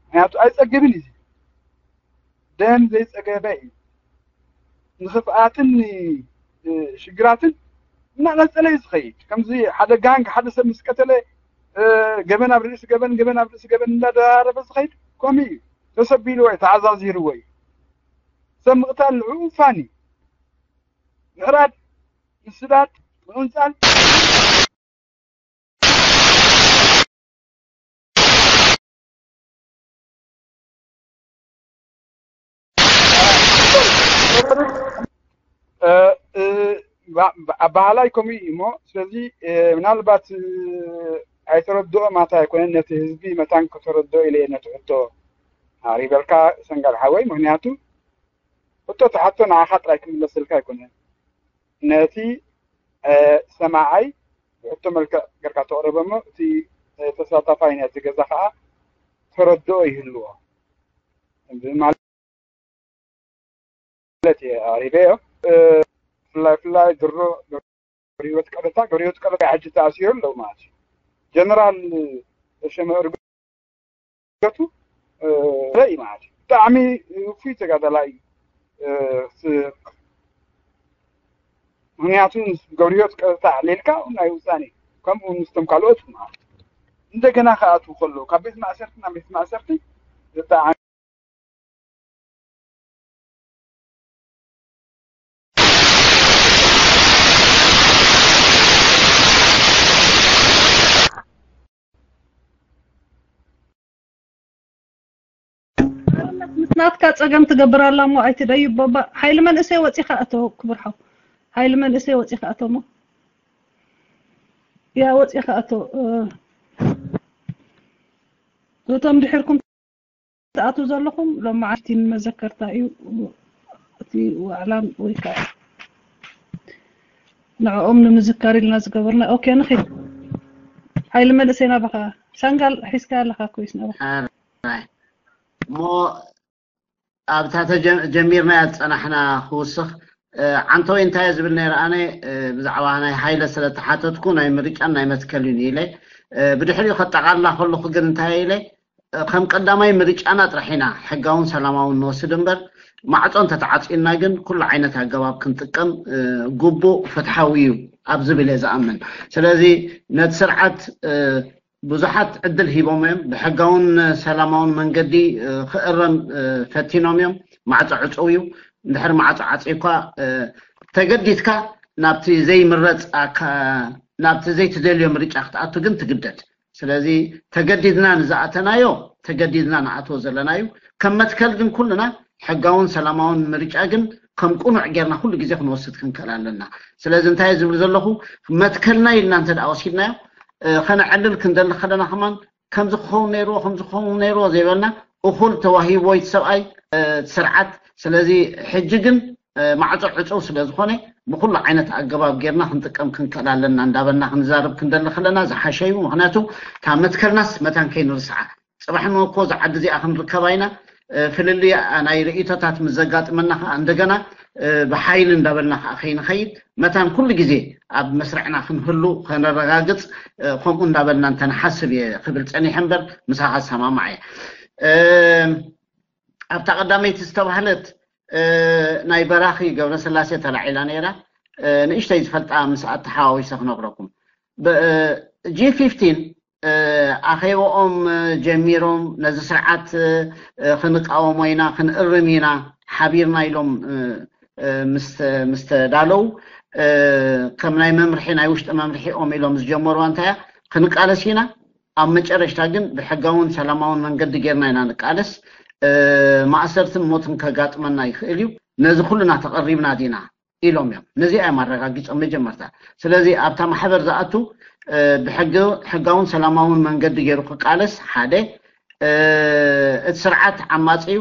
ምክንያቱ ኣይጸግብን እዩ። ደም ዘይጸገበ እዩ። ንኽፍኣትን ን-፣ ሽግራትን እናቐጸለ እዩ ዝኸይድ። ከምዚ ሓደ ጋንግ ሓደ ሰብ ምስ ቀተለ፣ እ፣ ገበን ኣብ ርእሲ ገበን፣ ገበን ኣብ ርእሲ ገበን እንዳደራረበ ዝኸይድ ከምኡ እዩ። ተሰቢልዎ እዩ፣ ተዓዛዚርዎ እዩ። ሰብ ምቕታል ልዑል ውሳኔ እዩ። ምሕራድ፣ ምስዳድ፣ ምቕንጻል። እ፣ እ፣ ባ-፣ ባ-፣ ኣበሃላይ ከምኡ እዩ እሞ፣ ስለዚ፣ እ፣ ምናልባት፣ እ፣ ኣይተረድኦ ማታ ኣይኮነን፣ ነቲ ህዝቢ መታን ከተረድኦ ኢለ እየ ነቲ ሕቶ ኣቕሪበልካ ሰንጋል ሓወይ። ምክንያቱ ሕቶ ተሓቶ ንዓኻ ጥራይ ክምለሰልካ ኣይኮነን። ነቲ፣ እ፣ ሰማዓይ ብሕቶ መልክዕ ጌርካ ተቕርቦ እሞ፣ እቲ፣ እ፣ ተሳታፋይ ናይቲ ገዛ ከኣ ተረድኦ ይህልዎ ማለት እየ ኣቕሪበዮ። እ፣ ብፍላይ፣ ብፍላይ ድሮ ገብረህይወት ቀበታ፣ ገብረህይወት ቀበታ ሕጂ ተኣሲሩ ኣለዉ ማለት እዩ። ጀነራል ተሸመ እርገቱ፣ እ፣ ዘርኢ ማለት እዩ። ብጣዕሚ ውፉይ ተጋዳላይ እዩ። እ፣ ስ-፣ ምክንያቱ ምስ ገብረህይወት ቀጥታ ኣዕሊልካ ናይ ውሳኔ፣ ከምኡ ምስቶም ካልኦት ማለት እዩ። እንደገና ክኣትዉ ከለዉ ካብ ቤት ማእሰርቲ ናብ ቤት ማእሰርቲ ብጣዕሚ ምስ ናትካ ጸገም ትገብር ኣላ እሞ ኣይትደዩ ቦባ። ሓይሊ መንእሰይ ወጺኻ እቶ ክቡር ሓው። ሓይሊ መንእሰይ ወጺኻ እቶ እሞ። ያ ወጺኻ እቶ፣ እ፣ እቶም ድሕርኩም ትኣትዉ ዘለኹም ሎማዓንቲ ንመዘከርታ እዩ እቲ ዋዕላን ወይ ከዓ ንዕኦም ንምዝካር ኢልና ዝገበርና። ኦኬ ንኺድ። ሓይሊ መንእሰይ ናባኻ። ሰንጋል ሒዝካ ኣለኻ ኮይስ ናባኻ። ኣራይ። እሞ ኣብታ ተጀ-፣ ጀሚርናያ ዝጸናሕና ክውስኽ፣ እ፣ ዓንተወይ እንታይ እየ ዝብል ነይረ ኣነ፣ እ፣ ብዛዕባ ናይ ሃይለ ስለ ተሓተትኩ ናይ ምርጫን ናይ መትከልን ኢለ፣ እ፣ ብድሕሪኡ ከጠቓልላ ከለኹ ግን እንታይ ኢለ፣ እ፣ ከም ቀዳማይ ምርጫና ጥራሕ ኢና ሕጋውን ሰላማውን ንወስድ እምበር፣ ማዕጾ እንተተዓጽዩና ግን ኩሉ ዓይነት ኣገባብ ክንጥቀም፣ እ፣ ግቡእ ፍትሓዊ እዩ ኣብ ዝብል እየ ዝኣምን። ስለዚ ነቲ ስርዓት፣ እ፣ ብዙሓት ዕድል ሂቦም እዮም። ብሕጋውን ሰላማውን መንገዲ፣ እ፣ ክእረም፣ እ፣ ፈቲኖም እዮም። ማዕጾ ዕጹው እዩ። እንድሕር ማዕጾ ዓጺዩካ፣ እ፣ ተገዲድካ ናብቲ ዘይምረጽ ኣካ-፣ ናብቲ ዘይትደልዮ ምርጫ ክትኣቱ ግን ትግደድ። ስለዚ ተገዲድና ንዝኣተናዮ ተገዲድና ንኣትዎ ዘለና እዩ። ከም መትከል ግን ኩልና ሕጋውን ሰላማውን ምርጫ ግን ከም ቅኑዕ ጌርና ኩሉ ግዜ ክንወስድ ክንክእል ኣለና። ስለዚ እንታይ እየ ዝብል ዘለኹ፣ መትከልና ኢልና እንተ ደኣ ወሲድናዮ፣ እ፣ ከነዕልል ክንደሊ ከለና ከማን ከምዚ ክኸውን ነይርዎ፣ ከምዚ ክኸውን ነይርዎ ዘይበልና፣ እኹል ተዋሂብዎ እቲ ሰብኣይ፣ እ፣ እቲ ስርዓት። ስለዚ ሕጂ ግን፣ እ፣ ማዕጾ ዕጹው ስለ ዝኾነ ብኹሉ ዓይነት ኣገባብ ጌርና ክንጥቀም ክንክእል ኣለና እንዳበልና ክንዛረብ ክንደሊ ከለና ዝሓሸ እዩ። ምኽንያቱ እታ መትከልናስ መታን ከይንርስዓ። ጽባሕ ንግሆ እኮ እዛ ዓዲ እዚኣ ክንርከባ ኢና። እ፣ ፍልልይ ናይ ርእይቶታት ምስ ዘጋጥመና ከኣ እንደገና፣ እ፣ ብሓይሊ እንዳበልና ከኣ ከይንኸይድ መታን ኩሉ ግዜ ኣብ መስርዕና ክንህሉ ከነረጋግጽ፣ እ፣ ከምኡ እንዳበልና እንተንሓስብ እየ ክብል ጸኒሐ እምበር ምሳኻ ዝሰማማዕ እየ። እ፣ ኣብታ ቀዳመይቲ ዝተባህለት፣ እ፣ ናይ በራኺ ገብረስላሴ ተላዒላ ነይራ። እ፣ ንእሽተይ ዝፈልጣ ምስ ኣተሓዋዊሰ ክነግረኩም። ብ-፣ እ፣ ጂ ፊፍቲን፣ እ፣ ኣኼባኦም ጀሚሮም ነዚ ስርዓት፣ እ፣ ክንቃወሞ ኢና፣ ክንእርም ኢና ሓቢርና ኢሎም፣ እ፣ እ፣ ምስ፣ ምስ ተዳለዉ፣ እ፣ ከም ናይ መምርሒ፣ ናይ ውሽጢ መምርሒኦም ኢሎም ዝጀመርዋ እንታይ እያ? ክንቃለስ ኢና፣ ኣብ መጨረሽታ ግን ብሕጋውን ሰላማውን መንገዲ ጌርና ኢና ንቃለስ። ማእሰርትን ሞትን ከጋጥመና ይኽእል እዩ። ነዚ ኩልና ተቐሪብና ዲና ኢሎም እዮም። ነዚኣ እዮም ኣረጋጊጾም መጀመርታ። ስለዚ ኣብታ ማሕበር ዝኣቱ ብሕጋውን ሰላማውን መንገዲ ገይሩ ክቃለስ ሓደ፣ እቲ ስርዓት ዓማጺ እዩ፣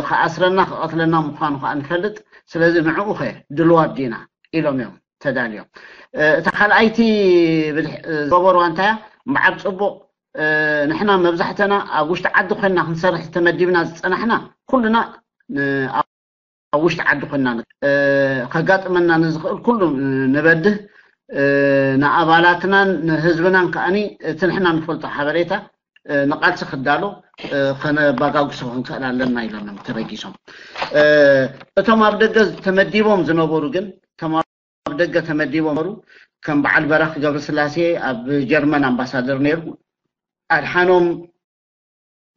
ክኣስረና ክቐትለና ምዃኑ ከዓ ንፈልጥ። ስለዚ ንዕኡ ኸ ድልዋት ዲና ኢሎም እዮም ተዳልዮም። እታ ካልኣይቲ ዝገበርዋ እንታይ እያ? እምበዓር ጽቡቕ፣ ንሕና መብዛሕተና ኣብ ውሽጢ ዓዲ ኮይንና ክንሰርሕ ተመዲብና ዝጸናሕና ኩልና ኣብ ውሽጢ ዓዲ ኮይንና ከጋጥመና ንዝኽእል ኩሉ ንበድህ፣ ንኣባላትናን ንህዝብናን ከኣኒ እቲ ንሕና ንፈልጦ ሓበሬታ ንቃልሲ ክዳሎ ከነባጋግሶ ክንክእል ኣለና ኢሎም እዮም ተበጊሶም። እቶም ኣብ ደገ ተመዲቦም ዝነበሩ ግን፣ እቶም ኣብ ደገ ተመዲቦም ነበሩ፣ ከም በዓል በራኺ ገብረስላሴ ኣብ ጀርመን ኣምባሳደር ነይሩ፣ ኣድሓኖም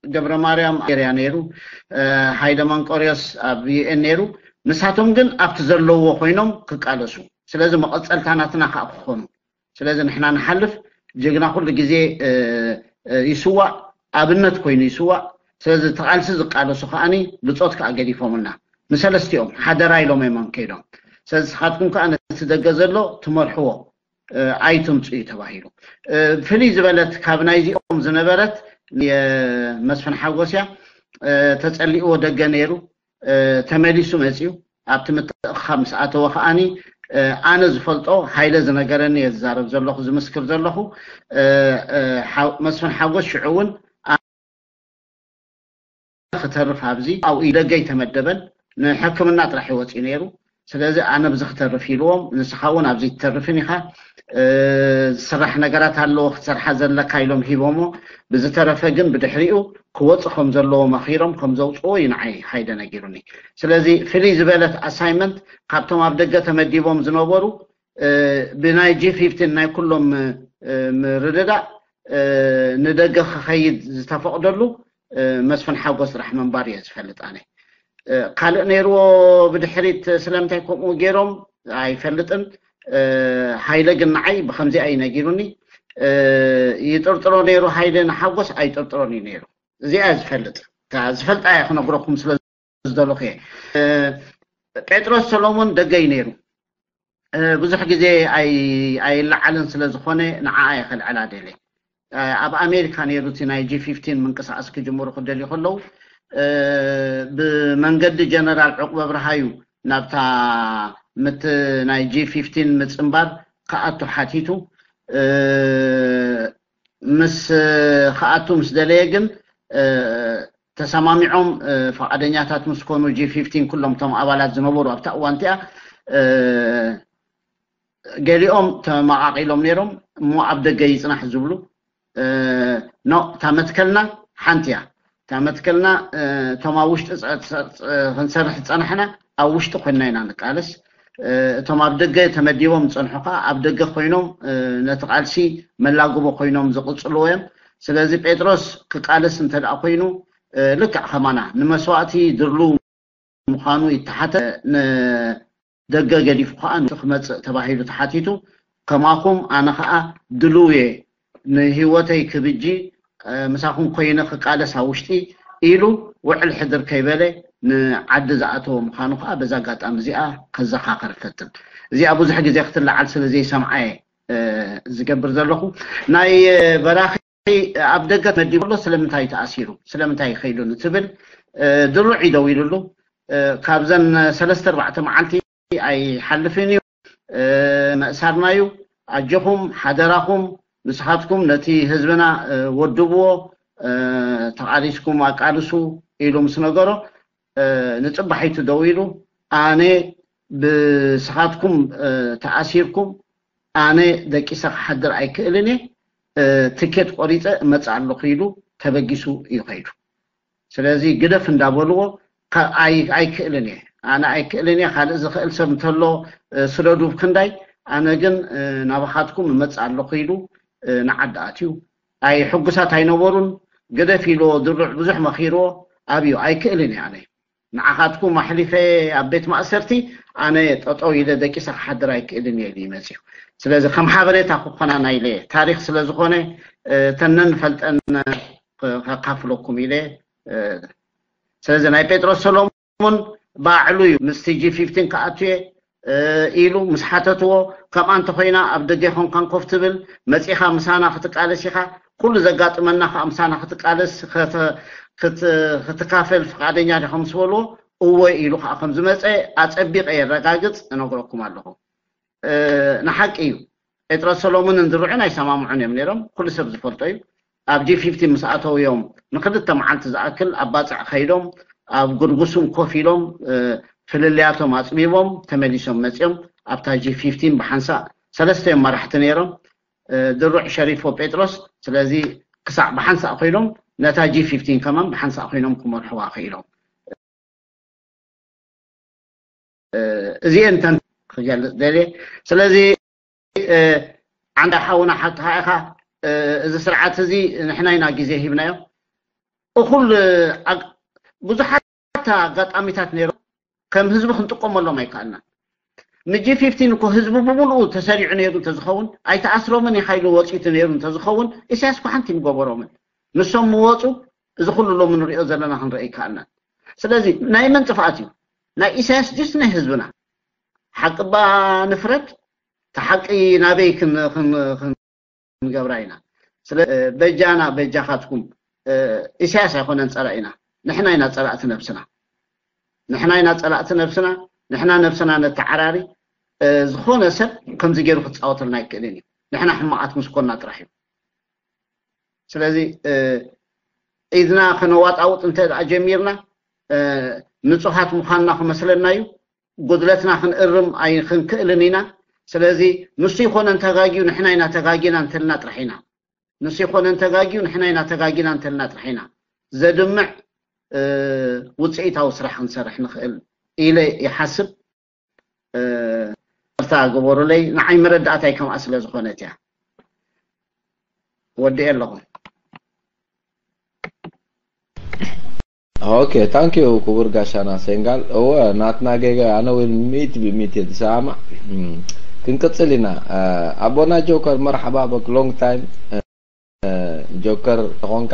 ገብረ ማርያም ኤርያ ነይሩ፣ ሃይለ መንቆርዮስ ኣብ ዩ ኤን ነይሩ። ንሳቶም ግን ኣብቲ ዘለዎ ኮይኖም ክቃለሱ፣ ስለዚ መቐጸልታ ናትና ከዓ ክኾኑ። ስለዚ ንሕና ንሓልፍ፣ ጅግና ኩሉ ግዜ ይስዋእ፣ ኣብነት ኮይኑ ይስዋእ። ስለዚ እቲ ቃልሲ ዝቃለሱ ከዓኒ ብጾት ከዓ ገዲፎምልና፣ ንሰለስቲኦም ሓደራ ኢሎም እዮም ከይዶም። ስለዚ ንስኻትኩም ከዓ ነቲ ደገ ዘሎ ትመርሕዎ ኣይትምፁ እዩ ተባሂሉ። ፍልይ ዝበለት ካብ ናይዚኦም ዝነበረት መስፍን ሓጎስ እያ። ተፀሊእዎ ደገ ነይሩ፣ ተመሊሱ መፅዩ። ኣብቲ ምትእኽኻብ ምስ ኣተወ ከዓኒ ኣነ ዝፈልጦ፣ ሃይለ ዝነገረኒ እየ ዝዛረብ ዘለኹ፣ ዝምስክር ዘለኹ። መስፍን ሓጎስ ሽዑ እውን ክተርፍ ኣብዚ ኣብኡ ደገ ኣይተመደበን፣ ንሕክምና ጥራሕ ይወፅእ ነይሩ። ስለዚ ኣነ ብዚ ክተርፍ ኢልዎም፣ ንስኻ እውን ኣብዚ ትተርፍን ኢኻ፣ ዝስራሕ ነገራት ኣለዎ ክትሰርሓ ዘለካ ኢሎም ሂቦሞ። ብዝተረፈ ግን ብድሕሪኡ ክወፅ ከም ዘለዎ መኺሮም ከም ዘውፅዎ እዩ ንዓይ ሃይደ ነጊሩኒ። ስለዚ ፍልይ ዝበለት ኣሳይመንት ካብቶም ኣብ ደገ ተመዲቦም ዝነበሩ ብናይ ጂ ፊፍቲን ናይ ኩሎም ምርድዳእ ንደገ ክኸይድ ዝተፈቕደሉ መስፍን ሓጎስ ጥራሕ ምንባር እየ ዝፈልጥ ኣነ። ካልእ ነይርዎ ብድሕሪት ስለምንታይ ከምኡ ገይሮም ኣይፈልጥን። ሃይለ ግን ንዓይ ብከምዚኣ እዩ ነጊሩኒ። ይጥርጥሮ ነይሩ ሃይለ ንሓጎስ ኣይጥርጥሮን እዩ ነይሩ። እዚኣ ዝፈልጥ ዝፈልጣ እየ ክነግረኩም ስለ ዝደለኹ እየ። ጴጥሮስ ሰሎሞን ደገ እዩ ነይሩ። ብዙሕ ግዜ ኣይለዓልን ስለ ዝኾነ ንዓኣ እየ ከልዕላ ደልየ። ኣብ ኣሜሪካ ነይሩ እቲ ናይ ጂ ፊፍቲን ምንቅስቃስ ክጅምሩ ክደልዩ ከለዉ ብመንገዲ ጀነራል ዕቁበ ብርሃዩ ናብታ ምት ናይ ጂ ፊፍቲን ምፅንባር ክኣቱ ሓቲቱ ምስ ክኣቱ ምስ ደለየ ግን ተሰማሚዖም ፈቃደኛታት ምስ ኮኑ ጂ ፊፍቲን ኩሎም እቶም ኣባላት ዝነበሩ ኣብታ እዋን እቲኣ ገሊኦም ተመቃቂሎም ነይሮም እሞ ኣብ ደገ ይፅናሕ ዝብሉ ኖ እታ መትከልና ሓንቲ እያ። እታ መትከልና እቶም ኣብ ውሽጢ ክንሰርሕ ዝፀናሕና ኣብ ውሽጢ ኮይንና ኢና ንቃለስ። እቶም ኣብ ደገ ተመዲቦም ዝፀንሑ ከዓ ኣብ ደገ ኮይኖም ነቲ ቃልሲ መላግቦ ኮይኖም ዝቅፅልዎ እዮም። ስለዚ ጴጥሮስ ክቃለስ እንተደኣ ኮይኑ ልክዕ ከማና ንመስዋእቲ ድርሉ ምዃኑ ይተሓተ። ንደገ ገዲፉ ከዓ ንሱ ክመፅእ ተባሂሉ ተሓቲቱ። ከማኹም ኣነ ከዓ ድልው እየ ንህይወተይ ክብጂ ምሳኹም ኮይነ ክቃለስ ኣብ ውሽጢ ኢሉ ውዕል ሕድር ከይበለ ንዓዲ ዝኣተወ ምዃኑ ከዓ በዛ ኣጋጣሚ እዚኣ ከዘኻኸር እፈትን። እዚኣ ብዙሕ ግዜ ክትለዓል ስለ ዘይሰምዓ እየ ዝገብር ዘለኹ። ናይ በራኺ ኣብ ደገ ተመዲቡ ኣሎ፣ ስለምንታይ ተኣሲሩ፣ ስለምንታይ ይኸይዱ ንትብል ድሩዕ ይደው ኢሉሉ። ካብዘን ሰለስተ ኣርባዕተ መዓልቲ ኣይሓልፍን እዩ፣ መእሳርና እዩ። ኣጆኹም ሓደራኹም ንስኻትኩም ነቲ ህዝብና ወድብዎ፣ ተቓሊስኩም ኣቃልሱ ኢሉ ምስ ነገሮ ንፅባሒቱ ደው ኢሉ ኣነ ብስኻትኩም ተኣሲርኩም ኣነ ደቂሰ ክሓድር ኣይክእልን እየ፣ ትኬት ቆሪፀ እመፅእ ኣለኹ ኢሉ ተበጊሱ እዩ ከይዱ። ስለዚ ግደፍ እንዳበልዎ ኣይክእልን እየ፣ ኣነ ኣይክእልን እየ፣ ካልእ ዝኽእል ሰብ እንተሎ ስደዱ ብክንዳይ፣ ኣነ ግን ናባኻትኩም እመፅእ ኣለኹ ኢሉ ንዓዲ ኣትዩ። ኣይ ሕጉሳት ኣይነበሩን። ግደፍ ኢልዎ ድሩዕ ብዙሕ መኺርዎ ኣብዩ ኣይክእልን እየ ኣነ ንዓኻትኩም ኣሕሊፈ ኣብ ቤት ማእሰርቲ ኣነ ጠጠው ኢለ ደቂሰ ክሓድር ኣይክእልን እየ ኢሉ ይመፅዩ። ስለዚ ከም ሓበሬታ ክኾናና ኢለ ታሪክ ስለዝኾነ ተነን ፈልጠን ከካፍለኩም ኢለ ስለዚ ናይ ጴጥሮስ ሰሎሞን ባዕሉ እዩ ምስቲ ጂ ፊፍቲን ክኣቱ እየ ኢሉ ምስ ሓተትዎ፣ ከምኣ እንተኮይና ኣብ ደገ ኮንካን ኮፍ ትብል፣ መጺኻ ምሳና ክትቃለስ ኢኻ፣ ኩሉ ዘጋጥመና ከዓ ምሳና ክትቃለስ ክትካፈል ፍቃደኛ ዲኻ ምስ በልዎ፣ እወ ኢሉ ከዓ ከም ዝመፀ ኣፀቢቀ የረጋግፅ እነግረኩም ኣለኹ። ንሓቂ እዩ፣ ጴጥሮስ ሰሎሞንን ድሩዕን ኣይሰማምዑን እዮም ነይሮም፣ ኩሉ ሰብ ዝፈልጦ እዩ። ኣብ ጂ ፊፍቲን ምስ ኣተው እዮም ንክልተ መዓልቲ ዝኣክል ኣብ ባፅዕ ከይዶም ኣብ ጉድጉስም ኮፍ ኢሎም ፍልልያቶም ኣፅቢቦም ተመሊሶም መፅኦም። ኣብታ ጂ ፊፍቲን ብሓንሳእ ሰለስተ እዮም መራሕቲ ነይሮም። ድሩዕ፣ ሸሪፎ፣ ጴጥሮስ። ስለዚ ክሳዕ ብሓንሳእ ኮይኖም ነታ ጂ ፊፍቲን ከማን ብሓንሳእ ኮይኖም ክመርሕዋ ክኢሎም። እዚኤን ተን ክገልፅ ደልየ። ስለዚ ዓንዳ ሓውና ሓቅኻ ኢኻ። እዚ ስርዓት እዚ ንሕና ኢና ግዜ ሂብናዮ። እኹል ብዙሓት ኣጋጣሚታት ነይሮም፣ ከም ህዝቢ ክንጥቀመሎም ኣይከኣልናን። ንጂ ፊፍቲን እኮ ህዝቢ ብምሉኡ ተሰሪዑ ነይሩ እንተዝኸውን፣ ኣይተኣስሮምን ኢኻ ኢሉ ወፂኡ ነይሩ እንተዝኸውን፣ ኢሳያስ እኮ ሓንቲ ምገበሮምን። ንሶም ምወፁ፣ እዚ ኩሉ ሎሚ ንሪኦ ዘለና ክንርኢ ኣይከኣልናን። ስለዚ ናይ መን ጥፍኣት እዩ? ናይ ኢሳያስ ድዩስ ናይ ህዝብና? ሓቂ እባ ንፍረድ። እቲ ሓቂ ናበይ ክን- ክን- ክንገብራ ኢና? ስለ በጃና በጃኻትኩም። ኢሳያስ ኣይኮነን ፀላኢና፣ ንሕና ኢና ፀላእቲ ነብስና። ንሕና ኢና ፀላእቲ ነብስና። ንሕና ነብስና ነተዓራሪ። ዝኾነ ሰብ ከምዚ ገይሩ ክፃወተልና ኣይክእልን እዩ። ንሕና ሕማቓት ምስ ኮና ጥራሕ እዩ። ስለዚ ኢድና ከነዋጣውጥ እንተ ደኣ ጀሚርና፣ ንፁሃት ምዃንና ክመስለና እዩ። ጉድለትና ክንእርም ኣይክንክእልን ኢና። ስለዚ ንሱ ይኮነን ተጋጊዩ፣ ንሕና ኢና ተጋጊና እንተልና ጥራሕ ኢና። ንሱ ይኮነን ተጋጊዩ፣ ንሕና ኢና ተጋጊና እንተልና ጥራሕ ኢና ዘድምዕ ውፅኢታዊ ስራሕ ክንሰርሕ ንኽእል ኢለ ይሓስብ። ይቅርታ ግበሩለይ፣ ንዓይ መረዳእታይ ከምኣ ስለ ዝኾነት እያ። ወዲኤ ኣለኹ። ኦኬ፣ ታንክ ዩ ክቡር ጋሻና ሴንጋል። እወ፣ ናትና ጌጋ፣ ኣነ እውን ሚእቲ ብሚእቲ እየ ዝሰማማዕ። ክንቅጽል ኢና። ኣቦና ጆከር፣ መርሓባ በክ፣ ሎንግ ታይም። ጆከር ተኾንካ